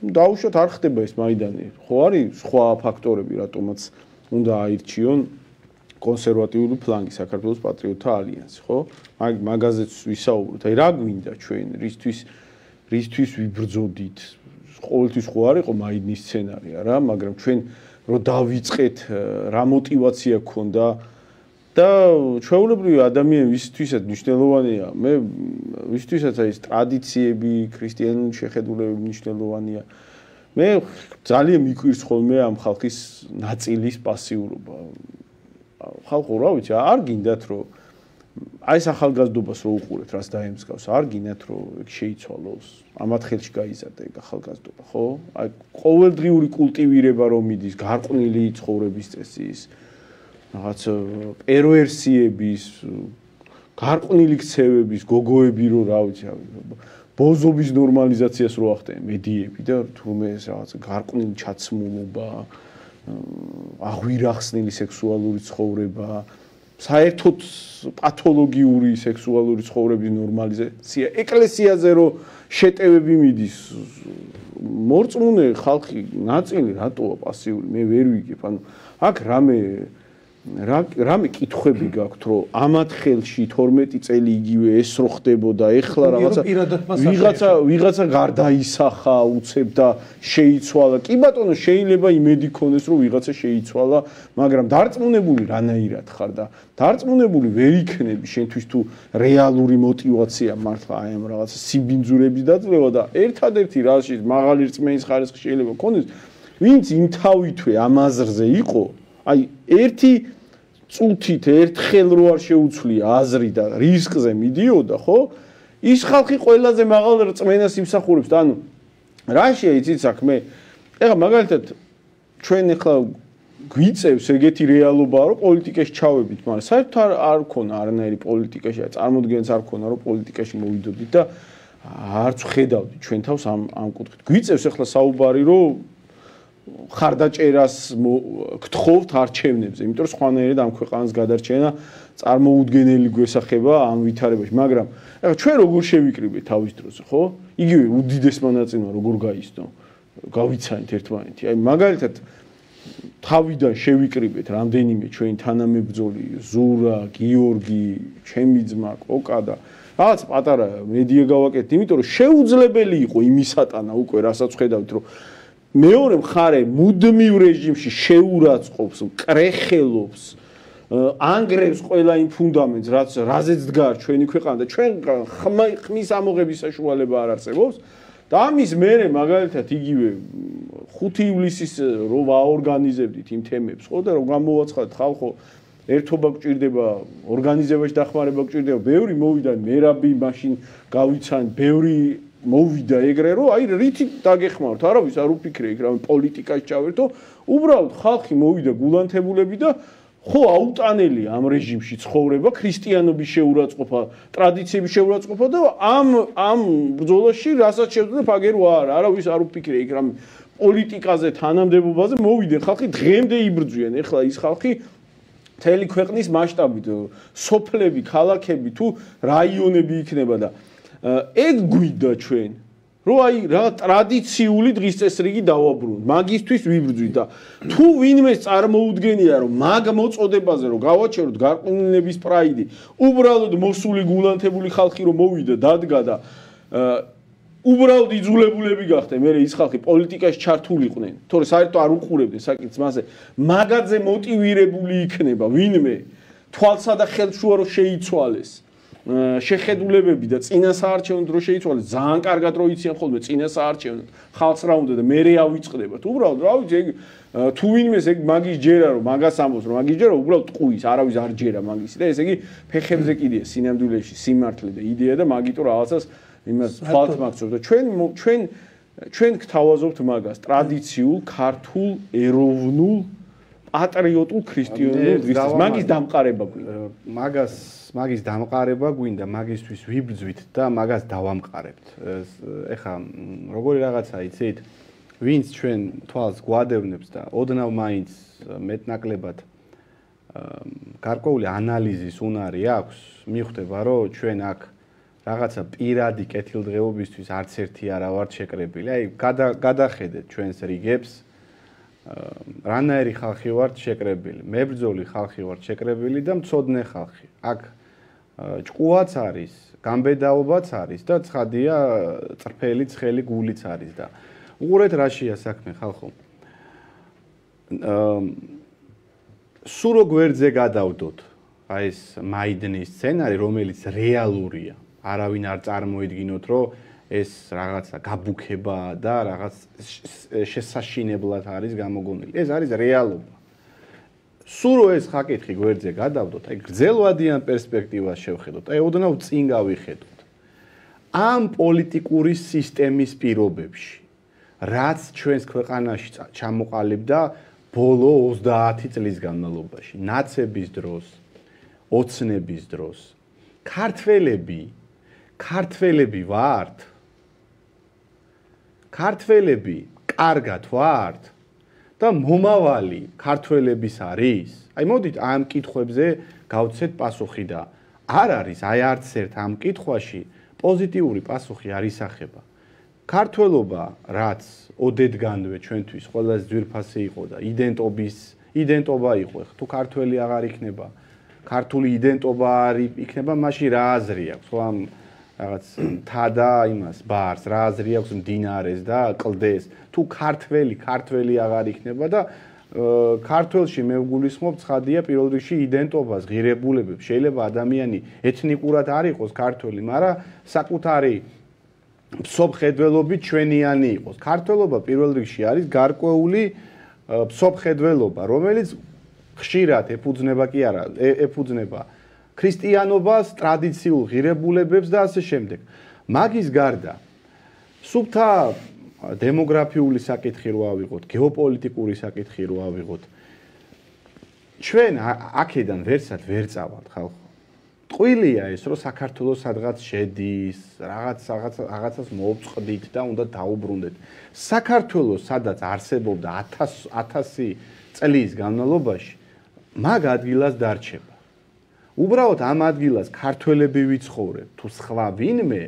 დაუშვათ არ ხდება ეს მაიდანი. ხო არის სხვა ფაქტორები, რატომაც უნდა აირჩიონ კონსერვატიული ფლანგი საქართველოს პატრიოტთა ალიანსი, ხო? მაგაზეც ვისაუბროთ. აი რა გვინდა ჩვენ, რისთვის ვიბრძოდით? ყოველთვის ხო არ იყო მაიდნის სცენარი, არა, მაგრამ ჩვენ რო დავიწყეთ რა мотиваცია გქონდა და ჩვეულებრივი ადამიანი ვისთვისაც მნიშვნელოვანია მე ვისთვისაც აი ეს ტრადიციები ქრისტიანული შეხედულებები მნიშვნელოვანია მე ძალიან მიკვირს ხოლმე ამ ხალხის ნაწილის პასიურობა ხალხო რა ვიცი არ გინდათ რომ აი ეს ახალგაზრდობას რო უყურეთ რას დაემსგავს არ გინდათ რომ ეგ შეიცვალოს ამათ ხელში გაიზარდა ეგ ახალგაზრდობა ხო აი ყოველდღიური კულტივირება რომ მიდის გარყვნილი ცხოვრების წესის რაღაც პერვერსიების გარყვნილი ქცევების გოგოები რო რა ვიცი ბოზობის ნორმალიზაციას რო ახდენენ მედიები და თურმე ეს რაღაც გარყვნილი ჩაცმულობა აღვირახსნილი სექსუალური ცხოვრება საერთოდ პათოლოგიური სექსუალური ცხოვრების ნორმალიზაცია ეკლესიაზე რო შეტევები მიდის მორწმუნე ხალხი ნაწილი რატოა პასიური მე ვერ ვიგებ ანუ აქ რამე კითხვები გაქვთ რომ ამათ ხელში 12 წელი იგივე ეს რო ხდებოდა ეხლა ვიღაცა გარდაისახა უცებ და შეიცვალა კი ბატონო შეიძლება იმედი ქონდეს რომ ვიღაცა შეიცვალა მაგრამ დარწმუნებული რანაირად ხარ და დარწმუნებული ვერ იქნები შენთვის თუ რეალური мотиваცია მართლა აი ამ რაღაცა სიბინძურების დაძლევა და ერთადერთი რაში მაღალი რწმენის ხარისხი შეიძლება ქონდეს ვინც იმთავითვე ამ აზრზე იყო, აი ერთი წუთით ერთხელ რო არ შეუცვლია აზრი და რისკზე მიდიოდა, ხო? ის ხალხი ყველაზე მაღალ რწმენას იმსახურებს და ანუ რაშია იცით საქმე? ეხლა მაგალითად ჩვენ ეხლა გვიწევს ეგეთი რეალობაა, რომ პოლიტიკაში ჩავედით, მაგრამ საერთოდ არ ქონა არანაირი პოლიტიკაში, წარმოდგენაც არ ქონა, რომ პოლიტიკაში მოვიდოდით და არც ხედავდით ჩვენ თავს ამ კუთხით. გვიწევს ეხლა საუბარი, რომ ხარდაჭერას გთხოვთ არჩევნებზე, იმიტომ რომ სხვანაირად ამ ქვეყანას გადარჩენა წარმოუდგენელი გვესახება ამ ვითარებაში, მაგრამ ეხლა ჩვენ როგორ შევიკრიბეთ თავის დროზე, ხო? იგივე უდიდესმა ნაწილმა როგორ გაისდო, გავიცანით ერთმანეთი. აი მაგალითად თავიდან შევიკრიბეთ რამდენიმე ჩვენი თანამებრძოლი, ზურა, გიორგი, ჩემი ძმა, კოკა და რაღაც პატარა მედია გავაკეთეთ, იმიტომ რომ შეუძლებელი იყო იმისატანა უკვე რასაც ხედავთ, რომ მეორე მხარე მუდმივ რეჟიმში შეურაცხყოფს, კრეხელობს, ანგრევს ყველა იმ ფუნდამენტს, რაზეც დგარ ჩვენი ქვეყანა და ჩვენ ხმის ამოღების საშუალება არ არსებობს. და ამის მერე მაგალითად იგივე 5 ივლისის რო ვაორგანიზებდით იმ თემებს, ხო და რომ გამოვაცხადეთ ხალხო, ერთობა გჭირდება, ორგანიზებაში დახმარება გჭირდება, ბევრი მოვიდა, მერაბი მაშინ გავიცან, ბევრი მოვიდა ეგრე, რომ აი რითი დაგეხმაროთ, არავის არ უფიქრე იქ რა პოლიტიკაში ჩავერთო, უბრალოდ ხალხი მოვიდა გულანთებულები და ხო აუტანელი ამ რეჟიმში ცხოვრება, ქრისტიანობის შეურაცხყოფა, ტრადიციების შეურაცხყოფა და ამ ბრძოლაში რასაც შევძლებთ აგერ ვარ, არავის არ უფიქრე იქ რამე პოლიტიკაზე, თანამდებობაზე მოვიდნენ ხალხი დღემდე იბრძვიან. ეხლა ის ხალხი მთელი ქვეყნის მასშტაბით, სოფლები, ქალაქები თუ რაიონები იქნება და ეგ გვიდა ჩვენ რომ აი რა ტრადიციული დღის წესრიგი დავაბრუნოთ, მაგისთვის ვიბრძვით და თუ ვინმე წარმოუდგენია რომ მაგ მოწოდებაზე რომ გავაჩეროთ გარყვნილების პრაიდი, უბრალოდ მოსული გულანთებული ხალხი რომ მოვიდა, დადგა და უბრალოდ იძულებულები გახდნენ, მე ის ხალხი პოლიტიკაში ჩართულიყვნენ, თორე საერთოდ არ უყურებდნენ საკითხს მასე, მაგაზე მოტივირებული იქნება ვინმე თვალსა და ხელშუა რომ შეიცვალეს. შეხედულებები და წინა საარჩევნო დრო შეიცვალეს, ძალიან კარგად რო იციან ხოლმე წინა საარჩევნო ხალხს რა უნდა და მე ავიწყდებათ. უბრალოდ რა ვიცი, ეგ თუ ვინმეს ეგ მაგის ჯერა რომ მაგას ამბობს რომ მაგის ჯერა უბრალოდ ტყუის, არავის არ ჯერა მაგისი და ესე იგი ფეხებზე კიდია სინამდვილეში სიმართლე და იდეა და მაგიტო რაღაცას იმას თვალთ მაგცობს და ჩვენ გთავაზობთ მაგას ტრადიციულ, ქართულ, ეროვნულ, პატრიოტულ ქრისტიანულ დღისთვის. მაგის დამყარება გვინდა. მაგის დამყარება გვინდა, მაგისთვის ვიბრძვით და მაგას დავამყარებთ. ეხა როგორი რაღაცა იცით, ვინც ჩვენ თვალს გვადევნებს და ოდნავ მაინც მეტნაკლებად გარკვეული ანალიზის უნარი აქვს, მიხვდება რომ ჩვენ აქ რაღაცა პირადი კეთილდღეობისთვის არც ერთი არა ვართ შეკრებილი. აი გადახედეთ ჩვენს რიგებს, რანაირი ხალხი ვართ შეკრებილი, მებრძოლი ხალხი ვართ შეკრებილი და მცოდნე ხალხი. აქ ჭკუაც არის, გამბედაობაც არის და ცხადია წრფელი ცხელი გულიც არის და უყურეთ რაშია საქმე ხალხო. სულ რო გვერდზე გადავდოთ აი ეს მაიდნის სცენარი, რომელიც რეალურია. არავინ არ წარმოიდგინოთ, რომ ეს რაღაცა გაბუქება და რაღაც შესაშინებლად არის გამოგონილი. ეს არის რეალობა. სულ რო ეს ხაკითხი გვერდზე გადავდოთ, აი გრძელვადიან პერსპექტივას შევხედოთ, აი ოდნავ წინ გავიხედოთ. ამ პოლიტიკური სისტემის პირობებში, რაც ჩვენს ქვეყანაში ჩამოყალიბდა ბოლო 30 წლის განმავლობაში, ნაცების დროს, ოცნების დროს, ქართველები ვართ. ქართველები კარგად ვართ და მომავალი ქართველების არის. აი მოდით ამ კითხვებზე გავცეთ პასუხი და არ არის აი არც ერთ ამ კითხვაში პოზიტიური პასუხი არ ისახება. ქართველობა, რაც ოდედგანვე ჩვენთვის ყველაზე ძვირფასი იყო და იდენტობა იყო, თუ ქართველი აღარ იქნება, ქართული იდენტობა არ იქნება, მაშინ რა აზრი აქვს, ხო ამ რაღაც მთა და იმას ბარს, რა აზრი აქვს მდინარეს და კლდეს, თუ ქართველი აღარ იქნება და ქართველში მე ვგულისხმობ ცხადია პირველ რიგში იდენტობას, ღირებულებებს. შეიძლება ადამიანი ეთნიკურად არ იყოს ქართველი, მაგრამ საკუთარი მსოფლმხედველობით ჩვენიანი იყოს. ქართველობა პირველ რიგში არის გარკვეული მსოფლმხედველობა, რომელიც ხშირად ეფუძნება კი არა, ეფუძნება ქრისტიანობას, ტრადიციულ ღირებულებებს და ასე შემდეგ. მაგის გარდა სუფთა დემოგრაფიული საკითხი რო ავიღოთ, გეოპოლიტიკური საკითხი რო ავიღოთ, ჩვენ აქედან ვერსად ვერ წავალთ ხალხო. ტყუილია ეს, რომ საქართველოს სადღაც შედის, რაღაცას მოუწყდით და უნდა დაუბრუნდეთ. საქართველოს სადაც არსებობდა 1000 წლის განმავლობაში, მაგ ადგილას დარჩება. უბრალოდ ამ ადგილას ქართველები ვიცხოვრებ, თუ სხვა ვინმე,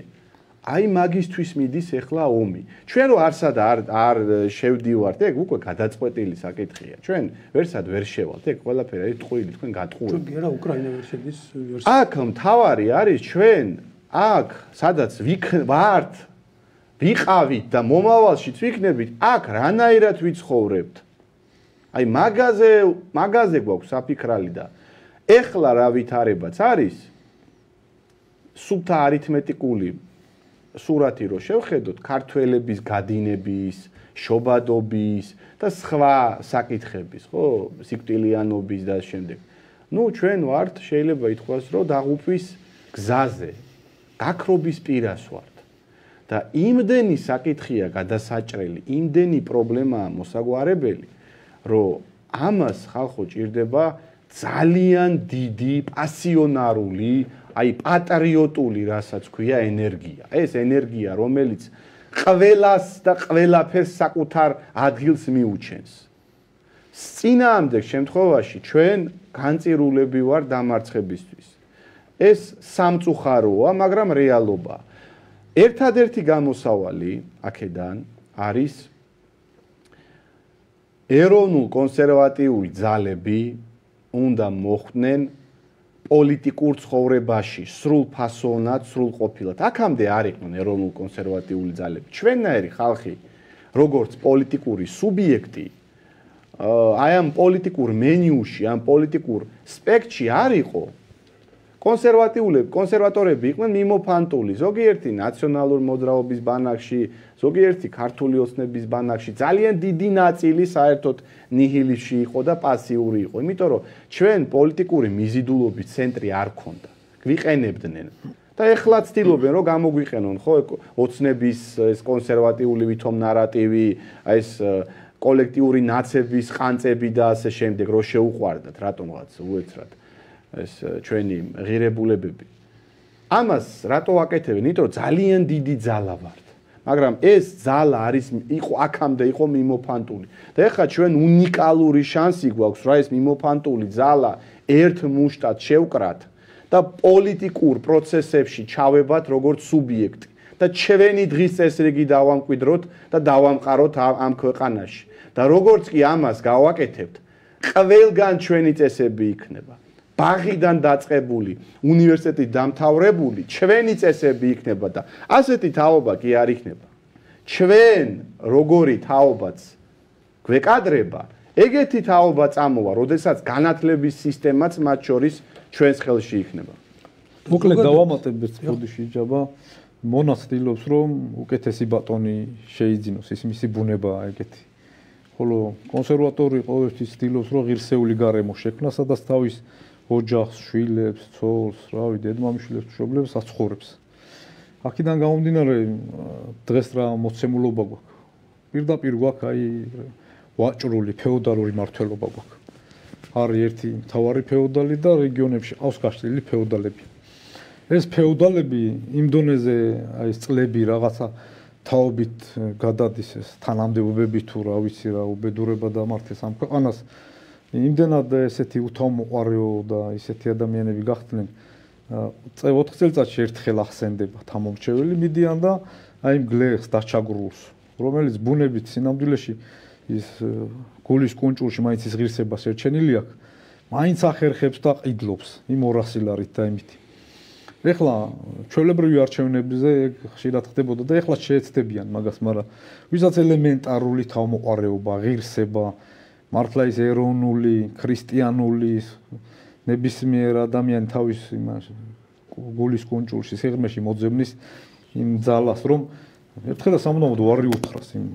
აი მაგისთვის მიდის ახლა ომი. ჩვენ რო არ შევდივართ, ეგ უკვე გადაწყვეტილი საკითხია. ჩვენ ვერსად ვერ შევალთ, ეგ ყველაფერი არის ტყუილი, თქვენ გატყუილ. თუ გერა უკრაინა ვერ შედის. აქ მთავარი არის ჩვენ აქ სადაც ვართ, ვიყავით და მომავალშიც ვიქნებით, აქ რანაირად ვიცხოვრებთ. აი მაგაზე გვაქვს საფიქრალი და ეხლა რა ვითარებაც არის სუფთა არითმეტიკული სურათი რო შევხედოთ ქართველების გადინების, შობადობის და სხვა საკითხების, ხო, სიკვდილიანობის და შემდეგ. ნუ ჩვენ ვართ, შეიძლება ითქვას, რომ დაღუპვის გზაზე, გაქრობის პირას ვართ. და იმდენი საკითხია გადასაჭრელი, იმდენი პრობლემაა მოსაგვარებელი, რომ ამას ხალხო ჭირდება ძალიან დიდი პასიონარული, აი პატრიოტული, რასაც ქვია ენერგია. ეს ენერგია, რომელიც ყველას და ყველაფერს საკუთარ ადგილს მიუჩენს. წინააღმდეგ შემთხვევაში ჩვენ განწირულები ვარ დამარცხებისთვის. ეს სამწუხაროა, მაგრამ რეალობაა. ერთადერთი გამოსავალი აქედან არის ეროვნულ კონსერვატიული ძალები უნდა მოხვდნენ პოლიტიკურ ცხოვრებაში სრულ ფასონად, სრულყოფილად. აქამდე არ იყვნენ ეროვნულ კონსერვატიული ძალები. ჩვენნაირი ხალხი, როგორც პოლიტიკური სუბიექტი, აი ამ პოლიტიკურ მენიუში, ამ პოლიტიკურ სპექტრში არ იყო. კონსერვატორები იყვნენ მიმოფანტული, ზოგიერთი ნაციონალურ მოძრაობის ბანაკში, ზოგიერთი ქართული ოცნების ბანაკში, ძალიან დიდი ნაწილი საერთოდ ნიჰილიზმში იყო და პასიური იყო. იმიტომ რომ ჩვენ პოლიტიკური მიზიდულობის ცენტრი არ ქონდა. გვიყენებდნენ და ეხლა ცდილობენ რომ გამოგვიყენონ, ხო, ოცნების ეს კონსერვატიული ვითომ ნარატივი, აი ეს კოლექტიური ნაცების ყანწები და ასე შემდეგ, რო შეუყვარდათ რატომღაც უეცრად ეს ჩვენი ღირებულებები. ამას რატო ვაკეთებენ? იმიტომ რომ ძალიან დიდი ძალა ვართ. მაგრამ ეს ძალა იყო აქამდე იყო მიმოფანტული. და ეხლა ჩვენ უნიკალური შანსი გვაქვს, რა ეს მიმოფანტული ძალა ერთ მუშტად შევკრათ და პოლიტიკურ პროცესებში ჩავებათ როგორც სუბიექტი და ჩვენი დღის წესრიგი დავამკვიდროთ და დავამყაროთ ამ ქვეყანაში. და როგორც კი ამას გავაკეთებთ, ყველგან ჩვენი წესები იქნება. ბაღიდან დაწყებული, უნივერსიტეტით დამთავრებული, ჩვენი წესები იქნება და ასეთი თაობა კი არ იქნება. ჩვენ როგორი თაობაც გვეკადრება, ეგეთი თაობა წამოვა, როდესაც განათლების სისტემაც მათ შორის ჩვენს ხელში იქნება. მოკლედ დავამატებთ ბოდიში ჯაბა, მონა ცდილობს რომ უკეთესი ბატონი შეიძინოს, ის მისი ბუნებაა ეგეთი. ხოლო კონსერვატორი ყოველთვის ცდილობს რომ ღირსეული გარემო შექმნას, სადაც თავის ოჯახს, შვილებს, ცოლს, რავი, დედმამიშვილებს, მშობლებს აცხოვრებს. აქედან გამომდინარე, დღეს რა მოცემულობა გვაქვს. პირდაპირ გვაქვს აი ვაჭრული ფეოდალური მართლობა გვაქვს. არის ერთი მთავარი ფეოდალი და რეგიონებში ყავს გაშლილი ფეოდალები. ეს ფეოდალები იმ დონეზე აი წლები რაღაცა თაობით გადადის ეს თანამდებობები თუ რა ვიცი რა უბედურება დამართეს ამ ქვეყანას. იმდენად ესეთი უთაომოყარეო და ესეთი ადამიანები გახდნენ 4 წელიწადში ერთხელ ახსენდება თამომრჩეველი მიდიან და აი იმ გლეხს დაჩაგრულს, რომელიც ბუნებით სინამდვილეში ის გულის კუნჭულში მაინც ის ღირსებას ერჩენილი აქვს, მაინც ახერხებს და ყიდლობს იმ 200 ლარით და იმით. ეხლა ჩვეულებრივი არჩევნებზე ეგ ხშირად ხდებოდა და ეხლა შეეცდებიან მაგას, მაგრამ ვისაც ელემენტარული თავმოყარეობა, ღირსება მართლა ის ეროვნული, ქრისტიანული ნებისმიერ ადამიანი თავის იმას გულის კუნჭულში სიღრმეში მოძებნის იმ ძალას, რომ ერთხელ სამუდამოდ ვარი უთხრას იმ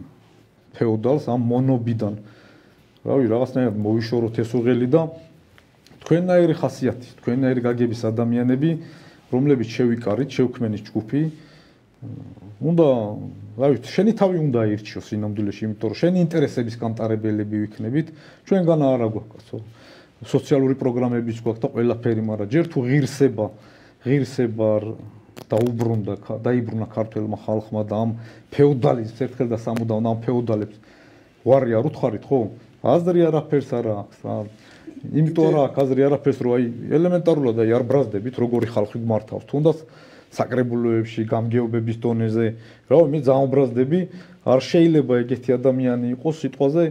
ფეოდალს ამ მონობიდან. რავი, რაღაცნაირად მოიშოროთ ეს უღელი და თქვენნაირი ხასიათი, თქვენნაირი გაგების ადამიანები, რომლებიც შევიკარით, შევქმენით ჯგუფი, უნდა, რავი, შენი თავი უნდა აირჩიოს სინამდვილეში, იმიტომ რომ შენი ინტერესების გამტარებელები ვიქნებით, ჩვენგან არა გვაქვს სოციალური პროგრამებიც გვაქვს და ყველაფერი, მაგრამ ჯერ თუ ღირსება დაიბრუნა ქართველმა ხალხმა და ამ ფეოდალიზმს ერთხელ და სამუდამოდ ამ ფეოდალებს ვარი არ უთხარით, ხო? აზრი არაფერს არ აქვს რა. იმიტომ არ აქვს აზრი არაფერს, რომ აი ელემენტარულად აი არ ბრაზდებით, როგორი ხალხი გმართავს. თუნდაც საკრებულოებში, გამგეობების დონეზე, რა მე ძალიან ბრაზდები, არ შეიძლება ეგეთი ადამიანი იყოს სიტყვაზე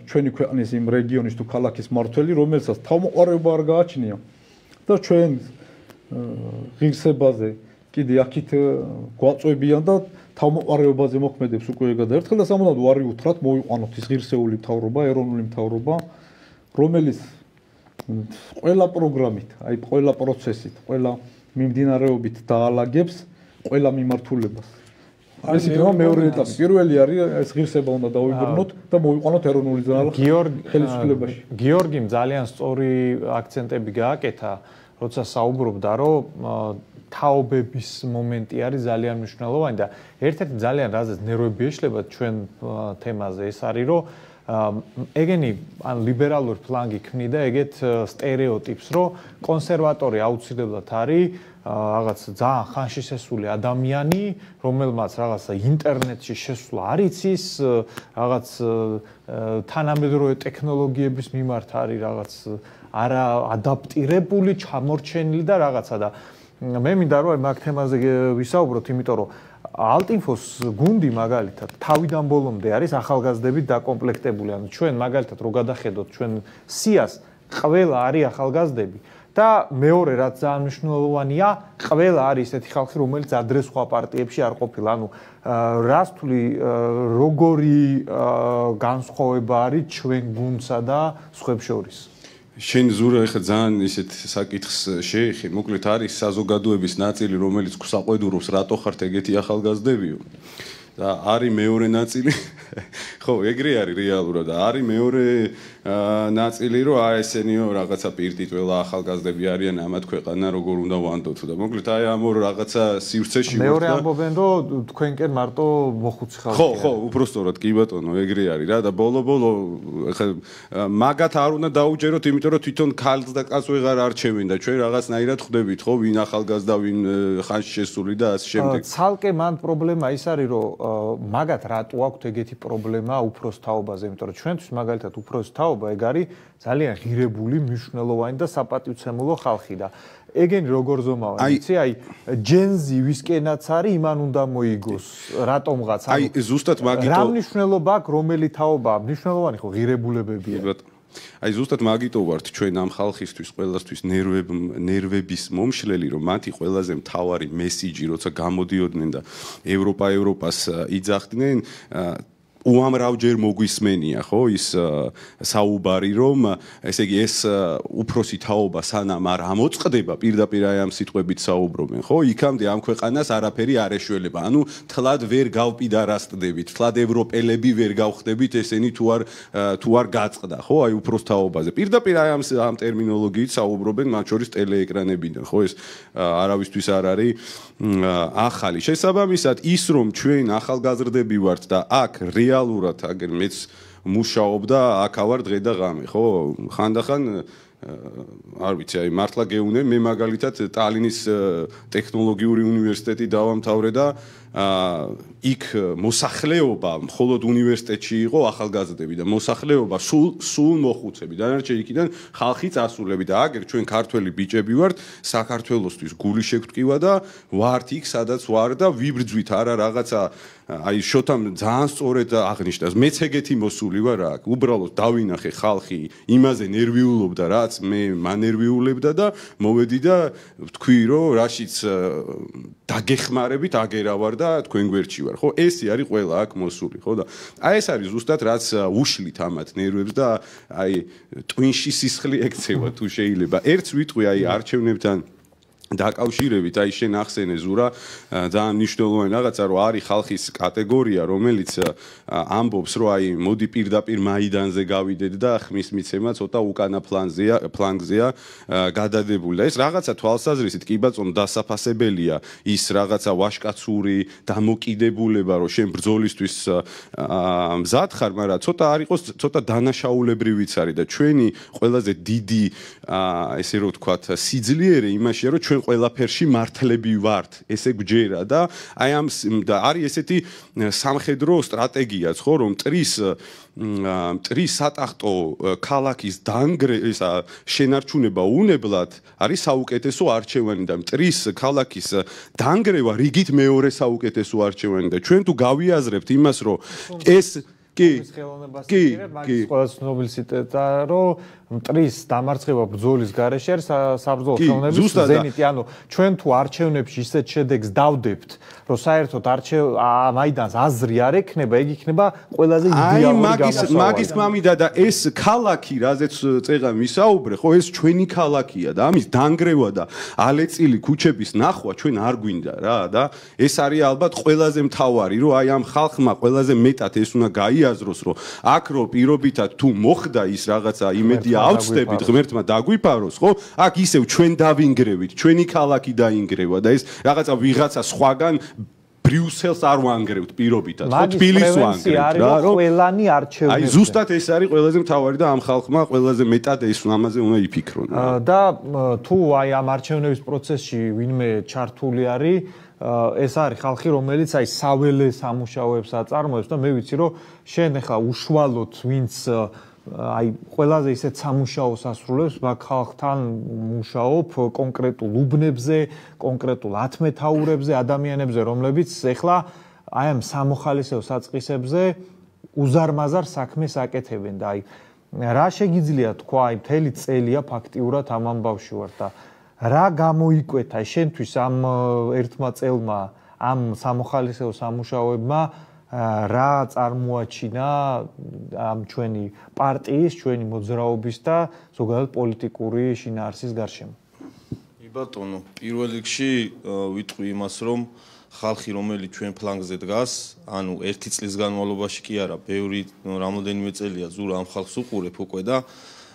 ჩვენი ქვეყნის იმ რეგიონის თუ ქალაქის მმართველი, რომელსაც თავმოყარეობა არ გააჩნია და ჩვენ ღირსებაზე კიდე აქით გვაწვევიან და თავმოყარეობაზე მოქმედებს უკვე ეგ და ერთხელ და სამუდამოდ ვარი უთხრათ მოიყვანოთ ის ღირსეული მთავრობა, ეროვნული მთავრობა, რომელიც ყველა პროგრამით, აი ყველა პროცესით, ყველა მიმდინარეობით დაალაგებს ყველა მიმართულებას. ეს იქნება მეორე ეტაპი. პირველი არის ეს ღირსება უნდა დავიბრუნოთ და მოიყვანოთ ეროვნული ხელისუფლებაში. გიორგიმ ძალიან სწორი აქცენტები გააკეთა, როცა საუბრობდა, რომ თაობების მომენტი არის ძალიან მნიშვნელოვანი და ერთ-ერთი ძალიან რაზეც ნერვები ეშლება ჩვენ თემაზე ეს არის, რომ ეგენი ან ლიბერალური ფლანგი ქმნიდა ეგეთ სტერეოტიპს, რომ კონსერვატორი აუცილებლად არის რაღაც ძალიან ხანში შესული ადამიანი, რომელმაც რაღაცა ინტერნეტში შესვლა არ იცის, რაღაც თანამედროვე ტექნოლოგიების მიმართ არის რაღაც არა ადაპტირებული, ჩამორჩენილი და რაღაცა და მე მინდა რომ მაგ თემაზე ვისაუბროთ, იმიტომ რომ ალტინფოს გუნდი მაგალითად თავიდან ბოლომდე არის ახალგაზრდებით დაკომპლექტებული. ანუ ჩვენ მაგალითად რო გადახედოთ ჩვენ სიას, ყველა არის ახალგაზრდები და მეორე რაც ძალიან მნიშვნელოვანია, ყველა არის ესეთი ხალხი, რომელიც ადრე სხვა პარტიებში არ ყოფილა. ანუ რას თვლი როგორი განსხვავება არის ჩვენ გუნდსა და სხვებს შორის? შენ ზურა ეხა ძალიან ისეთ საკითხს შეეხი, მოკლედ არის საზოგადოების ნაწილი, რომელიც საყვედურობს, რატო ხართ ეგეთი ახალგაზრდებიო? და არის მეორე ნაწილი, ხო, ეგრე არის რეალურად და არის მეორე ნაწილი, რომ აი ესენიო რაღაცა პირტიტველა ახალგაზრდები არიან ამათ ქვეყანა როგორ უნდა ვანდოთ და მოკლედ აი ამ ორ რაღაცა სივრცეში ვარ და მეორე ამბობენ, რომ თქვენკენ მარტო მოხუცი ხალხია. ხო, უბრალოდ კი ბატონო, ეგრე არის რა და ბოლო-ბოლო ეხა მაგათ არ უნდა დაუჯეროთ, იმიტომ რომ თვითონ ქალს და კაცს ვეღარ არჩევენ და ჩვენ რაღაცნაირად ხვდებით, ხო, ვინ ახალგაზრდა, ვინ ხანში შესული და ასე შემდეგ. ცალკე მან პრობლემა ის არის, რომ მაგათ რატო აქვთ ეგეთი პრობლემა უფროს თაობაზე, იმიტომ რომ ჩვენთვის მაგალითად უფროს თაობა ეგ არის ძალიან ღირებული, მნიშვნელოვანი და საპატივცემულო ხალხი და ეგენი როგორ ზომავენ, იცი, აი ჯენზი ვისკენაც არის, იმან უნდა მოიგოს რატომღაც. აი ზუსტად მაგითო რა მნიშვნელობა აქვს რომელი თაობა? მნიშვნელოვანი ხო ღირებულებებია. აი ზუსტად მაგითო ვართ ჩვენ ამ ხალხისთვის ყველასთვის ნერვების მომშლელი, რომ მათი ყველაზე მთავარი მესიჯი, როცა გამოდიოდნენ და ევროპას იძახდნენ, უამრავჯერ მოგვისმენია, ხო, ის საუბარი, რომ ესე იგი ეს უფროსი თაობა სანამ არ ამოწყდება, პირდაპირ აი ამ სიტყვებით საუბრობენ, ხო, იქამდე ამ ქვეყანას არაფერი არ ეშველება. ანუ თლად ვერ გავპიდარასტდებით, თლად ევროპელები ვერ გავხდებით ესენი თუ არ გაწყდა, ხო, აი უფროს თაობაზე. პირდაპირ აი ამ ტერმინოლოგიით საუბრობენ, მათ შორის ტელეეკრანებიდან, ხო, ეს არავისთვის არ არის ახალი. შესაბამისად, ის რომ ჩვენ ახალგაზრდები ვართ და აქ რეალურად აგერ მეც მუშაობდა, აქ ავარ დღე და ღამე, ხო? ხანდახან არ ვიცი, აი მართლა გეუნე, მე მაგალითად ტალინის ტექნოლოგიური უნივერსიტეტი დავამთავრე და იქ მოსახლეობა მხოლოდ უნივერსიტეტში იყო ახალგაზრდები და მოსახლეობა სულ მოხუცები. დანარჩენი იქიდან ხალხი წასულები და აგერ ჩვენ ქართველი ბიჭები ვართ, საქართველოსთვის გული შეგვტკივა და ვართ იქ, სადაც ვარ და ვიბრძვით არა რაღაცა აი შოთამ ძალიან სწორედ აღნიშნავს. მეც ეგეთი მოსული ვარ აქ. უბრალოდ დავინახე ხალხი იმაზე ნერვიულობდა, რაც მე მანერვიულებდა და მოვედი და ვთქვი, რომ რაშიც დაგეხმარებით აგერავარ და თქვენ გვერდში ვარ, ხო? ესე არის ყველა აქ მოსული, ხო და აი ეს არის ზუსტად რაც უშლით ამათ ნერვებს და აი ტვინში სისხლი ექცევა თუ შეიძლება. ერთს ვიტყვი აი არჩევნებთან დაკავშირებით აი შენ ახსენე ზურა ძალიან მნიშვნელოვანი რაღაცა რომ არის ხალხის კატეგორია რომელიც ამბობს რომ აი მოდი პირდაპირ მაიდანზე გავიდეთ და ხმის მიცემა ცოტა უკანა ფლანგზეა გადადებული და ეს რაღაცა თვალსაზრისით კი ბატონო დასაფასებელია ის რაღაცა ვაშკაცური დამოკიდებულება რომ შენ ბრძოლისთვის მზად ხარ მაგრამ ცოტა არ იყოს ცოტა დანაშაულებრივიც არის და ჩვენი ყველაზე დიდი ესე რომ ვთქვათ სიძლიერე იმაშია რომ ჩვენ ყველაფერში მართლები ვართ ესე გვჯერა და აი ამ და არის ესეთი სამხედრო სტრატეგიაც ხო რომ მტრის სატახტო ქალაქის დანგრევა შენარჩუნება უნებლად არის საუკეთესო არჩევანი და მტრის ქალაქის დანგრევა რიგით მეორე საუკეთესო არჩევანი და ჩვენ თუ გავიაზრებთ იმას რომ ეს კი მაგის ყველა ცნობილი ციტატა რომ მტრის დამარცხება ბრძოლის გარეშე არის საბრძოლო ხელოვნების ზენიტი ანუ ჩვენ თუ არჩევნებში ისეთ შედეგს დავდებთ რომ საერთოდ მაიდანს აზრი არ ექნება ეგ იქნება ყველაზე იდეალური გამოსავალი მაგის მამიდა და ეს ქალაქი რაზეც წეღა მისაუბრე ხო ეს ჩვენი ქალაქია და ამის დანგრევა და ალეწილი ქუჩების ნახვა ჩვენ არ გვინდა რა და ეს არის ალბათ ყველაზე მთავარი რომ აი ამ ხალხმა ყველაზე მეტად ეს უნდა გაიაზროს რომ აქ რო პირობითად თუ მოხდა ის რაღაცა იმედია ავწდებით ღმერთმა დაგვიფაროს ხო აქ ისევ ჩვენ დავინგრევით ჩვენი ქალაქი დაინგრევა და ეს რაღაცა ვიღაცა სხვაგან ბრიუსელს არ ვანგრევთ პირობითად ხო თბილისს ვანგრევთ რა რომ ყველანი არჩევნებზე აი ზუსტად ეს არის ყველაზე მთავარი და ამ ხალხმა ყველაზე მეტად ეს ამაზე უნდა იფიქრონ და თუ აი ამ არჩევნების პროცესში ვინმე ჩართული არის ეს არის ხალხი რომელიც აი საველე სამუშაოებს აწარმოებს და მე ვიცი რომ შენ ახლა უშუალოდ ვინც აი ყველაზე ისეთ სამუშაოს ასრულებს მაგ ხალხთან მუშაობ კონკრეტულ უბნებზე, კონკრეტულ ათმეთაურებზე, ადამიანებზე, რომლებიც ახლა აი ამ სამოხალისეო საწყისებზე უზარმაზარ საქმეს აკეთებენ და აი რა შეგიძლია თქვა აი მთელი წელია ფაქტიურად ამ ამბავში ვარ და რა გამოიკვეთა შენთვის ამ ერთმა წელმა ამ სამოხალისეო სამუშაოებმა რა წარმოაჩინა ამ ჩვენი პარტიის, ჩვენი მოძრაობის და ზოგადად პოლიტიკური შინაარსის გარშემო. კი ბატონო, პირველ რიგში ვიტყვი იმას, რომ ხალხი რომელიც ჩვენ ფლანგზე დგას, ანუ ერთი წლის განმავლობაში კი არა, ბევრი რამოდენიმე წელია ზურა ამ ხალხს უყურებ უკვე და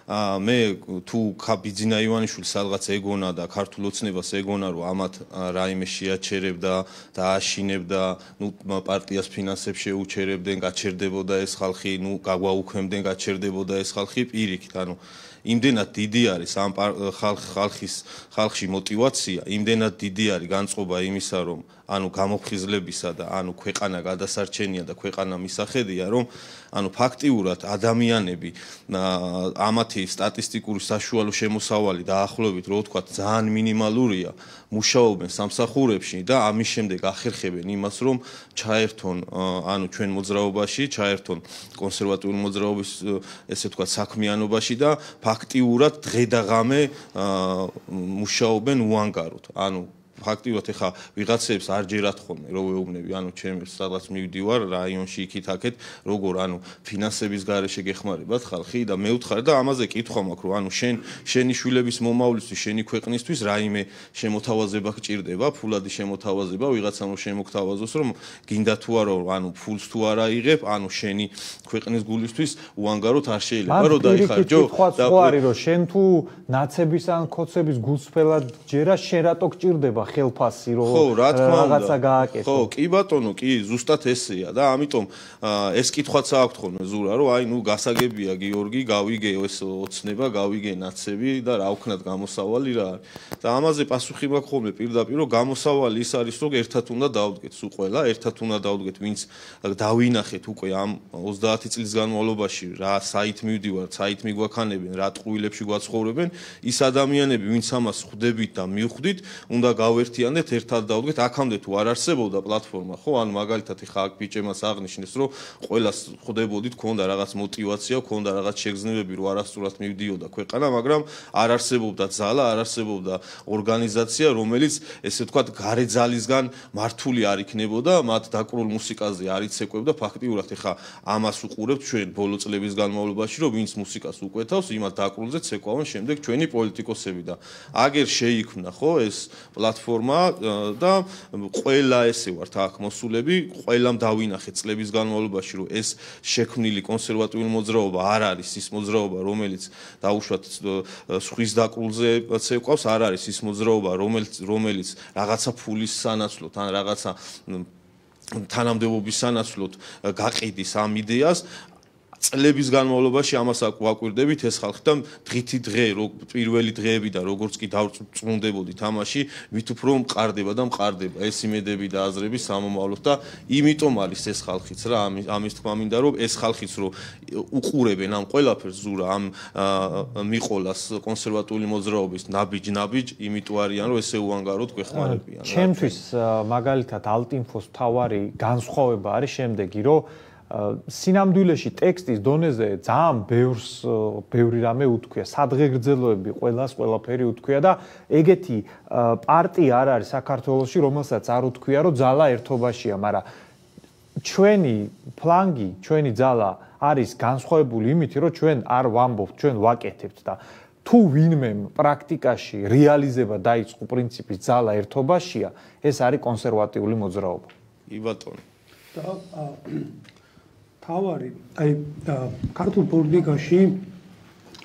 მე თუ ბიძინა ივანიშვილი სადღაც ეგონა და ქართულ ოცნებას ეგონა რომ ამათ რაიმე შეაჩერებდა და აშინებდა ნუ პარტიას ფინანსებს შეუჩერებდნენ გაჩერდებოდა ეს ხალხი ნუ გაგვაუქმებდნენ გაჩერდებოდა ეს ხალხი პირიქით ანუ იმდენად დიდი არის ამ ხალხში мотиваცია იმდენად დიდი არის განწყობა იმისა რომ ანუ გამოფხიზლებისა და ანუ ქვეყანა გადასარჩენია და ქვეყანა მისახედია რომ ანუ ფაქტიურად ადამიანები ამათი სტატისტიკური საშუალო შემოსავალი დაახლოებით რო ვთქვათ ძალიან მინიმალურია მუშაობენ სამსახურებში და ამის შემდეგ ახერხებენ იმას რომ ჩაერთონ ანუ ჩვენ მოძრაობაში ჩაერთონ კონსერვატიული მოძრაობის ესე ვთქვათ საქმიანობაში და ფაქტიურად დღე და ღამე მუშაობენ უანგაროდ ანუ ფაქტიურად ეხა ვიღაცებს არ ჯერათ ხოლმე რო ვეუბნები ანუ ჩემს სადღაც მივდივარ რაიონში იქით აქეთ როგორ ანუ ფინანსების გარეშე გეხმარებათ ხალხი და მე ვთხარ და ამაზე კითხვა მაქვს რომ ანუ შენი შვილების მომავლისთვის შენი ქვეყნისთვის რაიმე შემოთავაზება გჭირდება ფულადი შემოთავაზება ვიღაცამ რომ შემოგთავაზოს რომ გინდა თუ არა ანუ ფულს თუ არ აიღებ ანუ შენი ქვეყნის გულისთვის უანგაროდ არ შეიძლება რომ დაიხარჯო და არის რომ შენ თუ ნაცების ან ქოცების გულსფელად ჯერა შენ რატო გჭირდება ხელფასი რომ რაღაცა გააკეთო. ხო, კი ბატონო, კი, ზუსტად ესეა და ამიტომ ეს კითხვაც აქვს ხოლმე ზურა, რომ აი ნუ გასაგებია გიორგი, გავიგე ეს ოცნება, გავიგე ნაცები და რა ვქნათ გამოსავალი რა არის. და ამაზე პასუხი მაქვს ხოლმე პირდაპირ, რომ გამოსავალი ის არის, რომ ერთად უნდა დავდგეთ სულ ყველა, ერთად უნდა დავდგეთ, ვინც დავინახეთ უკვე ამ 30 წლის განმავლობაში რა საით მივდივართ, საით მიგვაქანებენ, რა ტყუილებში გვაცხოვრებენ, ის ადამიანები, ვინც ამას ხვდებით და მივხვდით, უნდა გავერთიანდეთ, ერთად დავდგეთ, აქამდე თუ არ არსებობდა პლატფორმა, ხო, ანუ მაგალითად ხა აქ ბიჭემას აღნიშნეს, რომ ყველას ხვდებოდით, ქონდა რაღაც мотиваცია, ქონდა რაღაც შეგრძნებები, რომ არასწორად მივდიოდა ქვეყანა, მაგრამ არ არსებობდა ძალა, არ არსებობდა ორგანიზაცია, რომელიც ესე ვთქვათ, გარეძალისგან მართული არ იქნებოდა, მათ დაკრულ მუსიკაზე არ იცეკვებდა, ფაქტიურად ხა ამას უყურებთ ჩვენ ბოლო წლების განმავლობაში, რომ ვინც მუსიკას უკვეთავს, იმათ დაკრულზე ცეკვავენ შემდეგ ჩვენი პოლიტიკოსები და აგერ შეიქმნა, ხო, ეს პლატფორმა და ყველა ესე ვართ აქ მოსულები, ყველამ დავინახეთ წლების განმავლობაში, რომ ეს შექმნილი კონსერვატიული მოძრაობა არ არის ის მოძრაობა, რომელიც დაუშვათ სხვის დაკრულზე ცეკვავს, არ არის ის მოძრაობა, რომელიც რაღაცა ფულის სანაცვლოდ ან რაღაცა თანამდებობის სანაცვლოდ გაყიდის ამ იდეას. წლების განმავლობაში ამას ვაკვირდებით ეს ხალხი და დღითი დღე პირველი დღეებიდან როგორც კი დავწუნდებოდით ამაში ვით უფრო მყარდება და მყარდება ეს იმედები და აზრები სამომავლოდ და იმიტომ არის ეს ხალხიც რა ამის თქმა მინდა რომ ეს ხალხიც რომ უყურებენ ამ ყველაფერს ზურა ამ მიყოლას კონსერვატიული მოძრაობის ნაბიჯ იმიტომ არიან რომ ესე უანგაროდ გვეხმარებიან ჩემთვის მაგალითად ალტინფოს თავარი განსხვავება არის შემდეგი რომ სინამდვილეში ტექსტის დონეზე ძალიან ბევრი რამე უთქვია, სადღეგრძელოები ყველაფერი უთქვია და ეგეთი პარტია არ არის საქართველოში, რომელსაც არ უთქვია, რომ ძალა ერთობაშია, მაგრამ ჩვენი ფლანგი, ჩვენი ძალა არის განსხვავებული იმით, რომ ჩვენ არ ვამბობთ, ჩვენ ვაკეთებთ და თუ ვინმემ პრაქტიკაში რეალიზება დაიწყო პრინციპის ძალა ერთობაშია, ეს არის კონსერვატიული მოძრაობა. კი ბატონო. თავარი, აი ქართულ პოლიტიკაში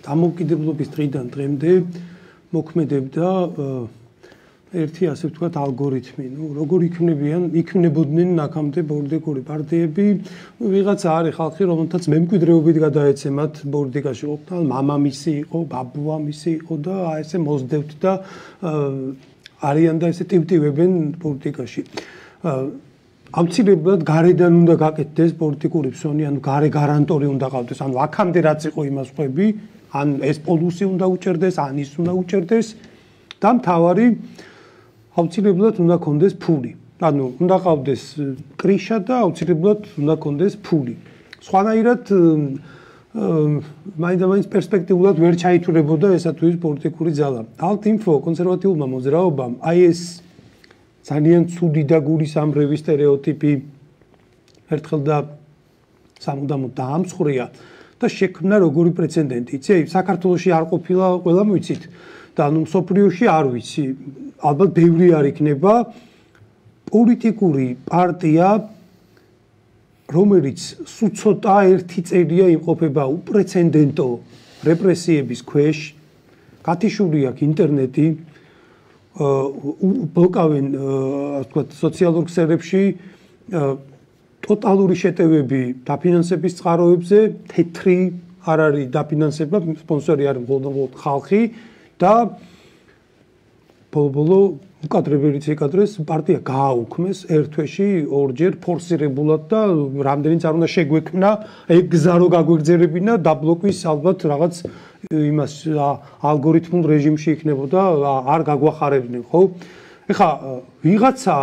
დამოუკიდებლობის დღიდან დღემდე მოქმედებდა ერთი ასე ვთქვათ ალგორითმი, როგორ იქნებოდნენ აქამდე პოლიტიკური პარტიები, ვიღაცა არის ხალხი, რომელთაც მემკვიდრეობით გადაეცემათ პოლიტიკაში, ყოფნა მამამისი იყო, ბაბუამისი იყო და აი ესე მოსდევთ და არიან და ესე ტივტივებენ პოლიტიკაში. ამცირებლად გარედან უნდა გაკეთდეს პოლიტიკური ფსონი, ანუ გარე გარანტორი უნდა ყავდეს, ანუ აქამდე რაც იყო იმას ხვები, ან ეს პოლუსი უნდა უჭერდეს, ან ის უნდა უჭერდეს და მთავარი აუცილებლად უნდა კონდეს ფული. ანუ უნდა ყავდეს კრიშა და აუცილებლად უნდა კონდეს ფული. სხვანაირად მაინც პერსპექტიულად ვერ ჩაითვლებოდა ესა თუ ის პოლიტიკური ძალა. ალტინფო კონსერვატიულმა მოძრაობამ აი ეს ძალიან ცუდი და გულისამრევი სტერეოტიპი ერთხელ და სამუდამოდ დაამსხვრია და შექმნა როგორი პრეცედენტი. იცი, საქართველოში არ ყოფილა, ყველა მოიცით და ანუ მსოფლიოში არ ვიცი. ალბათ ბევრი არ იქნება პოლიტიკური პარტია, რომელიც სულ ცოტა ერთი წელია იმყოფება უპრეცედენტო რეპრესიების ქვეშ, გათიშული აქვს ინტერნეტი, ბლოკავენ ასე ვთქვათ სოციალურ ქსელებში ტოტალური შეტევები დაფინანსების წყაროებზე, თეთრი არ არის დაფინანსება, სპონსორი არის მხოლოდ ხალხი და ბოლო უკადრებელიც ეკადრეს პარტია გააუქმეს ერთ თვეში ორჯერ ფორსირებულად და რამდენიც არ უნდა შეგვექმნა ეგ გზა რო გაგვეგზერებინა დაბლოკვის ალბათ რაღაც იმას ალგორითმულ რეჟიმში იქნებოდა არ გაგვახარებდნენ ხო ეხა ვიღაცა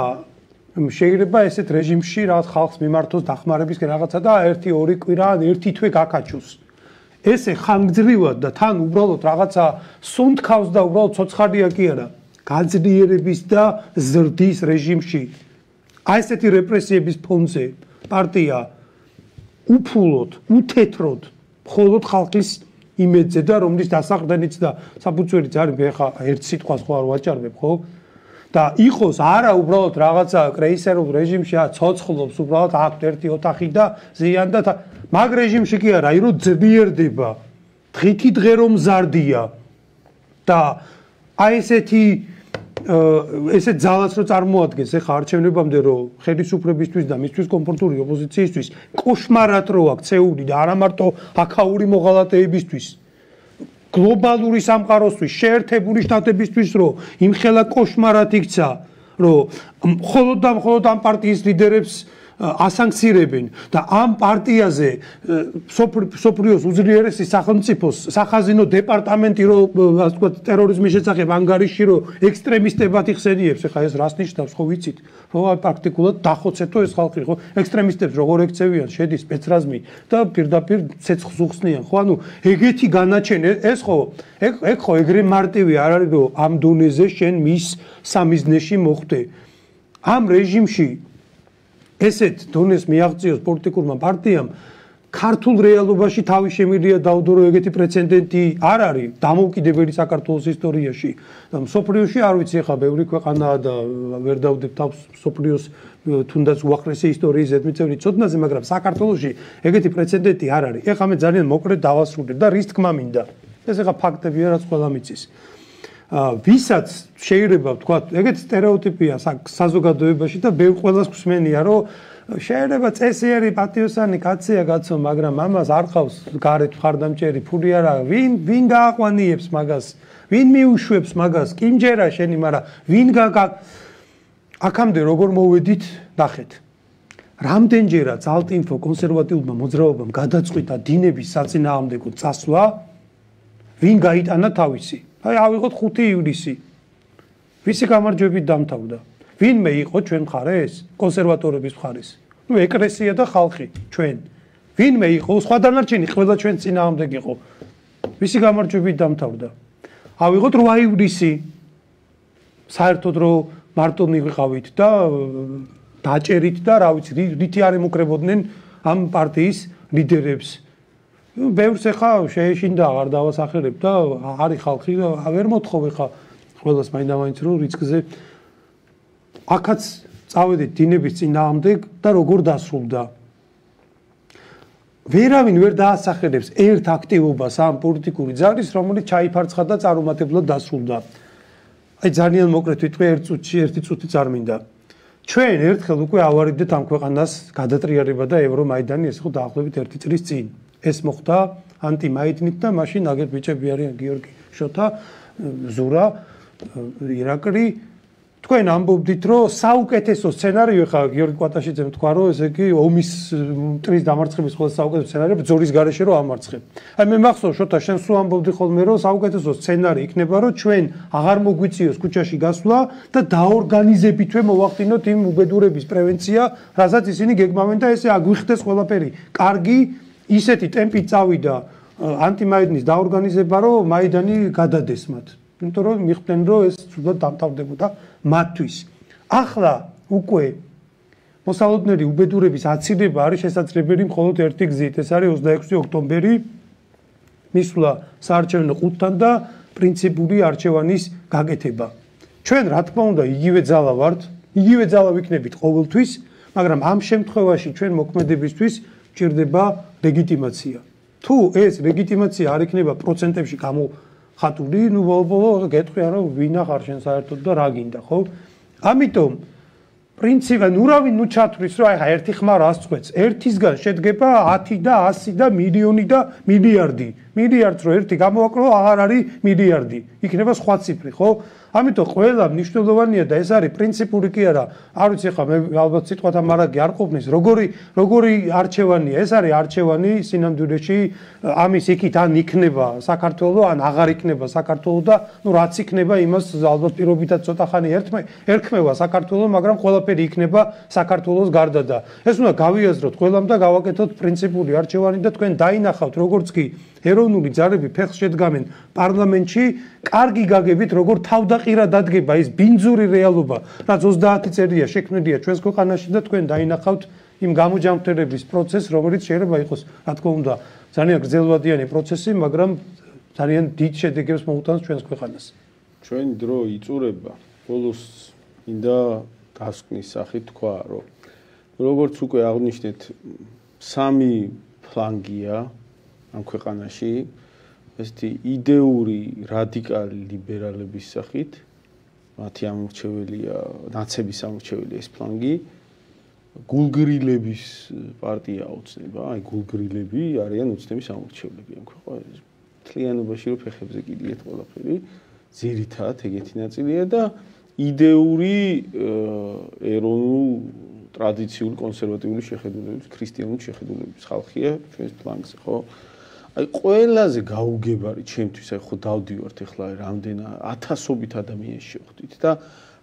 შეიძლება ესეთ რეჟიმში რაღაც ხალხს მიმართოს დახმარებისკენ რაღაცა და 1-2 კვირა ან 1 თვე გაკაჩოს ესე ხანგრძლივად და თან უბრალოდ რაღაცა სუნთქავს და უბრალოდ ცოცხალია კი არა გაძლიერების და ზრდის რეჟიმში აი ესეთი რეპრესიების ფონზე პარტია უფულოდ, უთეთროდ მხოლოდ ხალხის იმედზე და რომლის დასაყრდენიც და საფუძველიც არის მე ხა ერთ სიტყვას ხო არ ვაჭარბებ ხო და იყოს არა უბრალოდ რაღაცა კრეისერულ რეჟიმში ცოცხლობს უბრალოდ აქვთ ერთი ოთახი და ზიან და მაგ რეჟიმში კი არა, რომ ძლიერდება დღითი დღე რომ მზარდია და აი ესეთი ესეთ ძალას რო წარმოადგენს ეხა არჩევნებამდე რომ ხელისუფლებისთვის და მისთვის კომფორტული ოპოზიციისთვის კოშმარად რო აქცეული და არა მარტო აქაური მოღალატეებისთვის გლობალური სამყაროსთვის შეერთებული შტატებისთვის რომ იმხელა კოშმარად იქცა რომ მხოლოდ ამ პარტიის ლიდერებს ასანქცირებენ და ამ პარტიაზე სოფლიოს უძლიერესი სახელმწიფოს სახაზინო დეპარტამენტი რომ ასე ვთქვათ ტერორიზმის შესახებ ანგარიში რომ ექსტრემისტებად იხსენიებს ეხლა ეს რას ნიშნავს ხო ვიცით რომ პრაქტიკულად დახოცეთო ეს ხალხი ხო ექსტრემისტებს როგორ ექცევიან შედის სპეცრაზმი და პირდაპირ ცეცხლს უხსნიან ხო ანუ ეგეთი განაჩენი ეს ხო ეგ ხო ეგრე მარტივი არ არის რომ ამ დონეზე შენ მის სამიზნეში მოხვდე ამ რეჟიმში ესეთ დონეს მიაღწიოს პოლიტიკურმა პარტიამ ქართულ რეალობაში თავი შემიძლია დაუდო რომ ეგეთი პრეცედენტი არ არის დამოუკიდებელი საქართველოს ისტორიაში და მსოფლიოში არ ვიცი ახლა ბევრი ქვეყანაა და ვერ დავდებ თავს მსოფლიოს თუნდაც უახლესი ისტორიის ზედმიწევრი ცოდნაზე მაგრამ საქართველოში ეგეთი პრეცედენტი არ არის ეხლა მე ძალიან მოკლედ დავასრულებ და რის თქმა მინდა ეს ახლა ფაქტებია რაც ყველა მიცის ვისაც შეიძლება ვთქვა ეგეთი სტერეოტიპია საზოგადოებაში და ბევრ ყველას გვსმენია რომ შეიძლება წესიერი პატიოსანი კაცია კაცო მაგრამ ამას არ ყავს გარეთ მხარდამჭერი ფული არა ვინ გააყვანიებს მაგას ვინ მიუშვებს მაგას კიმჯერა შენი მაგრამ ვინ აქამდე როგორ მოვედით ნახეთ რამდენჯერაც ალტინფო კონსერვატიულმა მოძრაობამ გადაწყვიტა დინების საწინააღმდეგო წასვლა ვინ გაიტანა თავისი აი ავიღოთ 5 ივლისი ვისი გამარჯვებით დამთავრდა ვინმე იყო ჩვენ მხარეს კონსერვატორების მხარეს ნუ ეკლესია და ხალხი ჩვენ ვინმე იყო სხვა დანარჩენი ყველა ჩვენ წინააღმდეგ იყო ვისი გამარჯვებით დამთავრდა ავიღოთ 8 ივლისი საერთოდ რომ მარტონი ვიყავით და დაჭერით და რა ვიცი რითი არ ემუქრებოდნენ ამ პარტიის ლიდერებს ბევრს ეხა შეეშინდა აღარ დავასახელებ და არის ხალხი ვერ მოთხოვ ეხა ყველას მაინდა-მაინც რომ რიცკზე აქაც წავედით დინების წინააღმდეგ და როგორ დასრულდა ვერავინ ვერ დაასახელებს ერთ აქტივობას ამ პოლიტიკური ძალის რომელიც ჩაიფარცხა და წარუმატებლად დასრულდა აი ძალიან მოკლედ ვიტყვი ერთ წუთში ერთი წუთი წარმინდა ჩვენ ერთხელ უკვე ავარიდეთ ამ ქვეყანას გადატრიალება და ევრომაიდანი ეს ხო დაახლოებით 1 წლის წინ ეს მოხდა ანტიმაიდნით და მაშინ აგერ ბიჭები არიან გიორგი შოთა ზურა ირაკლი თქვენ ამბობდით რომ საუკეთესო სცენარიო ხა გიორგი კვატაშიძემ თქვა რომ ესე იგი ომის მტრის დამარცხების ყველა საუკეთესო სცენარია ბრძოლის გარეშე რომ ამარცხებ აი მე მახსოვს შოთა შენ სულ ამბობდი ხოლმე რომ საუკეთესო სცენარი იქნება რომ ჩვენ აღარ მოგვიწიოს ქუჩაში გასვლა და დაორგანიზებითვე მოვახდინოთ იმ უბედურების პრევენცია რასაც ისინი გეგმავენ და ესე აგვიხდეს ყველაფერი კარგი ისეთი ტემპით წავიდა ანტიმაიდნის დაორგანიზება რომ მაიდანი გადადეს მათ იმიტომ რომ მიხვდნენ რომ ეს ცუდად დამთავრდებოდა მათთვის ახლა უკვე მოსალოდნელი უბედურების აცილება არის შესაძლებელი მხოლოდ ერთი გზით ეს არის 26 ოქტომბერი მისვლა საარჩევნო ყუთთან და პრინციპული არჩევანის გაკეთება ჩვენ რა თქმა უნდა იგივე ძალა ვართ იგივე ძალა ვიქნებით ყოველთვის მაგრამ ამ შემთხვევაში ჩვენ მოქმედებისთვის ჭირდება ლეგიტიმაცია თუ ეს ლეგიტიმაცია არ იქნება პროცენტებში გამოხატული ნუ ბოლო გეტყვიან რომ ვინ ახარ შენ საერთოდ და რა გინდა ხო ამიტომ პრინციპი ნურავინ ნუ ჩათვლის რომ აი ხა ერთი ხმა რას წყვეტს ერთისგან შედგება 10 და 100 და მილიონი და მილიარდი მილიარდს რო ერთი გამოვაკლო აღარ არის მილიარდი იქნება სხვა ციფრი ხო ამიტომ ყველა მნიშვნელოვანია და ეს არის პრინციპული კი არა არ ვიცი ხა მე ალბათ სიტყვათა მარაგი არ ყოფნის როგორი არჩევანია ეს არის არჩევანი სინამდვილეში ამის იქით ან იქნება საქართველოს ან აღარ იქნება საქართველოს და ნუ რაც იქნება იმას ალბათ პირობითად ცოტა ხანი ერქმევა საქართველოს მაგრამ ყველაფერი იქნება საქართველოს გარდა და ეს უნდა გავიაზროთ ყველამ და გავაკეთოთ პრინციპული არჩევანი და თქვენ დაინახავთ როგორც კი ეროვნული ძალები ფეხს შედგამენ პარლამენტში კარგი გაგებით როგორ თავდაყირა დადგება ეს ბინძური რეალობა რაც 30 წელია შექმნილია ჩვენს ქვეყანაში და თქვენ დაინახავთ იმ გამოჯანმრთელების პროცესს რომელიც შეიძლება იყოს რა თქმა უნდა ძალიან გრძელვადიანი პროცესი მაგრამ ძალიან დიდ შედეგებს მოუტანს ჩვენს ქვეყანას ჩვენი დრო იწურება ბოლოს მინდა დასკვნის სახით თქვა რომ როგორც უკვე აღნიშნეთ სამი ფლანგია ამ ქვეყანაში ესეთი იდეური რადიკალი ლიბერალების სახით მათი ამორჩეველია ნაცების ამორჩეველია ეს ფლანგი გულგრილების პარტია ოცნება აი გულგრილები არიან ოცნების ამორჩევლები ამ ქვეყანაში თლიანობაში რო ფეხებზე კიდიეთ ყველაფერი ძირითადად ეგეთი ნაწილია და იდეური ეროვნულ ტრადიციული კონსერვატიული შეხედულების, ქრისტიანული შეხედულების ხალხია ჩვენს ფლანგზე, ხო? აი ყველაზე გაუგებარი ჩემთვის აი ხო დავდივართ ახლა რამდენა ათასობით ადამიანს შევხვდით და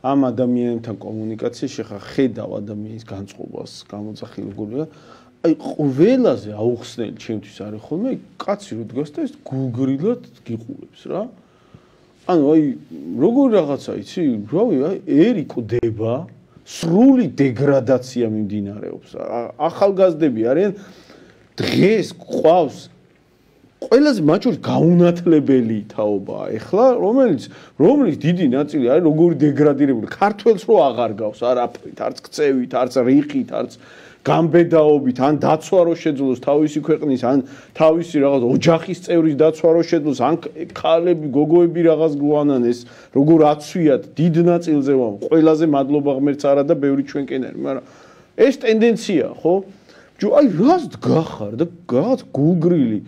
ამ ადამიანებთან კომუნიკაციაში ხა ხედავ ადამიანის განწყობას, გამოძახილ როგორია აი ყველაზე აუხსნელი ჩემთვის არის ხოლმე კაცი რო დგას და ეს გულგრილად გიყურებს რა. ანუ აი როგორ რაღაცა იცი, რავი, აი ერიკდება, სრული დეგრადაცია მიმდინარეობს. ახალგაზრდები არიან დღეს ყავს ყველაზე მათ შორის გაუნათლებელი თაობაა ეხლა, რომელიც დიდი ნაწილი არის როგორი დეგრადირებული. ქართველს რო აღარ გავს არაფრით, არც ქცევით, არც რიხით, არც გამბედაობით, ან დაცვა რო შეძლოს თავისი ქვეყნის, ან თავისი რაღაც ოჯახის წევრის დაცვა რო შეძლოს, ან ქალები, გოგოები რაღაც გვანან ეს როგორ აცვიათ დიდ ნაწილზე ვამ. ყველაზე მადლობა ღმერთს არა და ბევრი ჩვენკენარი, მაგრამ ეს ტენდენცია, ხო? აი რას დგახარ და რაღაც გულგრილი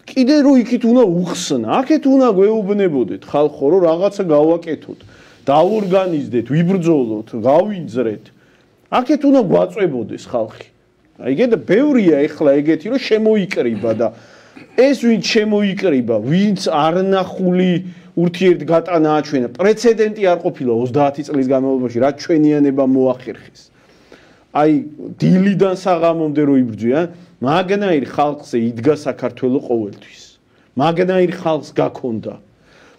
კიდე რო იქით უნდა უხსნა, აქეთ უნდა გვეუბნებოდეთ ხალხო, რომ რაღაცა გავაკეთოთ, დაორგანიზდეთ, ვიბრძოლოთ, გავიძრეთ. აქეთ უნდა გვაწვებოდეს ხალხი. აი ეგ და ბევრია ეხლა ეგეთი, რომ შემოიკრიბა და ეს ვინც შემოიკრიბა, ვინც არნახული ურთიერთგატანა აჩვენა, პრეცედენტი არ ყოფილა 30 წლის განმავლობაში, რაც ჩვენიანება მოახერხეს. აი დილიდან საღამომდე რო იბრძვიან, მაგნაირ ხალხზე იდგა საქართველოს ყოველთვის. მაგნაირ ხალხს გაქონდა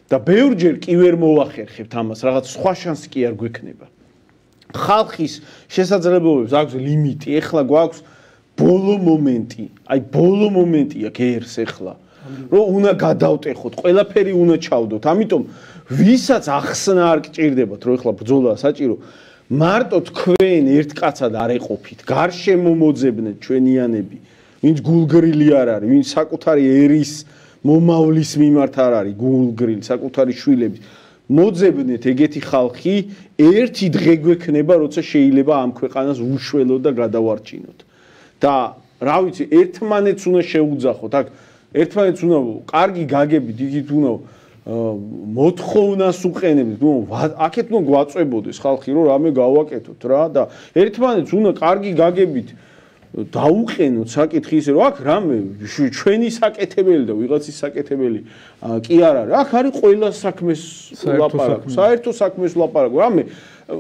და ბევრჯერ კი ვერ მოახერხებთ ამას, რაღაც სხვა შანსი კი არ გვექნება. ხალხის შესაძლებლობებს აქვს ლიმიტი, ეხლა გვაქვს ბოლო მომენტი, აი ბოლო მომენტია გერს ეხლა, რომ უნდა გადავტეხოთ, ყველაფერი უნდა ჩავდოთ, ამიტომ ვისაც ახსნა არ გჭირდებათ, რომ ეხლა ბრძოლა საჭირო, მარტო თქვენ ერთ კაცად არ ეყოფით, გარშემო მოძებნეთ ჩვენიანები, ვინც გულგრილი არ არის, ვინც საკუთარი ერის მომავლის მიმართ არ არის გულგრილი, საკუთარი შვილების მოძებნეთ ეგეთი ხალხი, ერთი დღე გვექნება, როცა შეიძლება ამ ქვეყანას უშველოთ და გადავარჩინოთ. და რა ვიცი, ერთმანეთს უნდა შეუძახოთ, აქ ერთმანეთს უნდა კარგი გაგებით, იქით უნდა მოთხოვნას უყენებთ, აქეთ უნდა გვაწვებოდეს ხალხი, რომ რამე გავაკეთოთ რა და ერთმანეთს უნდა კარგი გაგებით დაუყენოთ საკითხი ისე რომ აქ რამე ჩვენი საკეთებელი და ვიღაცის საკეთებელი კი არ არის. აქ არის ყველა საქმეს ლაპარაკი, საერთო საქმეს ლაპარაკი. რამე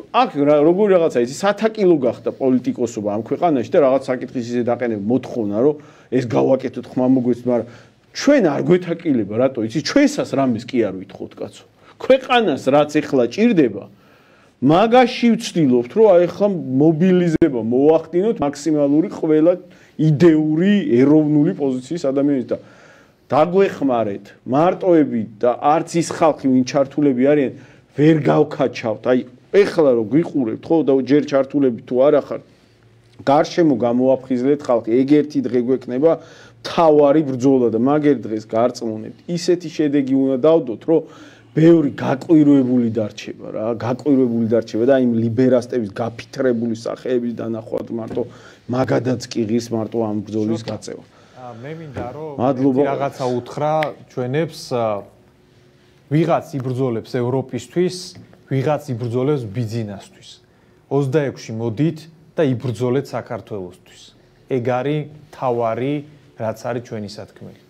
აქ როგორი რაღაცა იცი, სათაკილო გახდა პოლიტიკოსობა ამ ქვეყანაში და რაღაც საკითხის ისე დაყენება მოთხოვნა რომ ეს გავაკეთოთ ხმამოგვეც, მაგრამ ჩვენ არ გვეთაკილება, რატო იცი, ჩვენსას რამეს კი არ ვითხოვთ კაცო. ქვეყანას რაც ეხლა ჭირდება მაგაში ვცდილობთ, რომ აი ახლა მობილიზება მოახდინოთ მაქსიმალური ყველა იდეური ეროვნული პოზიციის ადამიანის და დაგვეხმარეთ მარტოები და არც ის ხალხი ვინ ჩართულები არიან ვერ გავქაჩავთ. აი ეხლა რომ გვიყურებთ ხო და ჯერ ჩართულები თუ არა ხარ გარშემო გამოაფხიზლეთ ხალხი, ეგ ერთი დღე გვექნება თავარი ბრძოლა და მაგერ დღეს გარწმუნებთ. ისეთი შედეგი უნდა დავდოთ, რომ ბევრი გაყვირვებული დარჩება რა, გაყვირვებული დარჩება და იმ ლიბერასტების გაფითრებული სახეების დანახვად მარტო მაგადაც კი ღირს მარტო ამ ბრძოლის გაწევა. მე მინდა რომ რაღაცა უთხრა ჩვენებს, ვიღაც იბრძოლებს ევროპისთვის, ვიღაც იბრძოლებს ბიზნესთვის. 26-ში მოდით და იბრძოლეთ საქართველოსთვის. ეგ არის თავარი, რაც არის ჩვენი სათქმელი.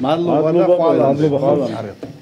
მადლობა და ყველა.